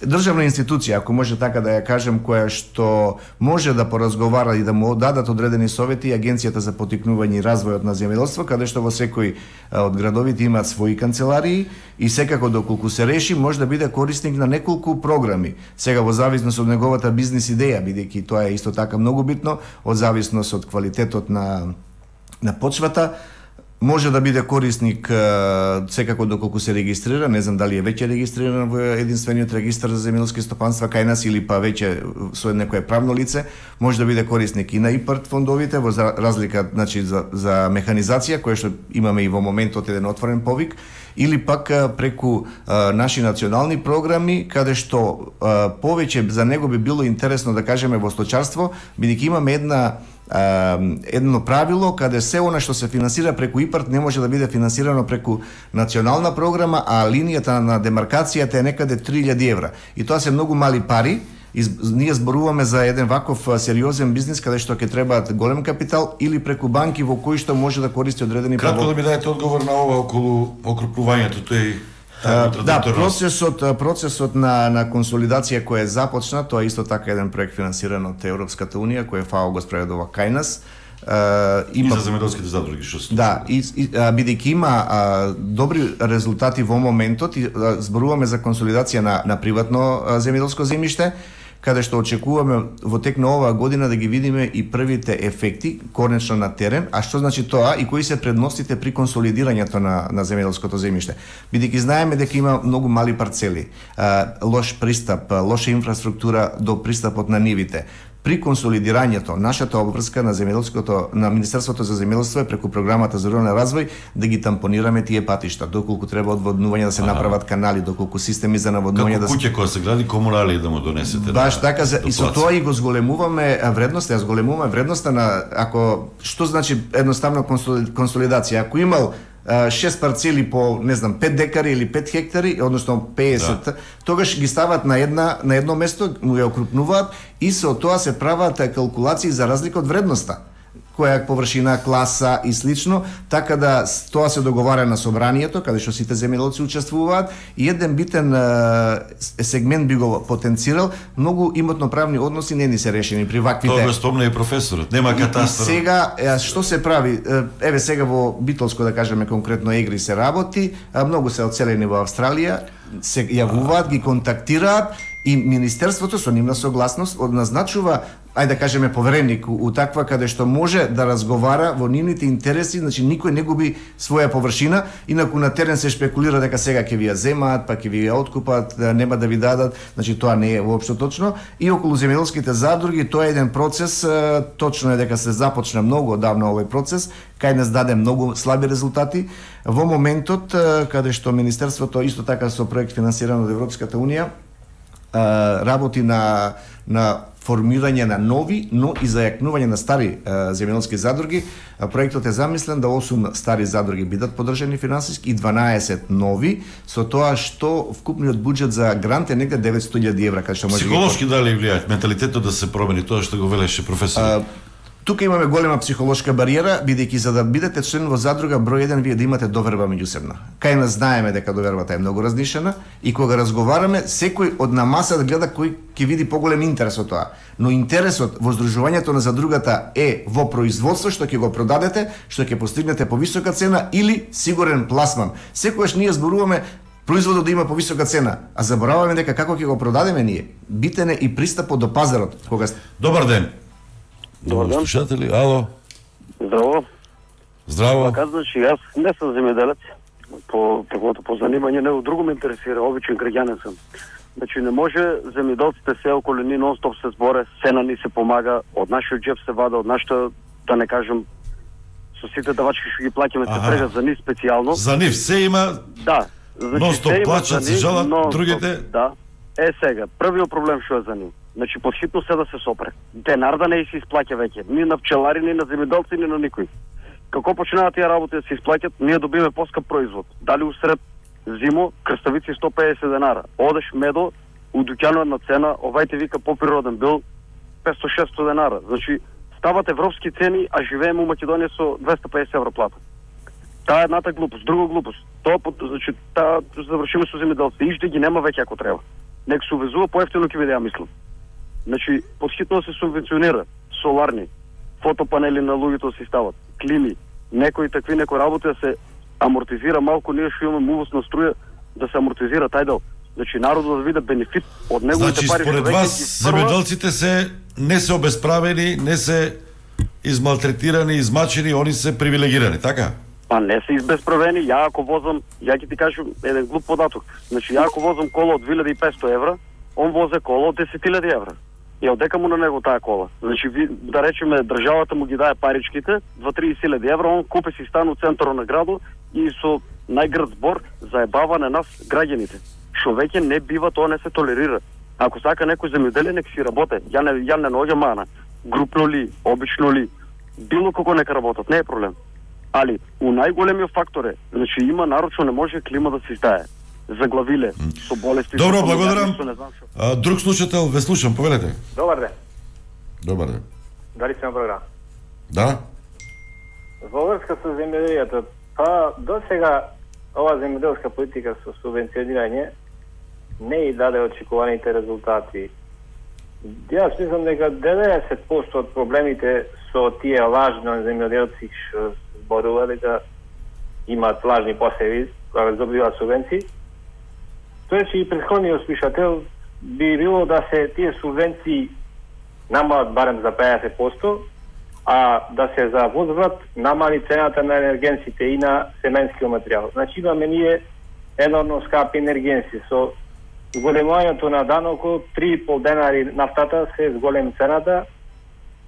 Државна институција, ако може така да ја кажем, која што може да поразговара и да му дадат одредени совети, Агенцијата за поттикнување и развојот на земјоделство, каде што во секој од градовите имаат своји канцеларии и секако доколку се реши може да биде корисник на неколку програми. Сега во зависност од неговата бизнис идеја, бидејќи тоа е исто така многу битно, од зависност од квалитетот на почвата, може да биде корисник секако доколку се регистрира, не знам дали е веќе регистриран во единствениот регистар за земјоделски стопанства кај нас или па веќе со некое правно лице, може да биде корисник и на ИПАРТ фондовите во разлика, значи за механизација која што имаме и во моментот еден отворен повик, или пак преку наши национални програми каде што повеќе за него би било интересно да кажеме во сточарство, бидејќи имаме едно правило каде се она што се финансира преку ИПАРТ не може да биде финансирано преку национална програма, а линијата на демаркацијата е некаде 3000 евра. И тоа се многу мали пари. Ние зборуваме за еден ваков сериозен бизнис каде што ќе требаат голем капитал или преку банки во кои што може да користи одредени право. Кратко да ми дадете одговор на ова околу окрупнувањето, тој да, процесот на консолидација кој е започнат, тоа е исто така еден проект финансиран од Европската унија, кој ФАО го спроведува кај нас. И за земјоделските задруги што се. Да, бидејќи има добри резултати во моментот и зборуваме за консолидација на приватно земјоделско земјиште, каде што очекуваме во тек на оваа година да ги видиме и првите ефекти конечно на терен. А што значи тоа и кои се предностите при консолидирањето на земјоделското земјиште? Бидејќи знаеме дека има многу мали парцели, лош пристап, лоша инфраструктура до пристапот на нивите. При консолидирањето, нашата обврска на Министерството за земјоделство е преку програмата за рурален развој да ги тампонираме тие патишта, доколку треба одводнување да се направат канали, доколку системи за наводнување да се... Како куќе која се гради, комунали да му донесете. Баш така, и со тоа и го зголемуваме вредноста, зголемуваме вредноста на, што значи едноставно консолидација. Ако имал 6 парцели по, не знам, 5 декари или 5 хектари, односно 50, тогаш ги стават на едно место, му ја окрупнуваат и со тоа се прават калкулации за разлика од вредноста, која површина, класа и слично, така да тоа се договара на собранието, каде што сите земјоделци учествуваат и еден битен сегмент би го потенцирал, многу имотно-правни односи не ни се решени при ваквите. Тоа го спомна и професорот, нема катастар. И сега, што се прави? Еве сега во Битолско, да кажеме конкретно, Егри се работи, многу се одселени во Австралија, се јавуваат, ги контактираат и Министерството со нивна согласност назначува, ајде да кажеме, повереник у таква каде што може да разговара во нивните интереси, значи никој не губи своја површина, инаку на терен се шпекулира дека сега ќе ви ја земаат, па ќе ви ја откупат, нема да ви дадат, значи тоа не е воопшто точно. И околу земјоделските задруги тоа е еден процес, точно е дека се започна многу одавна овој процес, кај нас даде многу слаби резултати. Во моментот каде што Министерството исто така со проект финансиран од Европската унија работи на формирање на нови, но и зајакнување на стари земјоделски задруги. Проектот е замислен да 8 стари задруги бидат поддржани финансиски и 12 нови, со тоа што вкупниот буџет за грант е негде 900.000 евра, кај што може психолошки дали влијаат менталитетот да се промени, тоа што го велеше професорот? Тука имаме голема психолошка бариера, бидејќи за да бидете член во задруга број 1 вие да имате доверба меѓусебна. Кај нас знаеме дека довербата е многу разнишена и кога разговараме, секој од на масата гледа кој ќе види поголем интерес од тоа. Но интересот во здружувањето на задругата е во производство што ќе го продадете, што ќе постигнете повисока цена или сигурен пласман. Секогаш ние зборуваме производот да има повисока цена, а забораваме дека како ќе го продадеме ние. Битен е и пристапот до пазарот. Кога... Добар ден. Добар ден. Слушатели, ало. Здраво. Здраво. Така, значи, јас не сум земјоделец, по занимање, него друго ме интересира, обичен граѓанин сум. Значи, не може земјоделците се околу ни нон-стоп се зборе, се на ни се помага, од нашиот джеб се вада, од нашата, да не кажем, со сите давачки што ги плаќаме се прегат за ни специјално. За нив се има... Да. Значи, нон-стоп плачат, се жалат, другите... Да. Сега, првиот проблем што е за нив. Значи, подхитно се да се сопре. Денар да не се исплаќа веќе. Ни на пчелари, ни на земјоделци, ни на никој. Како починаат тие работи да се исплаќат, ние добиме поскап производ. Дали усред зимо, крставици 150 денара. Одеш медо, у дуќанот на цена, овајте вика поприроден бил 500-600 денара. Значи, стават европски цени, а живееме у Македонија со 250 евро плата. Таа е едната глупост. Друга глупост. Тоа, значи, таа завршиме со земјоделците. Иште ги нема веќе ако треба. Нек се увезува поевтино ќе биде, ја мислам. Значи, подхитно се субвенционира соларни, фотопанели на луѓето се стават, клими, некои работи да се амортизира малку, ние што имаме увоз на струја да се амортизира тај дел. Значи, народот да види бенефит од неговите пари. Значи, според вас, земјоделците не се обесправени, не се измалтретирани, измачени, они се привилегирани, така? Па не се избесправени, ја ако возам, ја ќе ти кажам еден глуп податок. Значи, ја ако возам кола од 2500 евра, он возе кола од 10.000 евра. И одека му на него таа кола. Значи, да речеме, државата му ги дае паричките, 2-30.000 евра, он купе си стан у центарот на градот и со најгрд збор заебава на нас граѓаните. Шо веќе не бива, тоа не се толерира. Ако сака некој земјоделие, нека си работе. Ја не наоѓам мана. Групно ли, обично ли, било како нека работат, не е проблем. Али, у најголемиот фактор е, значи има народ што не може клима да се издае. Заглавиле, со болести... Добро, благодарам. Друг слушател, ве слушам, повелете. Добар ден. Добар ден. Дали сме на програм? Да. Во врска со земјоделието, па до сега ова земјоделска политика со субвенционирање не и даде очекуваните резултати. Јас мислам дека 90% од проблемите со тие лажни земјоделци што зборува дека имаат лажни посеви кога добиваат субвенции, тоа че и претходниот слушател би било да се тие субвенции намалат барем за 50%, а да се за возврат намали цената на енергенсите и на семенскиот материјал. Значи имаме ние енормно скапи енергенси со зголемувањето на данокот 3,5 денари нафтата се зголеми цената,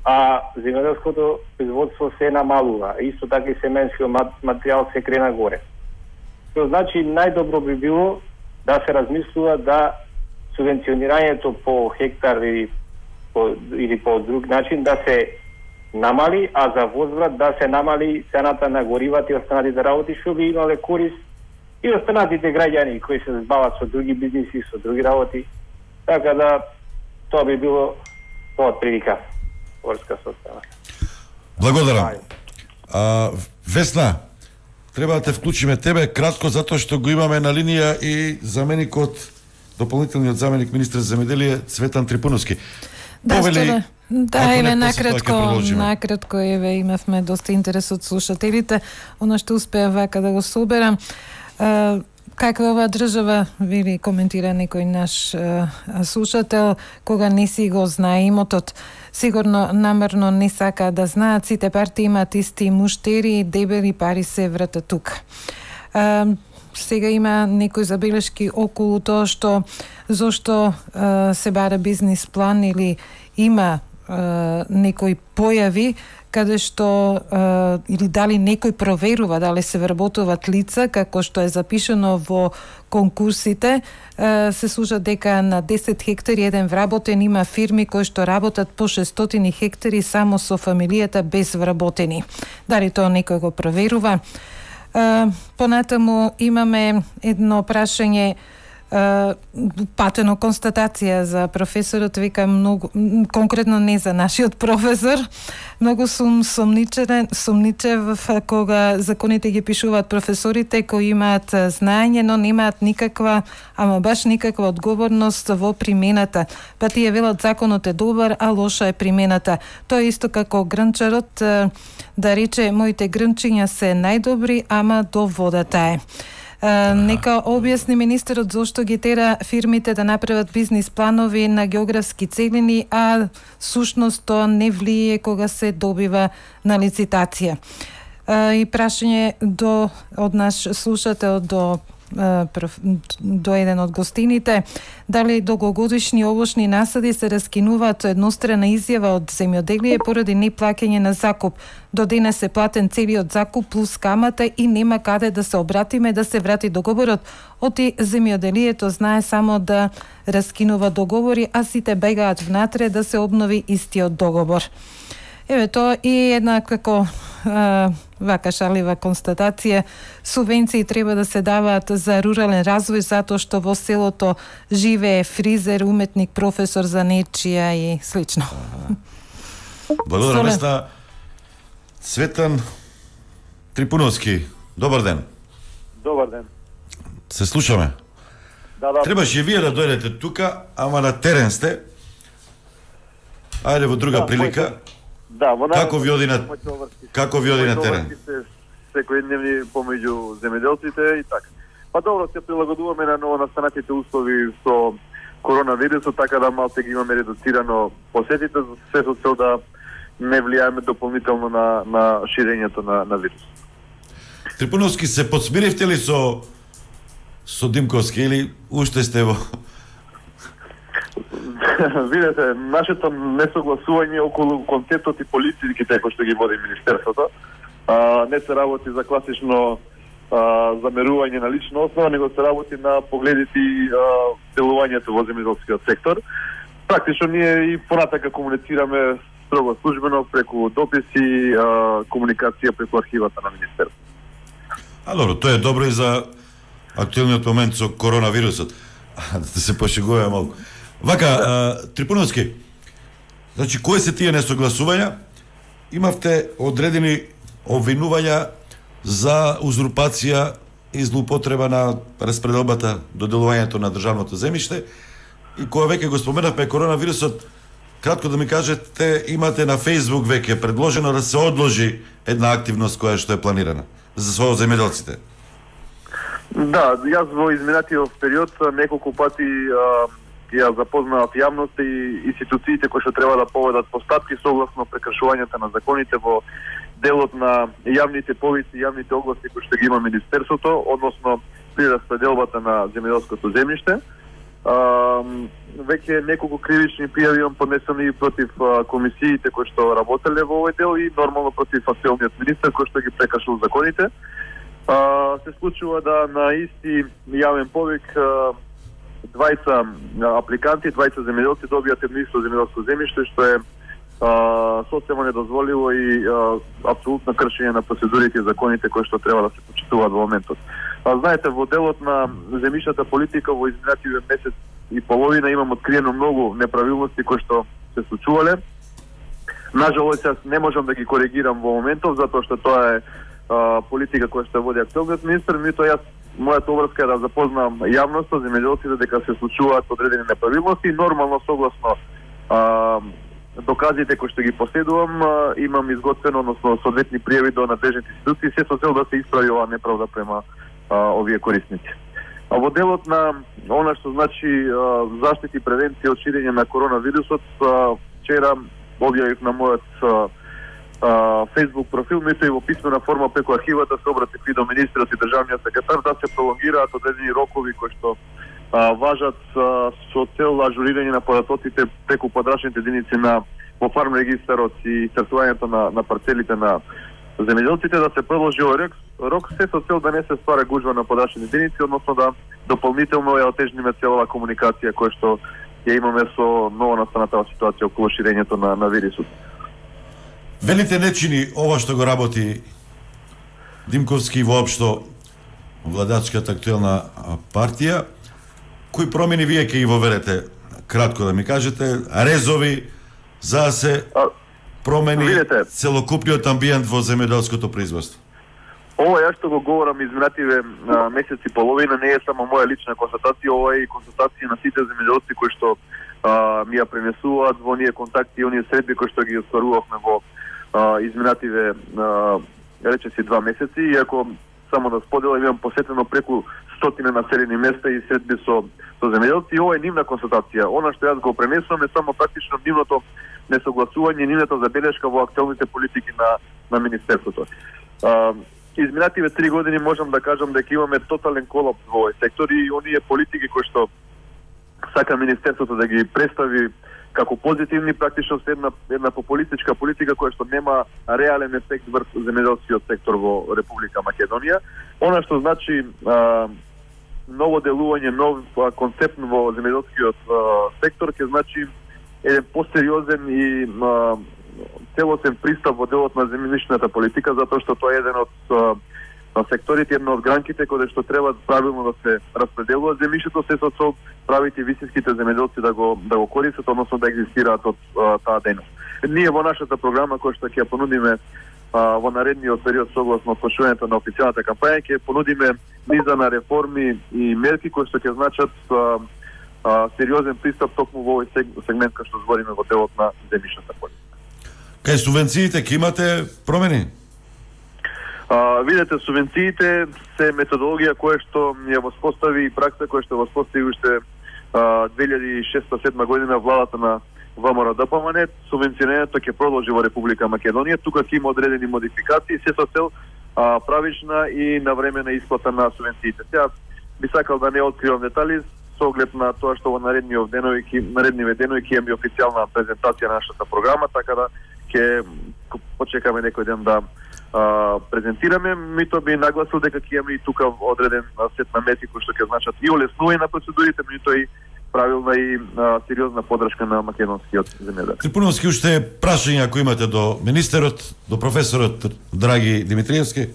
а земјоделското производство се намалува. Исто така и семенскиот материјал се крена горе. Тоа значи најдобро би било да се размислува да субвенционирањето по хектар или по друг начин да се намали, а за возврат да се намали цената на горивата и останатите работи, што би имале корист и останатите граѓани кои се збават со други бизниси, со други работи. Така да тоа би било тоа прилика врска со това. Благодарам. Весна, треба да те вклучиме тебе кратко затоа што го имаме на линија и заменикот, дополнителниот заменик министер за земјоделие Цветан Трипуновски. Еве накратко еве имавме доста интерес од слушателите. Она што успеа вака да го соберам. Каква ова држава, вели коментира некој наш слушател, кога не си го знае имотот, сигурно намерно не сака да знаат, сите партии имаат исти муштери, дебели пари се вратат тука. Сега има некои забелешки околу тоа што зошто се бара бизнис план или има некои појави каде што или дали некој проверува дали се вработуваат лица, како што е запишано во конкурсите, се служат дека на 10 хектари еден вработен, има фирми кои што работат по 600 хектари само со фамилијата без вработени. Дали тоа некој го проверува? Понатаму имаме едно прашање, патено констатација за професорот, вика многу, конкретно не за нашиот професор, многу сум сомничев кога законите ги пишуваат професорите кои имаат знаење, но немаат никаква, ама баш никаква одговорност во примената. Па тие велат законот е добар, а лоша е примената. Тоа е исто како грнчарот да рече моите грнчиња се најдобри, ама до водата е. Нека објасни министерот зошто ги тера фирмите да направат бизнис планови на географски целини, а сушност тоа не влие кога се добива на лицитација. И прашање од наш слушател до еден од гостините, дали долгогодишни овошни насади се раскинуваат еднострана изјава од земјоделие поради неплаќање на закуп. До денес е платен целиот закуп плюс камата и нема каде да се обратиме да се врати договорот. Оти земјоделието знае само да раскинува договори, а сите бегаат внатре да се обнови истиот договор. Еве тоа и една како вака шалива констатација. Субвенции треба да се даваат за рурален развој затоа што во селото живее фризер, уметник, професор за нечија и слично. Благодарам на Цветан Трипуновски. Добар ден. Добар ден. Се слушаме. Да. Требаше вие да дојдете тука, ама на терен сте. Ајде во друга прилика. Како ви оди на терен? Секојдневни помеѓу земјоделците и така. Па добро, се прилагодуваме на новонастанатите услови со коронавирусот, така да малце ги имаме редуцирано посетите, се со цел да не влијаеме дополнително на ширењето на вирус. Трипуновски, се подсмиривте ли со Димковски или уште сте во... Видете, нашето несогласување околу концептот и политиките кои што ги води Министерството не се работи за класично замерување на лична основа, него се работи на погледите и делувањето во земјоделскиот сектор. Практично ние и понатака комуницираме строго службено преку дописи, комуникација преку архивата на Министерството. Добро, тоа е добро и за актуелниот момент со коронавирусот. Да се пошегуваме малку. Вака, Трипуновски, значи, кои се тие несогласувања? Имавте одредени обвинувања за узурпација и злоупотреба на распределбата до делувањето на државното земјиште и кога веќе го споменавме коронавирусот, кратко да ми кажете, имате на Facebook веќе предложено да се одложи една активност која што е планирана за земјоделците. Да, јас во изминатиот период неколку пати ја запознаат јавноста и институциите кои што треба да поведат постапки согласно прекршувањата на законите во делот на јавните повици, јавните огласи кои што ги има Министерството, односно при распределбата на земјоделското земјиште. Веќе неколку кривични пријави имам поднесени против комисиите кои што работеле во овој дел и нормално против актуелниот министер кој што ги прекршил законите. Се случува да на исти јавен повик двајца апликанти, двајца земјоделци добијат едно исто земјоделско земјиште, што е социјално недозволиво и апсолутно кршење на процедурите и законите кои што треба да се почитуваат во моментот. Знаете, во делот на земјишната политика во изминатиот месец и половина имам откриено многу неправилности кои што се случувале. Нажалост, јас не можам да ги коригирам во моментов, затоа што тоа е политика која што води актуелниот министер, меѓутоа јас мојата обврска е да запознам јавноста, земјоделците дека се случуваат одредени неправилности и нормално согласно доказите кои што ги поседувам, имам изготвено, односно соодветни пријави до надлежните институции, се со цел да се исправи оваа неправда према овие корисници. Во делот на она што значи заштита и превенција од ширење на коронавирусот, вчера објавив на мојот Facebook профил, меѓутоа и во писмена форма преку архивата се обратив и до министерот и државниот секретар да се пролонгираат одредени рокови кои што важат со цел ажурирање на податоците преку подрачните единици на во фарм регистарот и стартувањето на парцелите на земјоделците, да се продолжи овој рок се со цел да не се ствара гужва на подачни единици, односно да дополнително ја отежниме целава комуникација која што ја имаме со новонастанатава ситуација околу ширењето на вирусот. Велите не чини ова што го работи Димковски воопшто владачката актуелна партија. Кои промени вие ќе ги воведете? Кратко да ми кажете, резови за да се промени целокупниот амбиент во земјоделското производство. Ова ја што го говорам изминативе месеци и половина не е само моја лична констатација, ова е и констатација на сите земјоделци кои што ми ја пренесуваат во оние контакти и оние средби кои што ги остварувавме во изминативе речеси 2 месеци, иако само да споделам имам посетено преку 100 населени места и средби со земјоделци, и ова е нивна констатација. Она што јас го пренесувам е само практично нивното несогласување, нивната забелешка во актуелните политики на министерството. Изминативе 3 години можам да кажам дека имаме тотален колапс во овој сектор и оние политики кои што сака министерството да ги представи како позитивни, практично се една популистичка политика која што нема реален ефект врз земјоделскиот сектор во Република Македонија. Она што значи ново делување, нов концепт во земјоделскиот сектор ќе значи еден посериозен и целосен пристап во делот на земјишната политика, затоа што тоа е еден од секторите, една од гранките каде што треба правилно да се распределува земјишето, се со цел правите високите земјоделци да го користат, односно да екзистираат од таа дејност. Ние во нашата програма која што ќе ја понудиме во наредниот период согласно почнувањето на официјалната кампања, ќе понудиме низа на реформи и мерки кои што ќе значат сериозен пристап токму во овој сегмент кај што збориме во делот на земјишната политика. Кај субвенциите ќе имате промени? Видете, субвенциите се методологија која што ја воспостави и пракса која што воспостави уште 2006-2007 година владата на ВМРО-ДПМН. Субвенционирањето ќе продолжи во Република Македонија. Тука ќе има одредени модификации, се со цел правична и навремена исплата на субвенциите. Сега би сакал да не откривам детали со оглед на тоа што во наредниве денови ќе имаме официјална презентација на нашата програма, така да ќе почекаме некој ден да презентираме. Мито би нагласил дека ќе имаме и тука одреден сет на мерки кои што ќе значат и олеснување на процедурите, меѓутоа и правилна и сериозна поддршка на македонскиот земјоделец. Трипуновски, уште прашања ако имате до министерот, до професорот Драги Димитриевски?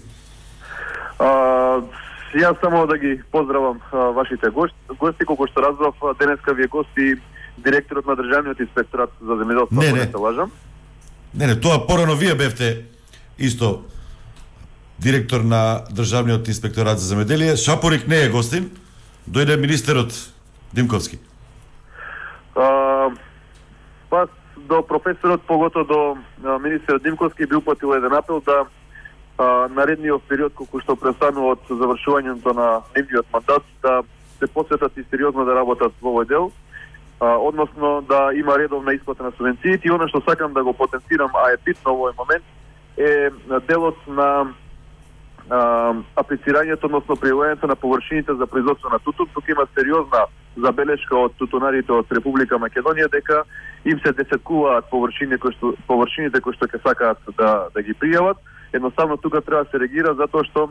Јас само да ги поздравам вашите гости, колку што разбрав, денеска ви е гости директорот на Државниот инспекторат за земјоделство, ако не се лажам. Не, тоа порано вие бевте исто директор на Државниот инспекторат за земјоделие. Шапорик не е гостин, дојде министерот Димковски. Па до професорот, погото до министерот Димковски би упатил еден апел да наредниот период колку што престанува од завршувањето на нивниот мандат да се посветат и сериозно да работат во овој дел, односно да има редовна исплата на субвенциите. И она што сакам да го потенцирам, а е битно во овој момент, е делот на аплицирањето, односно пријавувањето на површините за производство на тутун. Тука има сериозна забелешка од тутунарите од Република Македонија дека им се десеткуваат површините кои што ќе сакаат да ги пријават. Едноставно тука треба да се реагира затоа што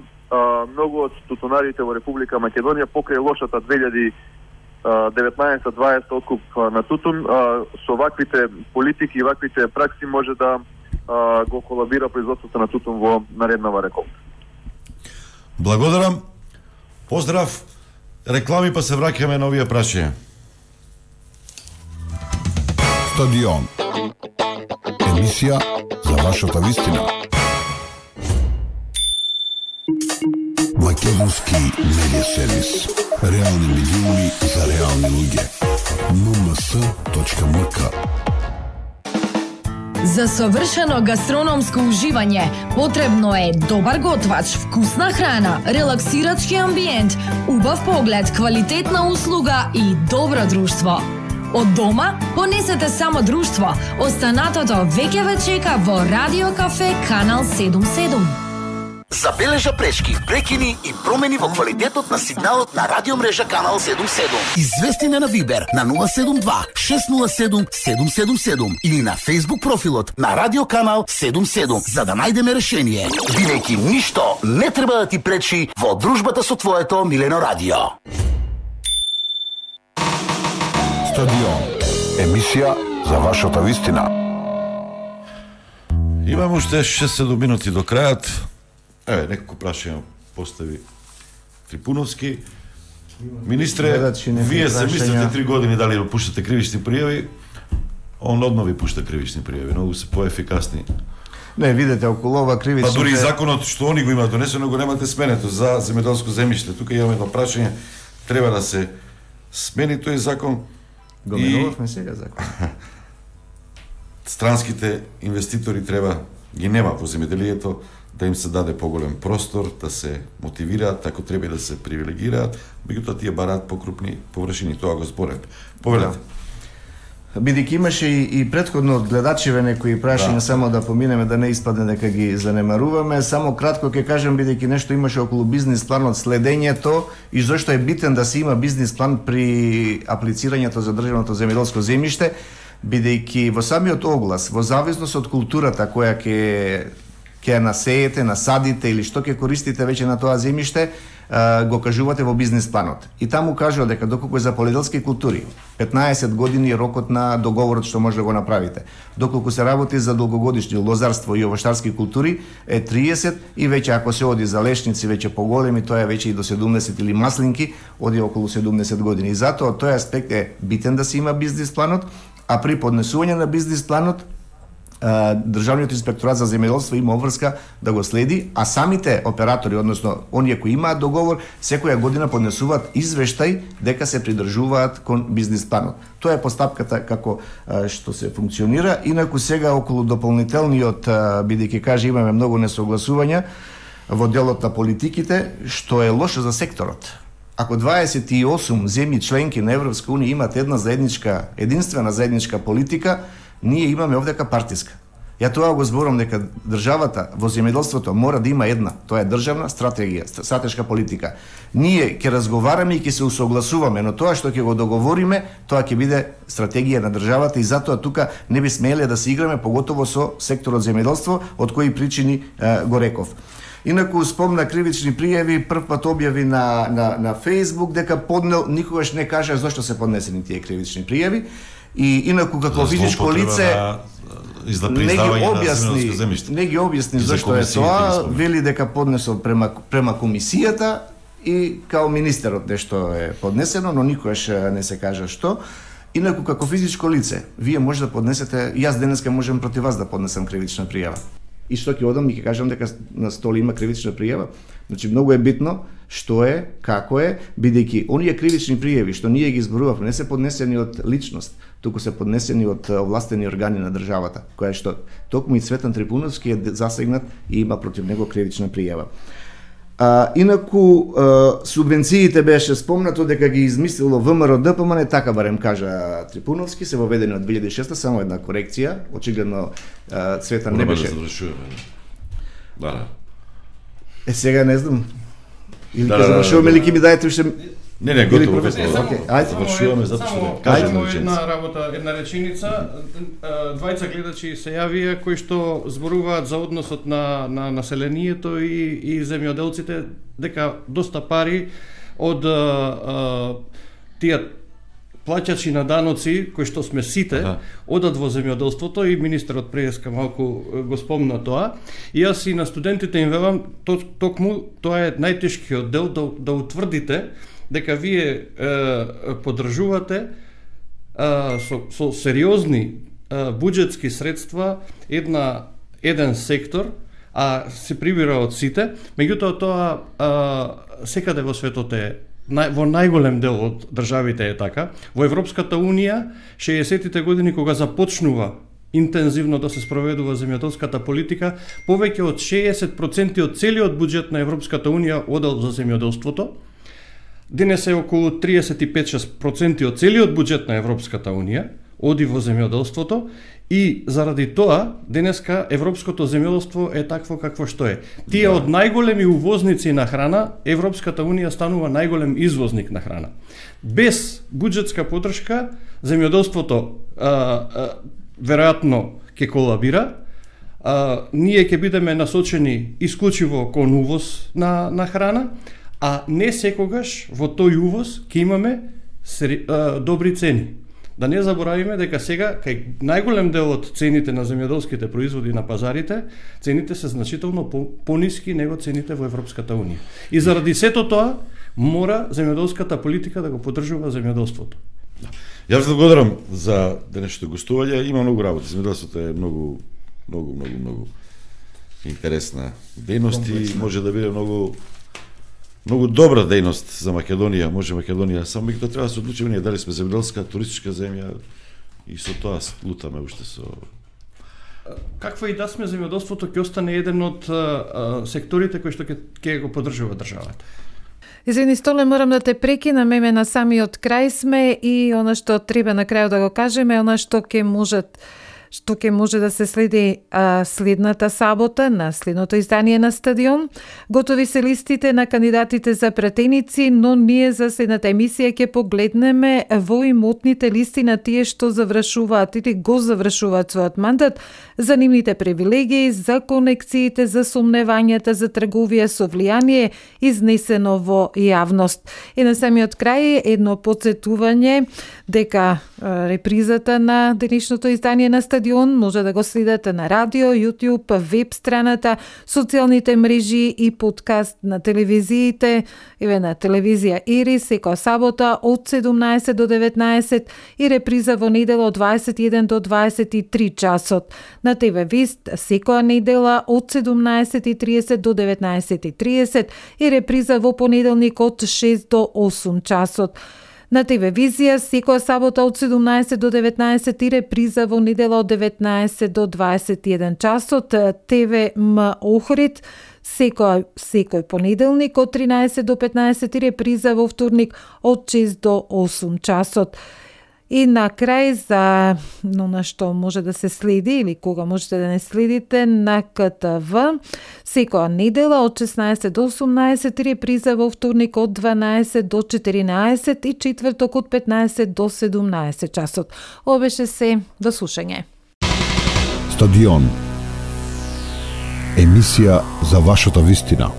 многу од тутунарите во Република Македонија покрај лошата 2019-2020 откуп на тутун со ваквите политики и ваквите пракси може да го колабира производството на тутун во нареднава реколта. Благодарам. Поздрав. Реклами па се враќаме на овие прашања. Стадион. Емисија за вашата вистина. Македонски медиа сервис. Реални медиуми за реални луѓе. mms.mk. За совршено гастрономско уживање потребно е добар готвач, вкусна храна, релаксирачки амбиент, убав поглед, квалитетна услуга и добро друштво. Од дома понесете само друштво. Останатото веќе ве чека во Радио Кафе Канал 77. Забележа пречки, прекини и промени во квалитетот на сигналот на радиомрежа Канал 77. Извести на Вибер на 072 607 777 или на Facebook профилот на Радио Канал 77 за да најдеме решение. Бидејќи ништо не треба да ти пречи во дружбата со твоето милено радио. Стадион. Емисија за вашата вистина. Имам уште 6-7 минути до крајот. Еве, некако прашање постави Трипуновски. Министре, вие се мислите 3 години дали да пуштате кривични пријави, он одно ви пушта кривични пријави, многу се поефикасни. Не, видете, околу ова кривични... Па дури и законот што они го имаат донесено, го немате сменето за земјоделско земјиште. Тука имаме едно прашање, треба да се смени тој закон. Го менувавме сега закон. Странските инвеститори треба, ги нема во земјоделието, да им се даде поголем простор, да се мотивираат, ако треба да се привилегираат, меѓутоа тие бараат покрупни површини, тоа го зборев. Повелете. Бидејќи имаше и претходно од гледачиве некои прашања, само да поминеме да не испадне дека ги занемаруваме, само кратко ќе кажам, бидејќи нешто имаше околу бизнис планот, следењето и зошто е битен да се има бизнис план при аплицирањето за државното земјоделско земјиште, бидејќи во самиот оглас, во зависност од културата која ќе насеете, насадите или што ќе користите веќе на тоа земјиште, го кажувате во бизнис планот. И таму кажува дека доколку е за полиделски култури, 15 години е рокот на договорот што може да го направите. Доколку се работи за долгогодишни лозарство и овоштарски култури е 30 и веќе ако се оди за лешници веќе поголеми, тоа е веќе и до 70 или маслинки, оди околу 70 години. И затоа тој аспект е битен да се има бизнис планот, а при поднесување на бизнис планот Државниот инспекторат за земјоделство има обврска да го следи, а самите оператори, односно оние кои имаат договор, секоја година поднесуваат извештај дека се придржуваат кон бизнис планот. Тоа е постапката како што се функционира. Инаку сега околу дополнителниот, бидејќи каже имаме многу несогласувања во делот на политиките, што е лошо за секторот. Ако 28 земји членки на Европска унија имат единствена заедничка политика, ние имаме овдека партиска. Ја тоа го зборам дека државата во земјоделството мора да има една, тоа е државна стратегија, стратешка политика. Ние ќе разговараме и ќе се усогласуваме, но тоа што ќе го договориме, тоа ќе биде стратегија на државата и затоа тука не би смеле да се играме, поготово со секторот земјоделство, од кои причини го реков. Инаку спомна кривични пријави, прв пат објави на Facebook дека поднел, никогаш не кажа зошто се поднесени тие кривични пријави. И инаку како физичко лице не ги објасни зашто е тоа, вели дека поднесол према комисијата и као министерот нешто е поднесено, но никогаш не се кажа што. Инаку како физичко лице, вие може да поднесете, јас денеска можам против вас да поднесам кривична пријава. И што ќе одам и ќе кажам дека на столи има кривична пријава. Значи многу е битно што е, како е, бидејќи оние кривични пријави што ние ги зборувавме не се поднесени од личност, туку се поднесени од овластени органи на државата, која што токму и Цветан Трипуновски е засегнат и има против него кривична пријава. Инаку субвенциите беше спомнато дека ги измислило ВМРО ДПМН, така барем кажа Трипуновски, се воведени од 2006, само една корекција, очигледно Цветан не беше. Да. Сега не знам. Или ќе завршуваме или ќе ми дајете уште... Не, готово. Завршуваме затоа што кажам една работа, една реченица. Двајца гледачи се јавија кои што зборуваат за односот на населението и земјоделците, дека доста пари од тие плаќачи на даноци, кои што сме сите, одат во земјоделството и министерот преска малку го спомна тоа. И јас и на студентите им велам, токму тоа е најтешкиот дел да утврдите дека вие поддржувате со сериозни буџетски средства еден сектор, а се прибира од сите, меѓутоа тоа секаде во светот е во најголем дел од државите е така. Во Европската Унија, 60-тите години кога започнува интензивно да се спроведува земјоделската политика, повеќе од 60% од целиот буџет на Европската Унија одел за земјоделството. Денес е околу 35-6% од целиот буџет на Европската Унија оди во земјоделството И заради тоа, денеска европското земјоделство е такво какво што е. Тие од најголеми увозници на храна, Европската унија станува најголем извозник на храна. Без буџетска поддршка, земјоделството веројатно ќе колабира, ние ќе бидеме насочени исклучиво кон увоз на храна, а не секогаш во тој увоз ќе имаме добри цени. Да не заборавиме дека сега кај најголем дел од цените на земјоделските производи на пазарите, цените се значително пониски него цените во Европската унија. И заради сето тоа мора земјоделската политика да го поддржува земјоделството. Јас ви благодарам за денешното гостување. Има многу работа. Земјоделството е многу интересна дејност и може да биде многу добра дејност за Македонија. Може Македонија само тоа треба да се одлучиме ние дали сме земјоделска, туристичка земја и со тоа лутаме уште со. Каква и да сме, земјоделството ќе остане еден од секторите кои што ќе го поддржува државата. Извини, Столе, морам да те прекинам, еме на самиот крај сме и она што треба на крајот да го кажеме, она што ќе може да се следи следната сабота на следното издание на Стадион. Готови се листите на кандидатите за пратеници, но ние за следната емисија ќе погледнеме во имотните листи на тие што завршуваат или го завршуваат својот мандат, за нивните привилегии, за конекциите, за сомневањата, за трговија со влијание изнесено во јавност. И на самиот крај едно подсетување дека репризата на денешното издание на Стадион може да го следите на радио, YouTube, веб страната, социјалните мрежи и подкаст на телевизиите, на телевизија Ирис секоја сабота од 17 до 19 и реприза во недела од 21 до 23 часот. На ТВ Вист секоја недела од 17:30 до 19:30 и реприза во понеделник од 6 до 8 часот. На ТВ Визија секоја сабота од 17 до 19 и реприза во недела од 19 до 21 часот. ТВ М Охрид секој понеделник од 13 до 15 и реприза во вторник од 6 до 8 часот. И на крај за на што може да се следи или кога можете да не следите на КТВ секоја недела од 16 до 18 и реприза во вторник од 12 до 14 и четврток од 15 до 17 часот. Ова беше се, до слушање. Стадион. Емисија за вашата вистина.